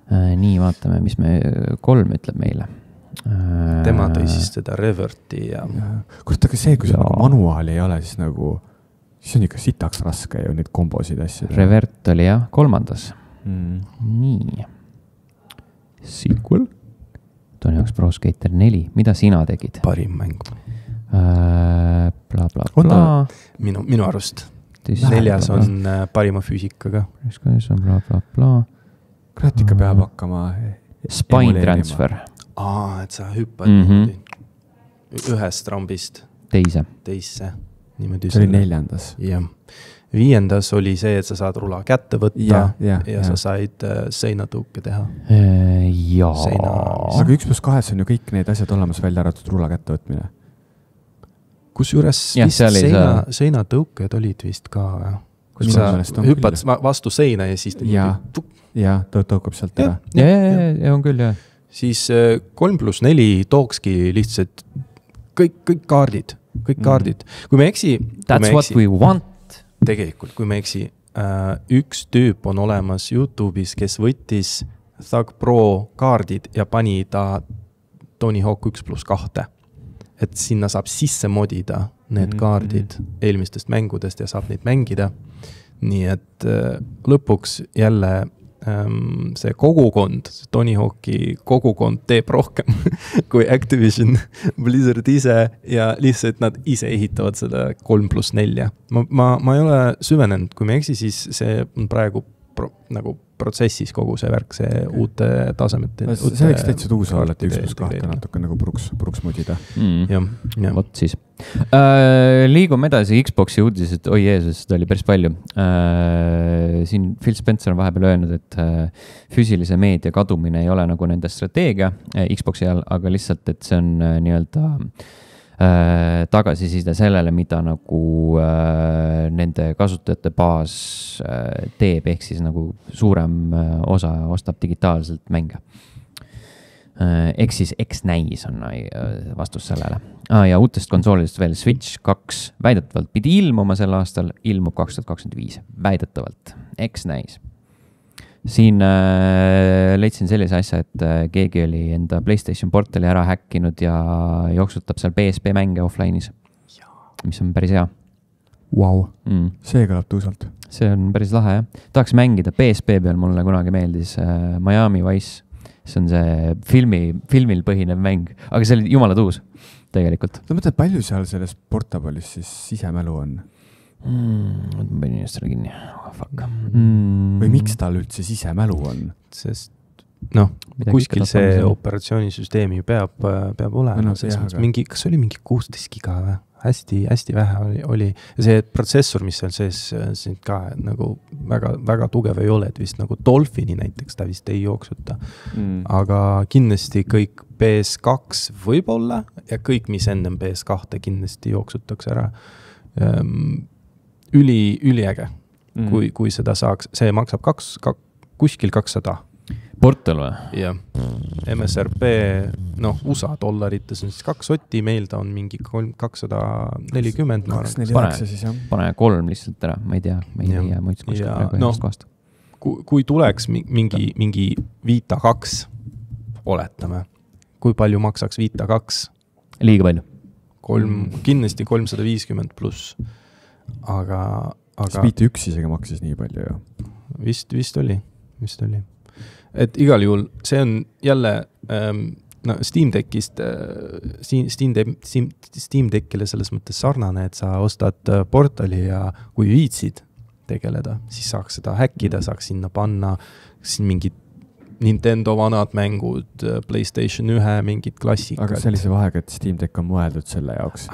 [SPEAKER 1] Nii, vaatame, mis 3 ütleb meile.
[SPEAKER 3] Tema tõi siis seda reverti ja...
[SPEAKER 2] Kurat, aga see, kui see manuaali ei ole, siis nagu... Siis on ikka sitaks raske ju neid kombosid asju.
[SPEAKER 1] Revert oli jah, 3. Nii. Sequel. Tony Hawk's Pro Skater 4. Mida sina tegid?
[SPEAKER 3] Parim mäng.
[SPEAKER 1] Bla, bla, bla.
[SPEAKER 3] Minu arust. 4 on parima füüsikaga.
[SPEAKER 1] Bla, bla, bla.
[SPEAKER 2] Kurat ikka peab hakkama...
[SPEAKER 1] Spine transfer.
[SPEAKER 3] Et sa hüppad ühest rambist
[SPEAKER 1] teise.
[SPEAKER 3] niimoodi.
[SPEAKER 2] See oli 4.
[SPEAKER 3] Jah. 5. oli see, et sa saad rula kätte võtta ja sa said seinatõuke teha.
[SPEAKER 2] Aga 1+2 on ju kõik need asjad olemas, välja arvatud rula kätte võtmine.
[SPEAKER 3] Kusjuures seinatõuked olid vist ka, kus sa hüppad vastu seina ja siis
[SPEAKER 2] tõukab sealt ära.
[SPEAKER 1] Ja on küll, jah.
[SPEAKER 3] Siis 3+4 tookski lihtsalt kõik kaardid. Kui me eksi...
[SPEAKER 1] That's what we want.
[SPEAKER 3] Tegelikult, kui me eksi, üks tüüp on olemas YouTube'is, kes võttis Thug Pro kaardid ja pani ta Tony Hawk 1+2. Et sinna saab sisse modida need kaardid eelmistest mängudest ja saab neid mängida. Nii et lõpuks jälle see kogukond, Tony Hawki kogukond teeb rohkem kui Activision, Blizzard ise ja lihtsalt nad ise ehitavad seda 3+4. Ma ei ole süvenenud, kui me eksi, siis see on praegu nagu protsessis kogu see värk, see uute tasemete.
[SPEAKER 2] See võiks täitsa uus olla, et 1+2 natuke nagu pruks modida.
[SPEAKER 1] Vot siis. Liigume edasi Xboxi uudised, oi Jeesus, seda oli päris palju. Siin Phil Spencer on vahepeal öelnud, et füüsilise meedia kadumine ei ole nagu nende strateegia Xboxi all, aga lihtsalt, et see on nii-öelda tagasiside sellele, mida nagu nende kasutajate baas teeb, ehk siis nagu suurem osa ostab digitaalselt mänge. Ehk siis X-näis on vastus sellele. Ja uutest konsoolidest veel Switch 2 väidetavalt pidi ilmuma sel aastal, ilmub 2025, väidetavalt X-näis. Siin leidsin sellise asja, et keegi oli enda PlayStation portali ära häkkinud ja jooksutab seal PSP mänge offline'is, mis on päris hea.
[SPEAKER 2] Wow. See kõlab tõusalt.
[SPEAKER 1] See on päris lahe, jah. Tahaks mängida PSP peal, mulle kunagi meeldis Miami Vice. See on see filmil põhinev mäng, aga see oli jumala tuus tegelikult.
[SPEAKER 2] Ma mõtlen, palju seal selles portabalis siis sisemälu on?
[SPEAKER 1] Ma panin inimestele kinni. Fuck.
[SPEAKER 2] Või miks tal üldse sisemälu on?
[SPEAKER 3] Sest kuskil see operatsioonisüsteemi peab olema. Kas oli mingi 16 giga või? Hästi vähe oli. Ja see protsessor, mis seal sees ka nagu väga tugev ei ole, et vist nagu Dolphini näiteks ta vist ei jooksuta. Aga kindlasti kõik PS2 võib-olla ja kõik, mis ennem PS2 kindlasti jooksutakse ära. Üliäge, kui seda saaks. See maksab kuskil 200.
[SPEAKER 1] Portal või?
[SPEAKER 3] Jah. MSRP, USA dollarites on siis 2 sotti, meil ta on mingi 240.
[SPEAKER 2] 249 siis, jah.
[SPEAKER 1] Pane 3 lihtsalt ära, ma ei tea muid kuskil praegu ühest kohast.
[SPEAKER 3] Kui tuleks mingi Vita 2, oletame, kui palju maksaks Vita 2?
[SPEAKER 1] Liiga palju.
[SPEAKER 3] Kindlasti 350 pluss. Aga
[SPEAKER 2] Vita 1 isegi maksis nii palju, ju.
[SPEAKER 3] Vist oli. Et igal juhul, see on jälle Steam Deckist, Steam Deckile selles mõttes sarnane, et sa ostad portali ja kui viitsid tegeleda, siis saaks seda häkkida, saaks sinna panna siin mingid Nintendo vanad mängud, PlayStation 1, mingid klassikad.
[SPEAKER 2] Aga sellise vahega, et Steam Deck on mõeldud selle jaoks.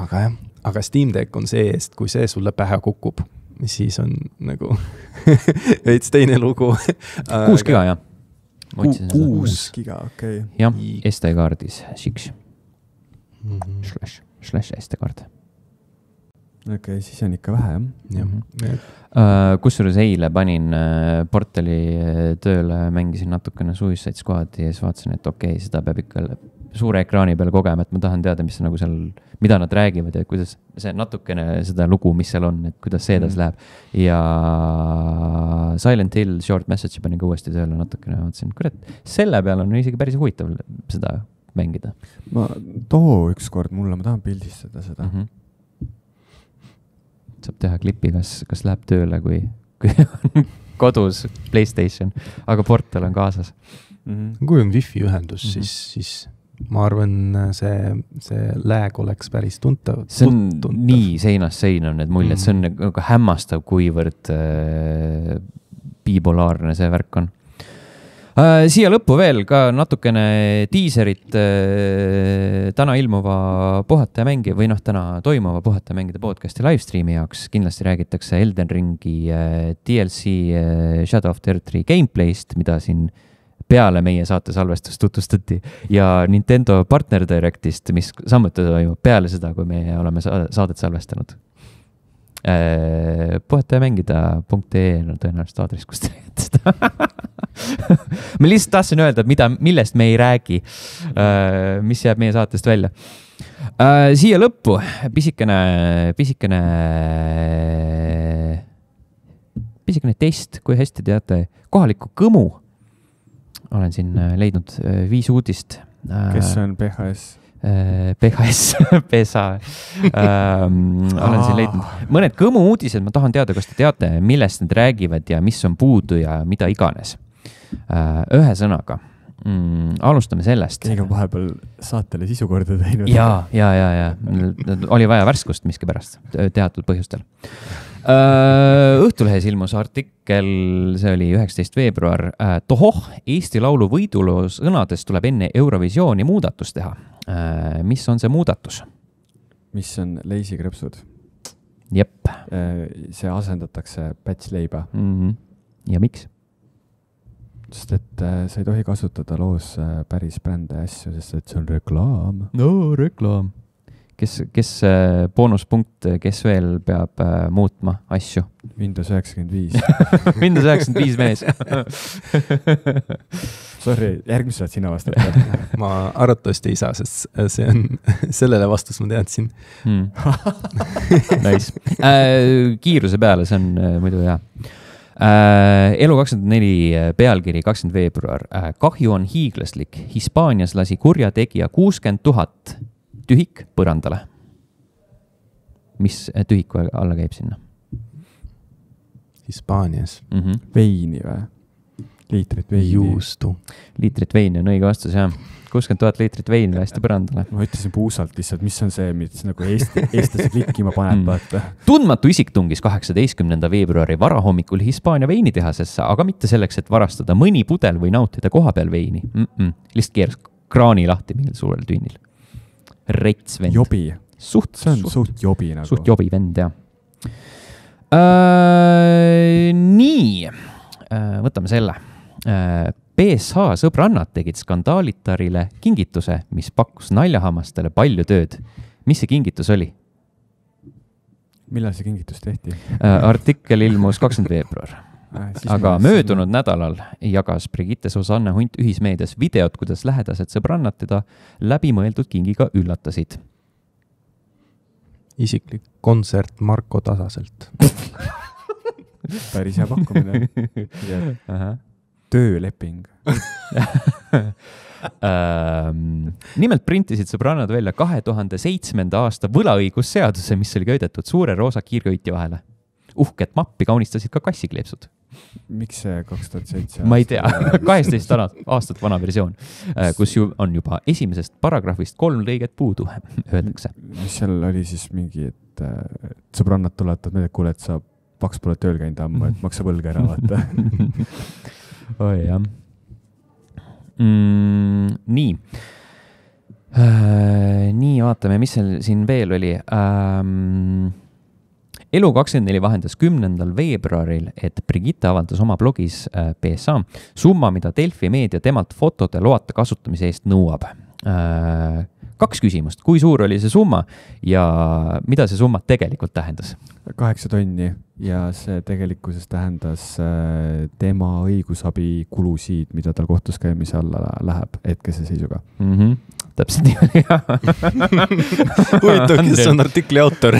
[SPEAKER 3] Aga Steam Deck on see eest, kui see sulle pähe kukub, siis on nagu veits teine lugu.
[SPEAKER 1] 6 giga, jah.
[SPEAKER 2] 6 giga, okei.
[SPEAKER 1] Jah, SD-kaardis 6. Slash SD-kaard.
[SPEAKER 2] Okei, siis on ikka vähe,
[SPEAKER 3] jah.
[SPEAKER 1] Kusjuures eile panin portali tööle, mängisin natukene Suicide Squadi ja siis vaatasin, et okei, seda peab ikka suure ekraani peal kogema, et ma tahan teada, mis nagu seal, mida nad räägivad ja kuidas see natukene seda lugu, mis seal on, et kuidas see edasi läheb. Ja Silent Hill Short Message panin ka uuesti tööle natukene, vaatasin, kurat, selle peal on isegi päris huvitav seda mängida.
[SPEAKER 2] Too ükskord mulle, ma tahan pildistada seda.
[SPEAKER 1] Saab teha klipi, kas läheb tööle, kui on kodus PlayStation, aga portal on kaasas.
[SPEAKER 3] Kui on wifi ühendus, siis ma arvan, see lag oleks päris tuntav.
[SPEAKER 1] See on nii seinast seina on need muljed, see on nagu hämmastav, kuivõrd bipolaarne see värk on. Siia lõppu veel ka natukene diiserit täna ilmuva Puhata ja mängi või täna toimuva Puhata ja mängide podcasti livestreami jaoks. Kindlasti räägitakse Elden Ringi DLC Shadow of the Earth 3 gameplayst, mida siin peale meie saate salvestust tutvustati ja Nintendo Partner Directist, mis samuti toimub peale seda, kui me oleme saadet salvestanud. Puhata ja mängida.ee on tõenäoliselt aadress, kus te leiate seda. Ma lihtsalt tahtsin öelda, millest me ei räägi, mis jääb meie saatest välja. Siia lõppu pisikene test, kui hästi teate kohalikku Kõmu. Olen siin leidnud 5 uudist.
[SPEAKER 2] Kes on PHS?
[SPEAKER 1] PSA. Olen siin leidnud mõned Kõmu uudised, ma tahan teada, kas te teate, millest need räägivad ja mis on puudu ja mida iganes. Ühesõnaga, alustame sellest.
[SPEAKER 2] Keegi on vahepeal saatele sisu korda teinud.
[SPEAKER 1] Ja. Oli vaja värskust miskipärast teatud põhjustel. Õhtulehes ilmus artikkel, see oli 19. veebruar. Tohoh, Eesti laulu võiduloo sõnades tuleb enne Eurovisiooni muudatus teha. Mis on see muudatus?
[SPEAKER 2] Mis on leisikrepsud?
[SPEAKER 1] Jep.
[SPEAKER 2] See asendatakse pätsleiba.
[SPEAKER 1] Ja miks?
[SPEAKER 2] Sest et sa ei tohi kasutada loos päris brände asju, sest et see on reklaam.
[SPEAKER 1] No, reklaam. Kes boonuspunkt, kes veel peab muutma asju?
[SPEAKER 2] Windows 95.
[SPEAKER 1] Windows 95 mees.
[SPEAKER 2] Sorry, järgmised sina vastata.
[SPEAKER 3] Ma arvatavasti ei saa, sest see on sellele vastus ma teadsin.
[SPEAKER 1] Nice. Kiiruse peale, see on muidu hea. Elu24 pealkiri 20. veebruar. Kahju on hiiglaslik. Hispaanias lasi kurja tegija 60 000 tühik põrandale. Mis tühiku alla käib sinna?
[SPEAKER 3] Hispaanias.
[SPEAKER 2] Veini või? Liitrit veini.
[SPEAKER 3] Juustu.
[SPEAKER 1] Liitrit veini on õige vastus, jah. 60 000 liitrit veini lasti põrandale.
[SPEAKER 2] Ma ütlesin puusalt lihtsalt, mis on see, mis nagu eestlase klikkima paneb.
[SPEAKER 1] Tundmatu isik tungis 18. veebruari varahommikul Hispaania veinitehasesse, aga mitte selleks, et varastada mõni pudel või nautida koha peal veini. Lihtsalt keeras kraani lahti mingil suurel tüünil. Reits vend.
[SPEAKER 2] Jobi.
[SPEAKER 1] See
[SPEAKER 2] on suht jobi nagu.
[SPEAKER 1] Suht jobi vend, jah. Nii, võtame selle. PSH sõbrannad tegid skandaalitarile kingituse, mis pakkus naljahamastele palju tööd. Mis see kingitus oli?
[SPEAKER 2] Millal see kingitus tehti?
[SPEAKER 1] Artikkel ilmus 20. veebruar. Aga möödunud nädalal jagas Brigitte Susanne Hunt ühismeedias videot, kuidas lähedased sõbrannad teda läbimõeldud kingiga üllatasid.
[SPEAKER 3] Isiklik kontsert Marko Tasaselt.
[SPEAKER 2] Päris hea pakkumine. Tööleping.
[SPEAKER 1] Nimelt printisid sõbrannad välja 2007. aasta võlaõigusseaduse, mis oli köidetud suure roosa kiirköitja vahele. Uhket mappi kaunistasid ka kassikleepsud.
[SPEAKER 2] Miks see 2007?
[SPEAKER 1] Ma ei tea, 18 aastat vana versioon, kus on juba esimesest paragrahvist 3 lõiget puudu, öeldakse.
[SPEAKER 2] Mis seal oli siis mingi, et sõbrannad tuletavad meelde, kuule, et sa paks pole tööl käinud ammu, et maksa võlga ära vaata.
[SPEAKER 1] Oi, jah. Nii. Nii, vaatame, mis seal siin veel oli. Elu24 vahendas 10. veebruaril, et Brigitte avaldas oma blogis PSA summa, mida Delfi meedia temalt fotode loata kasutamise eest nõuab. 2 küsimust. Kui suur oli see summa ja mida see summa tegelikult tähendas?
[SPEAKER 2] 8 tonni ja see tegelikkuses tähendas tema õigusabi kulusid, mida tal kohtus käimise alla läheb hetkese seisuga.
[SPEAKER 1] Täpselt nii.
[SPEAKER 3] Huvitav, kes on artikli autor?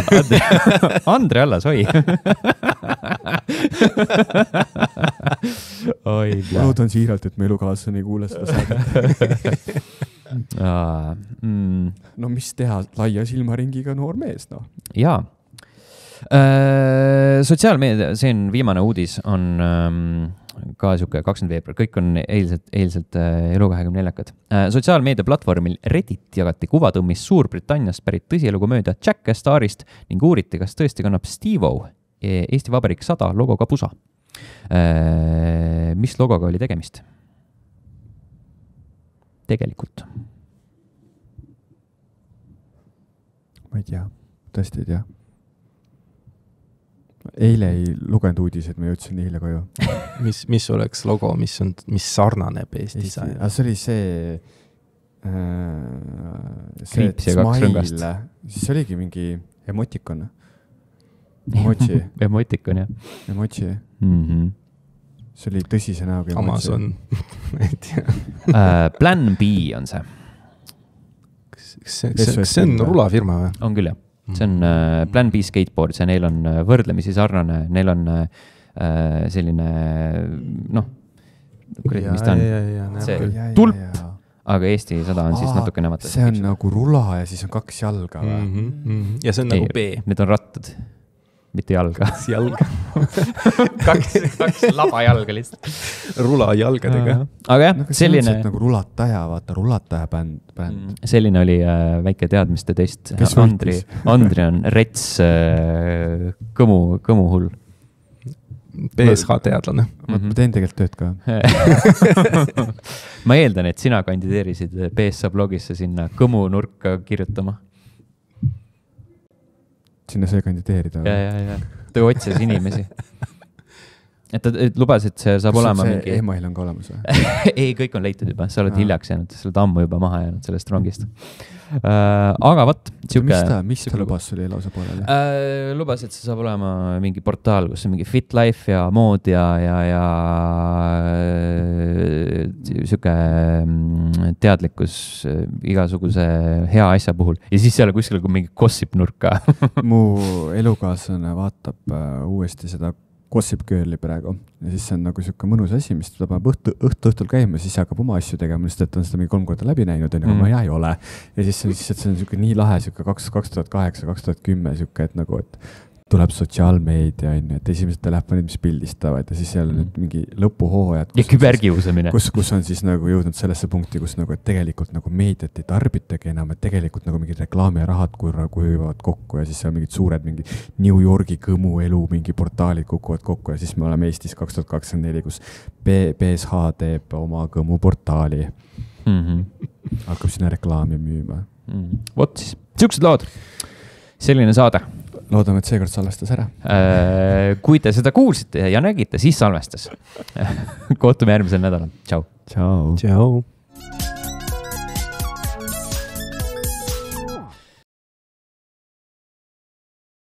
[SPEAKER 1] Andre Allas, oi.
[SPEAKER 2] Ma loodan siiralt, et me elukaaslane ei kuule seda saadet. No mis teha laia silmaringiga noor mees, no?
[SPEAKER 1] Jaa. Sotsiaalmeedia, see on viimane uudis, on ka siuke 20. veebruar, kõik on eilselt Elu24-kad. Sotsiaalmeedia platvormil Reddit jagati kuvatõmmis Suurbritanniast pärit tõsielukomöödia Jack Starrist ning uuriti, kas tõesti kannab Steve-O Eesti Vabariik 100 logoga pusa. Mis logoga oli tegemist? tegelikult?
[SPEAKER 2] Ma ei tea, tõesti ei tea. Eile ei lugenud uudiseid, ma jõudsin eile koju.
[SPEAKER 3] mis oleks logo, mis sarnaneb Eesti disain?
[SPEAKER 2] See oli see
[SPEAKER 1] kriips ja kaks rõngast.
[SPEAKER 2] Siis oligi mingi emotikon. Emoji.
[SPEAKER 1] Emotikon, jah.
[SPEAKER 2] Emoji. See oli tõsise näoga.
[SPEAKER 3] Amazon.
[SPEAKER 1] Plan B on see.
[SPEAKER 3] See on rulafirma või?
[SPEAKER 1] On küll, jah. See on Plan B skateboard, see neil on võrdlemisi sarnane, neil on selline, mis ta on? See tulp, aga Eesti 100 on siis natuke nemad.
[SPEAKER 2] See on nagu rula ja siis on 2 jalga või?
[SPEAKER 3] Ja see on nagu B.
[SPEAKER 1] Need on rattad, mitte jalga.
[SPEAKER 3] Jalga.
[SPEAKER 1] kaks labajalga lihtsalt.
[SPEAKER 3] Rula jalgadega.
[SPEAKER 1] Aga jah, selline...
[SPEAKER 2] nagu rulataja, vaata, rulataja bänd.
[SPEAKER 1] Selline oli väike teadmiste test. Andri on rets kõmu hull.
[SPEAKER 3] BSH teadlane.
[SPEAKER 2] Ma teen tegelikult tööd ka.
[SPEAKER 1] Ma eeldan, et sina kandideerisid BSH blogisse sinna kõmu nurka kirjutama.
[SPEAKER 2] Sinna sai kandideerida.
[SPEAKER 1] Ja. Ta otsis inimesi. Et lubas, et see saab olema mingi...
[SPEAKER 2] email on ka olemas või?
[SPEAKER 1] Ei, kõik on leitud juba. Sa oled hiljaks jäänud, sa oled ammu juba maha jäänud sellest rongist. Aga võt,
[SPEAKER 2] mis ta lubas sul lausa pooleli?
[SPEAKER 1] Lubas, et see saab olema mingi portaal, kus on mingi fit life ja mood ja siuke teadlikkus igasuguse hea asja puhul. Ja siis seal kuskil mingi gossip nurka.
[SPEAKER 2] Mu elukaaslane vaatab uuesti seda Gossip Girli praegu. Ja siis see on nagu siuke mõnus asi, mis ta peab õhtul käima, siis hakkab oma asju tegema, sest et on seda mingi 3 korda läbi näinud, aga ma ei ole. Ja siis see on siuke nii lahe, siuke 2008-2010 siuke, et nagu, et tuleb sotsiaalmeedia, et esimesed telefonid, mis pildistavad ja siis seal on mingi lõpuhooajad.
[SPEAKER 1] Ja küberkiusamine.
[SPEAKER 2] Kus on siis nagu jõudnud sellesse punkti, kus nagu, et tegelikult nagu meediat ei tarbitagi enam, et tegelikult nagu mingid reklaami ja rahad kuivavad kokku ja siis seal mingid suured mingi New Yorgi kõmu elu, mingi portaalid kukuvad kokku ja siis me oleme Eestis 2024, kus BSH teeb oma kõmu portaali. Hakkab sinna reklaami müüma.
[SPEAKER 1] Vot siis, siuksed lood. Selline saade.
[SPEAKER 2] Loodame, et seekord salvestas ära.
[SPEAKER 1] Kui te seda kuulsite ja nägite, siis salvestas. Kohtume järgmisel nädalal. Tšau.
[SPEAKER 2] Tšau.
[SPEAKER 3] Tšau.